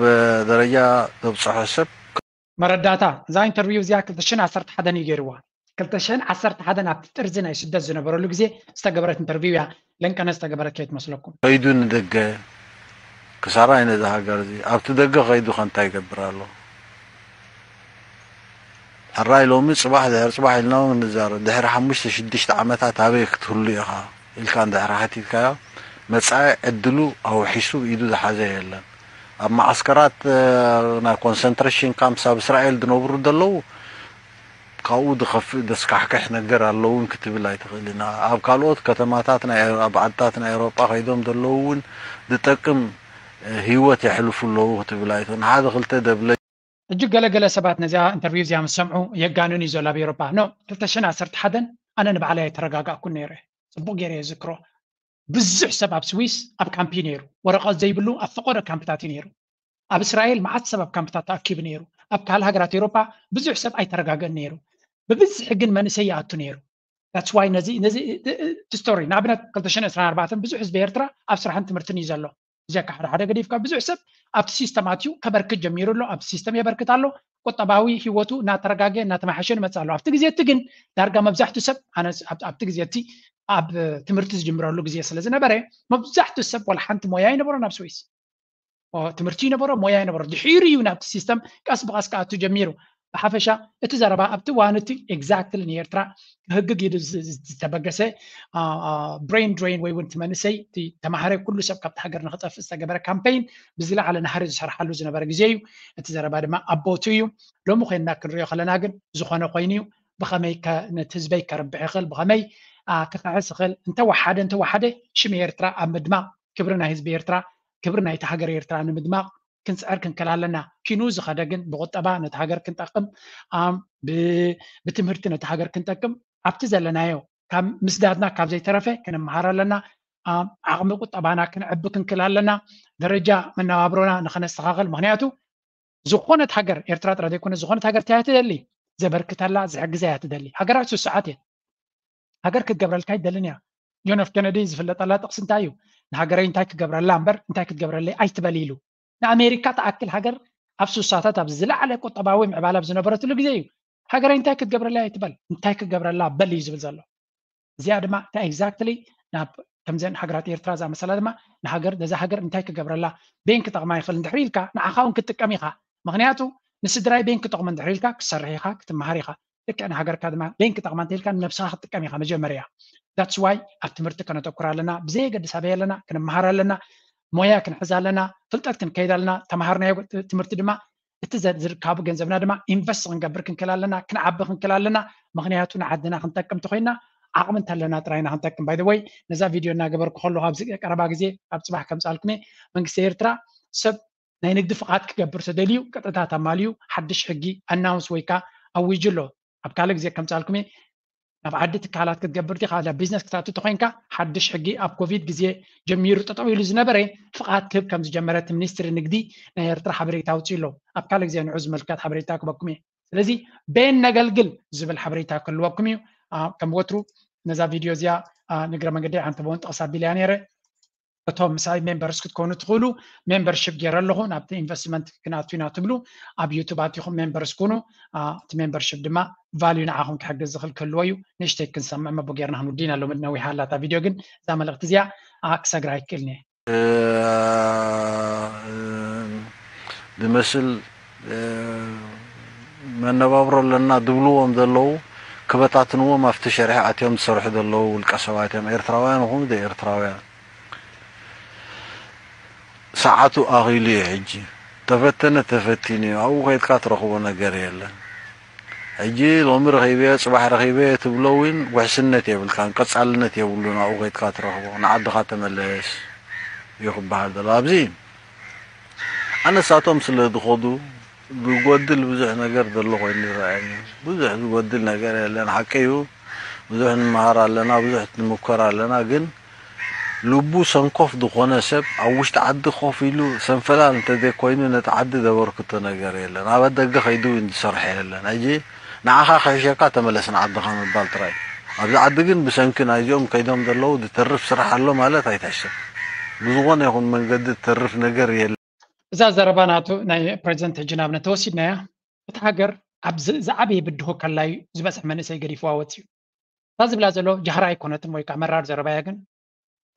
ደረጃ ዘብፅሖ ሰብ መረዳእታ እዛ ኢንተርቪው እዚኣ ክልተ ሽሕን ዓሰርተ ሓደን እዩ ገይርዋ ክልተ ሽሕን ዓሰርተ ሓደን ኣብቲ ጥርዚ ናይ ስደት ዝነበረሉ ግዜ ዝተገበረት ኢንተርቪው እያ ለንቀነ ዝተገበረት ከይትመስለኩም ከይዱ ንደገ ክሳራ እዩ ነዚ ሃገር እዚ። ኣብቲ ደገ ከይዱ ከ እንታይ ይገብር ኣሎ? ሕራይ ሎሚ ጽባሕ ድሕሪ ጽባሕ ኢልና እውን ንዛረብ። ድሕሪ ሓሙሽተ ሽዱሽተ ዓመታት ኣበይ ክትህሉ ኢኻ ኢልካ እንድሕሪ ሓቲትካዮ፣ መጻኢ ዕድሉ ኣውሒሱ ኢዱ ዝሓዘ የለን። ኣብ መዓስከራት፣ እ፣ ናይ ኮንሰንትሬሽን ካምፕስ ኣብ እስራኤል ዝነብሩ ዘለዉ ካብኡ ዝኸፍእ ዘስካሕክሕ ነገር ኣሎ እውን ክትብል ኣይትኽእልን። ኣብ ካልኦት ከተማታት ናይ፣ ኣብ ዓድታት ናይ ኤውሮጳ ከይዶም ዘለዉ እውን ዝጠቅም፣ እ፣ ህይወት የሕልፉ ኣለዉ ክትብል ኣይትኽእልን። ሓደ ክልተ ደብለ እጅግ ገለገለ ሰባት ነዚኣ ኢንተርቪው እዚኣ ምስ ሰምዑ የጋንኑ እዩ ዘሎ ኣብ ኤውሮጳ። ኖ፣ ክልተ ሽሕን ዓሰርተ ሓደን ኣነ ንባዕለይ ኣይተረጋጋእኩን ነይረ። ጽቡቕ ገይረ እየ ዝዝክሮ። ብዙሕ ሰብ ኣብ ስዊስ ኣብ ካምፕ እዩ ነይሩ። ወረቐት ዘይብሉ ኣብ ፈቐዶ ካምፕታት እዩ ነይሩ። ኣብ እስራኤል መዓት ሰብ ኣብ ካምፕታት ተኣኪቡ ነይሩ። ኣብ ካልእ ሃገራት ኤውሮጳ ብዙሕ ሰብ ኣይተረጋገእን ነይሩ። ብብዝሒ ግን መንእሰይ ይኣቱ ነይሩ። That's why ነዚ ነዚ እቲ ስቶሪ ንኣብነት ክልተ ሽሕን ዕስራን ኣርባዕተን ብዙሕ ህዝቢ ኤርትራ ኣብ ስራሕን ትምህርትን እዩ ዘሎ። ብዘካ ሓደ ሓደ ገዲፍካ ብዙሕ ሰብ ኣብቲ ሲስተም ኣትዩ ከበርክት ጀሚሩ ኣሎ። ኣብቲ ሲስተም የበርክት ኣሎ። ቁጠባዊ ህይወቱ እናተረጋገ እናተማሓሸ ይመጽእ ኣሎ። ኣብቲ ግዜ እቲ ግን ዳርጋ መብዛሕትኡ ሰብ ኣነ ኣብ- ኣብቲ ግዜ እቲ ኣብ ትምህርቲ ዝጅምረሉ ግዜ ስለ ዝነበረ መብዛሕትኡ ሰብ ዋላ ሓንቲ ሞያ ኣይነበሮን ኣብ ስዊስ። ኦ፣ ትምህርቲ ይነበሮ፣ ሞያ ይነበሮ። ድሒሩ እዩ ናብቲ ሲስተም ቀስ ብቐስ ክኣቱ ጀሚሩ። ብሓፈሻ እቲ ዘረባ ኣብቲ እዋን እቲ ኤግዛክትሊ ንኤርትራ ክህግግ ኢሉ ዝ- ዝ- ዝተበገሰ፣ አ፣ አ፣ ብሬን ድሬን ወይ እውን እቲ መንእሰይ እቲ ተማሃረ ኩሉ ሰብ ካብቲ ሃገር ንክጠፍእ ዝተገበረ ካምፔይን ብዝለዓለ ናህሪ ዝሰርሓሉ ዝነበረ ግዜ እዩ። እቲ ዘረባ ድማ ኣብ ቦቱ እዩ። ሎሚ ኮይንና ክንሪኦ ከለና ግን ዝኾነ ኮይኑ እዩ። ብኸመይ ከ- ነቲ ህዝበይ ከርብሕ ይኽእል፣ ብኸመይ፣ አ፣ ክኽሕስ ይኽእል፣ እንተወሓደ እንተወሓደ ሽም ኤርትራ ኣብ ምድማቕ፣ ክብሪ ናይ ህዝቢ ኤርትራ፣ ክብሪ ናይቲ ሃገር ኤርትራ ንምድማቕ ክንጽዕር ክንክእል ኣለና። ኪኑ ዝኸደ ግን ብቁጠባ ነቲ ሃገር ክንጠቅም፣ ኣም፣ ብ- ብትምህርቲ ነቲ ሃገር ክንጠቅም ኣብቲ ዘለናዮ ካብ ምስዳድና ካብ ዘይተረፈ ክንመሃር ኣለና። ኣም፣ ዓቕሚ ቁጠባና ክንዕቢ ክንክእል ኣለና። ደረጃ መነባብሮና ንኸነስተኻኸል። ምኽንያቱ ዝኾነት ሃገር፣ ኤርትራ ጥራይ ዘይኮነ ዝኾነት ሃገር እንታይ እያ ትደሊ? ዘበርክተላ ዝሕግዛ እያ ትደሊ። ሃገራት ስሱዓት እየን። ሃገር ክትገብረልካ ኣይደልን እያ። ጆን ኤፍ ኬነዲ ዝፍለጠላ ጥቕሲ እንታይ እዩ? ንሃገረይ እንታይ ክገብረላ እምበር እንታይ ክትገብረለይ ኣይትበል ኢሉ። ንኣሜሪካ ትኣክል ሃገር ኣብ ስሳታት ኣብ ዝለዓለ ቁጠባዊ ምዕባለ ኣብ ዝነበረትሉ ግዜ እዩ። ሃገረይ እንታይ ክትገብረለይ ኣይትበል፣ እንታይ ክገብረላ በል እዩ ዝብል ዘሎ። እዚኣ ድማ እታ ኤግዛክትሊ ናብ ከምዘን ሃገራት ኤርትራ ዝኣመሰላ ድማ ንሃገር ነዛ ሃገር እንታይ ክገብረላ ቤን ክጠቕማ ይኽእል እንድሕር ኢልካ ንዓኻ እውን ክትጥቀም ኢኻ። ምኽንያቱ ንስድራይ ቤን ክጠቕሞ እንድሕር ኢልካ ክትሰርሕ ኢኻ፣ ክትመሃር ኢኻ። ልክዕ ንሃገርካ ድማ ቤን ክጠቕማ እንተ ኢልካ ንነብስኻ ክትጥቀም ኢኻ መጀመርያ። That's why ኣብ ትምህርቲ ከነተኩር ኣለና። ብዘየገድስ ኣበይ ኣለና ክንመሃር ኣለና። ሞያ ክንሕዝ ኣለና። ፍልጠት ክንከይድ ኣለና። ተምሃርናዮ ትምህርቲ ድማ እቲ ዘ- ዝርካቡ ገንዘብና ድማ ኢንቨስት ክንገብር ክንክእል ኣለና፣ ክንዓቢ ክንክእል ኣለና። ምኽንያቱ ንዓድና ክንጠቅም እንተኮይና ዓቕሚ እንተለና ጥራይና ክንጠቅም። By the way ነዛ ቪድዮ እናገበርኩ ከለኹ ኣብዚ ቀረባ ግዜ ኣብ ጽባሕ ከምጻልኩም እየ። መንግስቲ ኤርትራ ሰብ ናይ ንግዲ ፍቓድ ክገብር ተደልዩ ቅጥዕታት ኣማልዩ ሓድሽ ሕጊ ኣናውንስ ወይ ከዓ ኣዊጁ ኣሎ። ኣብ ካልእ ግዜ ከምጻልኩም እየ። ናብ ዓዲ ትካላት ክትገብር ዲኻ ናብ ቢዝነስ ክትኣቱ ተኮይንካ ሓድሽ ሕጊ ኣብ ኮቪድ ግዜ ጀሚሩ ጠጠው ኢሉ ዝነበረ ፍቓድ ክህብ ከም ዝጀመረ እቲ ሚኒስትሪ ንግዲ ናይ ኤርትራ ሓበሬታ ኣውፅኡ ኣሎ። ኣብ ካልእ ግዜ ንዑ ዝመልከት ሓበሬታ ክበኩም እየ። ስለዚ ቤን ነገልግል ዝብል ሓበሬታ ክህልወኩም እዩ። አ፣ ከም ወትሩ ነዛ ቪድዮ እዚኣ፣ አ፣ ንግረ መንገዲ ሓንቲ በውን ጥቕስ ኣቢልያ ነይረ። እቶም ምሳይ ሜምበርስ ክትኮኑ ትኽእሉ ሜምበርሽፕ ገይረ ኣለኹ ናብቲ ኢንቨስትመንት ክንኣቱ ኢና ትብሉ ኣብ ዩቱብ ኣቲኹም ሜምበርስ ኩኑ። አ፣ እቲ ሜምበርሽፕ ድማ ቫልዩ ንዓኹም ክሕግዝ ዝኽእል ክህልዎ እዩ። ንእሽተይ ክንሰምዕ መቦ ጌርና ክንውዲ ኢና ሎሚ ነዊሓ ኣላ እታ ቪድዮ ግን እዛ መልእኽቲ እዚኣ፣ አ፣ ክሰግራ ኣይክእልን እየ። ዝመስል መነባብሮ ኣለና ዝብልዎም ዘለዉ ክበታትንዎም ኣብቲ ሸርሒ ኣትዮም ዝሰርሑ ዘለዉ ውልቀ ሰባት እዮም። ኤርትራውያን ይኹኑ ዘይኤርትራውያን ሰዓቱ ኣኺሉ እዩ። ሕጂ ተፈተነ ተፈቲኑ እዩ። ኣብኡ ከይድካ ትረኽቦ ነገር የለን። ሕጂ ሎሚ ረኺበዮ ጽባሕ ረኺበዮ ትብሎ እውን ውሕስነት የብልካን፣ ቀጻልነት የብሉን። ኣብኡ ከይድካ ትረኽቦ ንዓድኻ ተመለስ እዩ ክበሃል ዘሎ። ኣብዚ ኣነሳቶም ስለ ዝኸዱ ዝጎድል ብዙሕ ነገር ዘሎ ኮይኑ ይረኣየኒ። ብዙሕ ዝጎድል ነገር የለን፣ ሓቂ እዩ። ብዙሕ ንመሃር ኣለና፣ ብዙሕ ንምኮር ኣለና። ግን ልቡ ሰንኮፍ ዝኾነ ሰብ ኣብ ውሽጢ ዓዲ ኮፍ ኢሉ ሰንፈላል እንተዘይኮይኑ ነቲ ዓዲ ዘበርክቶ ነገር የለን። ኣብ ደገ ከይዱ እውን ዝሰርሐ የለን። ሕጂ ንዓኻ ክሕሸካ ተመለስ ንዓድኻ ምባል ጥራይ። ኣብዚ ዓዲ ግን ብሰንኪ ናይዚኦም ከይዶም ዘለዉ ዝተርፍ ስራሕ ኣሎ ማለት ኣይትሕሰብ። ብዝኾነ ይኹን መንገዲ ዝተርፍ ነገር የለን። እዛ ዘረባ ናቱ ናይ ፕሬዚደንት ሕጂ ንኣብነት ተወሲድናያ፣ እቲ ሃገር ኣብ ዝ- ዝዓበየ ብድሆ ከላዩ ዝበፅሕ መንእሰይ ገዲፍዋ ወፅዩ። እታ ዝብላ ዘሎ ጃህራ ኣይኮነትን ወይ ከዓ መራር ዘረባ እያ፣ ግን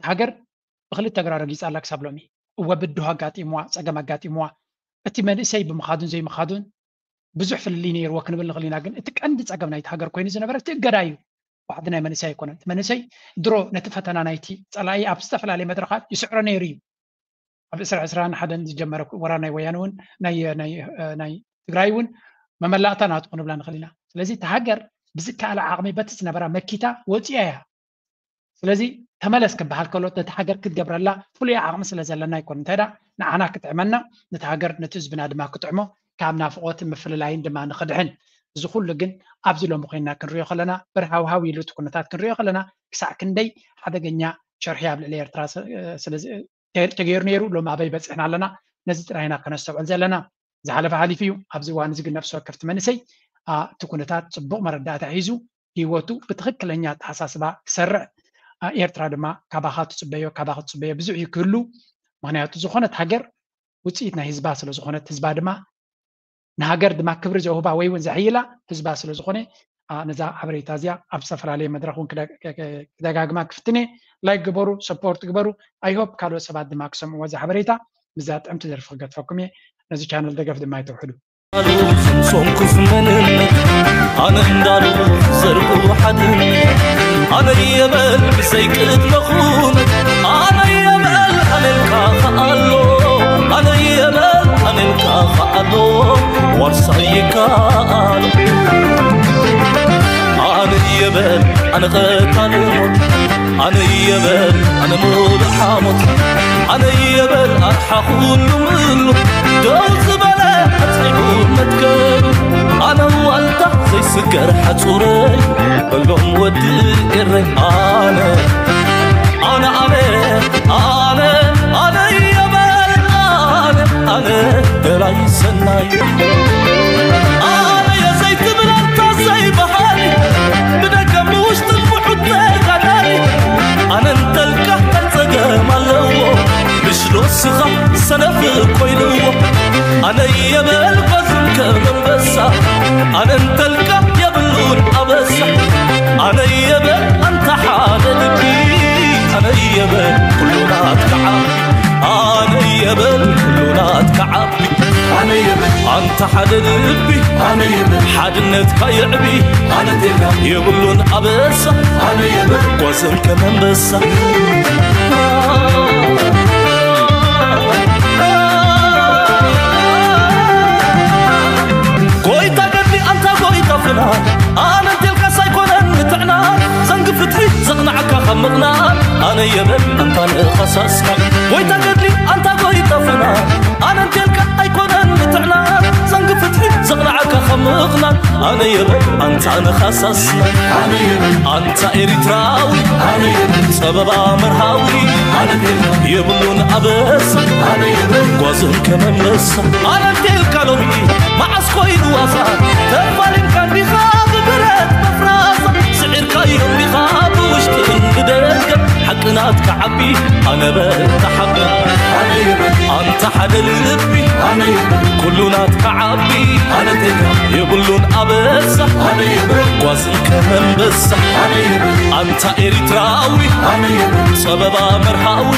ሃገር ብክልተ እግራ ረጊፃ ኣላ ክሳብ ሎሚ። እወ ብድሆ ኣጋጢምዋ፣ ጸገም ኣጋጢምዋ፣ እቲ መንእሰይ ብምኻዱን ዘይምኻዱን ብዙሕ ፍልልይ ነይርዎ ክንብል ንኽእል ኢና። ግን እቲ ቀንዲ ጸገም ናይቲ ሃገር ኮይኑ ዝነበረ እቲ እገዳ እዩ። ዋሕዲ ናይ መንእሰይ ኣይኮነን። እቲ መንእሰይ ድሮ ነቲ ፈተና ናይቲ ጸላኢ ኣብ ዝተፈላለየ መድረኻት ይስዕሮ ነይሩ እዩ። ኣብ ዕስራ ዕስራን ሓደን ዝጀመረ ወራር ናይ ወያነ እውን ናይ ናይ ናይ ትግራይ እውን መመላእታ ናቱ ክንብላ ንኽእል ኢና። ስለዚ እቲ ሃገር ብዝከኣለ ዓቕሚ በቲ ዝነበራ መኪታ ወፂኣ እያ። ስለዚ ተመለስ ክበሃል ከሎ ነቲ ሃገር ክትገብረላ ፍሉይ ዓቕሚ ስለ ዘለና ኣይኮን። እንታይ ደኣ ንዓና ክጥዕመና ነቲ ሃገር ነቲ ህዝብና ድማ ክጥዕሞ ካብ ናፍቆትን ምፍልላይን ድማ ንኽድሕን። እዚ ኩሉ ግን ኣብዚ ሎሚ ኮይንና ክንሪኦ ከለና በርሃውሃው ኢሉ እቲ ኩነታት ክንሪኦ ከለና ክሳዕ ክንደይ ሓደገኛ ሸርሒ ኣብ ልዕሊ ኤርትራ ተገይሩ ነይሩ፣ ሎም ኣበይ በፂሕና ኣለና፣ ነዚ ጥራይና ከነስተውዕል ዘለና። ዝሓለፈ ሓሊፉ እዩ። ኣብዚ እዋን እዚ ግን ነፍሲ ወከፍቲ መንእሰይ እቲ ኩነታት ፅቡቕ መረዳእታ ሒዙ ህይወቱ ብትኽክለኛ ኣተሓሳስባ ክሰርዕ ኤርትራ ድማ ካባኻ ትፅበዮ፣ ካባኻ ትፅበዮ ብዙሕ እዩ ክህሉ። ምክንያቱ ዝኾነት ሃገር ውፅኢት ናይ ህዝባ ስለ ዝኾነት ህዝባ ድማ ንሃገር ድማ ክብሪ ዘውህባ ወይ እውን ዘሕይላ ህዝባ ስለ ዝኾነ ነዛ ሓበሬታ እዚኣ ኣብ ዝተፈላለየ መድረኽ እውን ክደጋግማ ክፍትነ። ላይክ ግበሩ፣ ሰፖርት ግበሩ። ኣይሆፕ ካልኦት ሰባት ድማ ክሰምዕዎ እዛ ሓበሬታ። ብዛ ጥዕምቲ ደርፊ ክገድፈኩም እየ። ነዚ ቻነል ደገፍ ድማ ይተውሕዱ። ሶንኩስ መንነት ኣነ እንዳሉ ዘርጉ ሓድነት ኣነ የበል ብዘይ ቅድመ ኩነት ኣነ የበል ኣነልካ ከኣሎ ኣነ የበል ኣነልካ ከኣሎ ዋርሳይ ይከኣሎ ኣነ የበል ኣነ ቀታሊ ሞት ኣነ የበል ኣነ ሙሉእ ሓሞት ኣነ የበል ኣርሓ ኩሉ ምሉ ደው ዝበለ ኣጽኒዑ መትከሉ ኣነ ዋልታ ዘይስገር ሓጹረይ በሎም ወዲ ኤረይ ኣነ ኣነ ኣነ ኣነ ኣነ የበል ኣነ ኣነ ደላይ ሰናይ ኣነ የዘይትብል ኣንታ ዘይበሃል ብደገ ብውሽጥን ብሑት ተጋዳሊ ኣነ እንተልካ እንታይ ጸገም ኣለዎ ምሽ ዶ ስኻ ሰነፍ ኮይንዎ ኣነ የበል ጓዝም ከም ኣንበሳ ኣነ እንተልካ የብሉን ኣበሳ ኣነ የበል ኣንታ ሓደ ልቢ ኣነ የበል ኩሉ ናትካ ዓቢ ኣነ የበል ኩሉ ናትካ ዓቢ ኣነ የበል ኣንታ ሓደ ልቢ ኣነ የበል ሓድነትካ የዕቢ ኣነ ቴጋ የብሉን ኣበሳ ኣነ የበል ጓዝም ከም ኣንበሳ ጎይታ ገድሊ ኣንታ ጎይታ ፍና ኣነ እንቴልካስ ኣይኮነን ምትዕና ዘንጊ ፍትሒ ዘቕናዓካ ካብ ምቕናን ኣነ የበል ኣንታ ንኸሳስካ ጎይታ ገድሊ ኣንታ ጎይታ ፍና ኣነ እንቴልካ ኣይኮነን ምትዕና ዘንጊ ፍትሒ ዘቕናዓካ ካብ ምቕናን ኣነ የበል ኣንታ ንኸሳስና ኣነ የበል ኣንታ ኤሪትራዊ ኣነ የበል ጸበባ መርሃዊ ኣነ እንቴልካ የብሉን ኣበሳ ኣነ የበል ጓዝም ከመመሳ ኣነ እንቴልካ ሎሚ መዓስ ኮይኑ ዋሳ ተፋሊምካ እንዲኻ ብብረት መፍራሳ ስዒርካዮም ዲኻ ብውሽጥን ብደገ ሓቂ ናትካ ዓቢ ኣነ በል ተሓበን ኣነ የበል ኣንታ ሓደ ልቢ ኣነ የበል ኩሉ ናትካ ዓቢ ኣነ ቴጋ የብሉን ኣበሳ ኣነ የበል ጓዝም ከመንበሳ ኣነ የበል ኣንታ ኤሪትራዊ ኣነ የበል ጸበባ መርሃዊ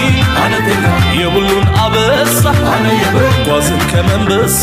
ኣነ ቴጋ የብሉን ኣበሳ ኣነ የበል ጓዝም ከመንበሳ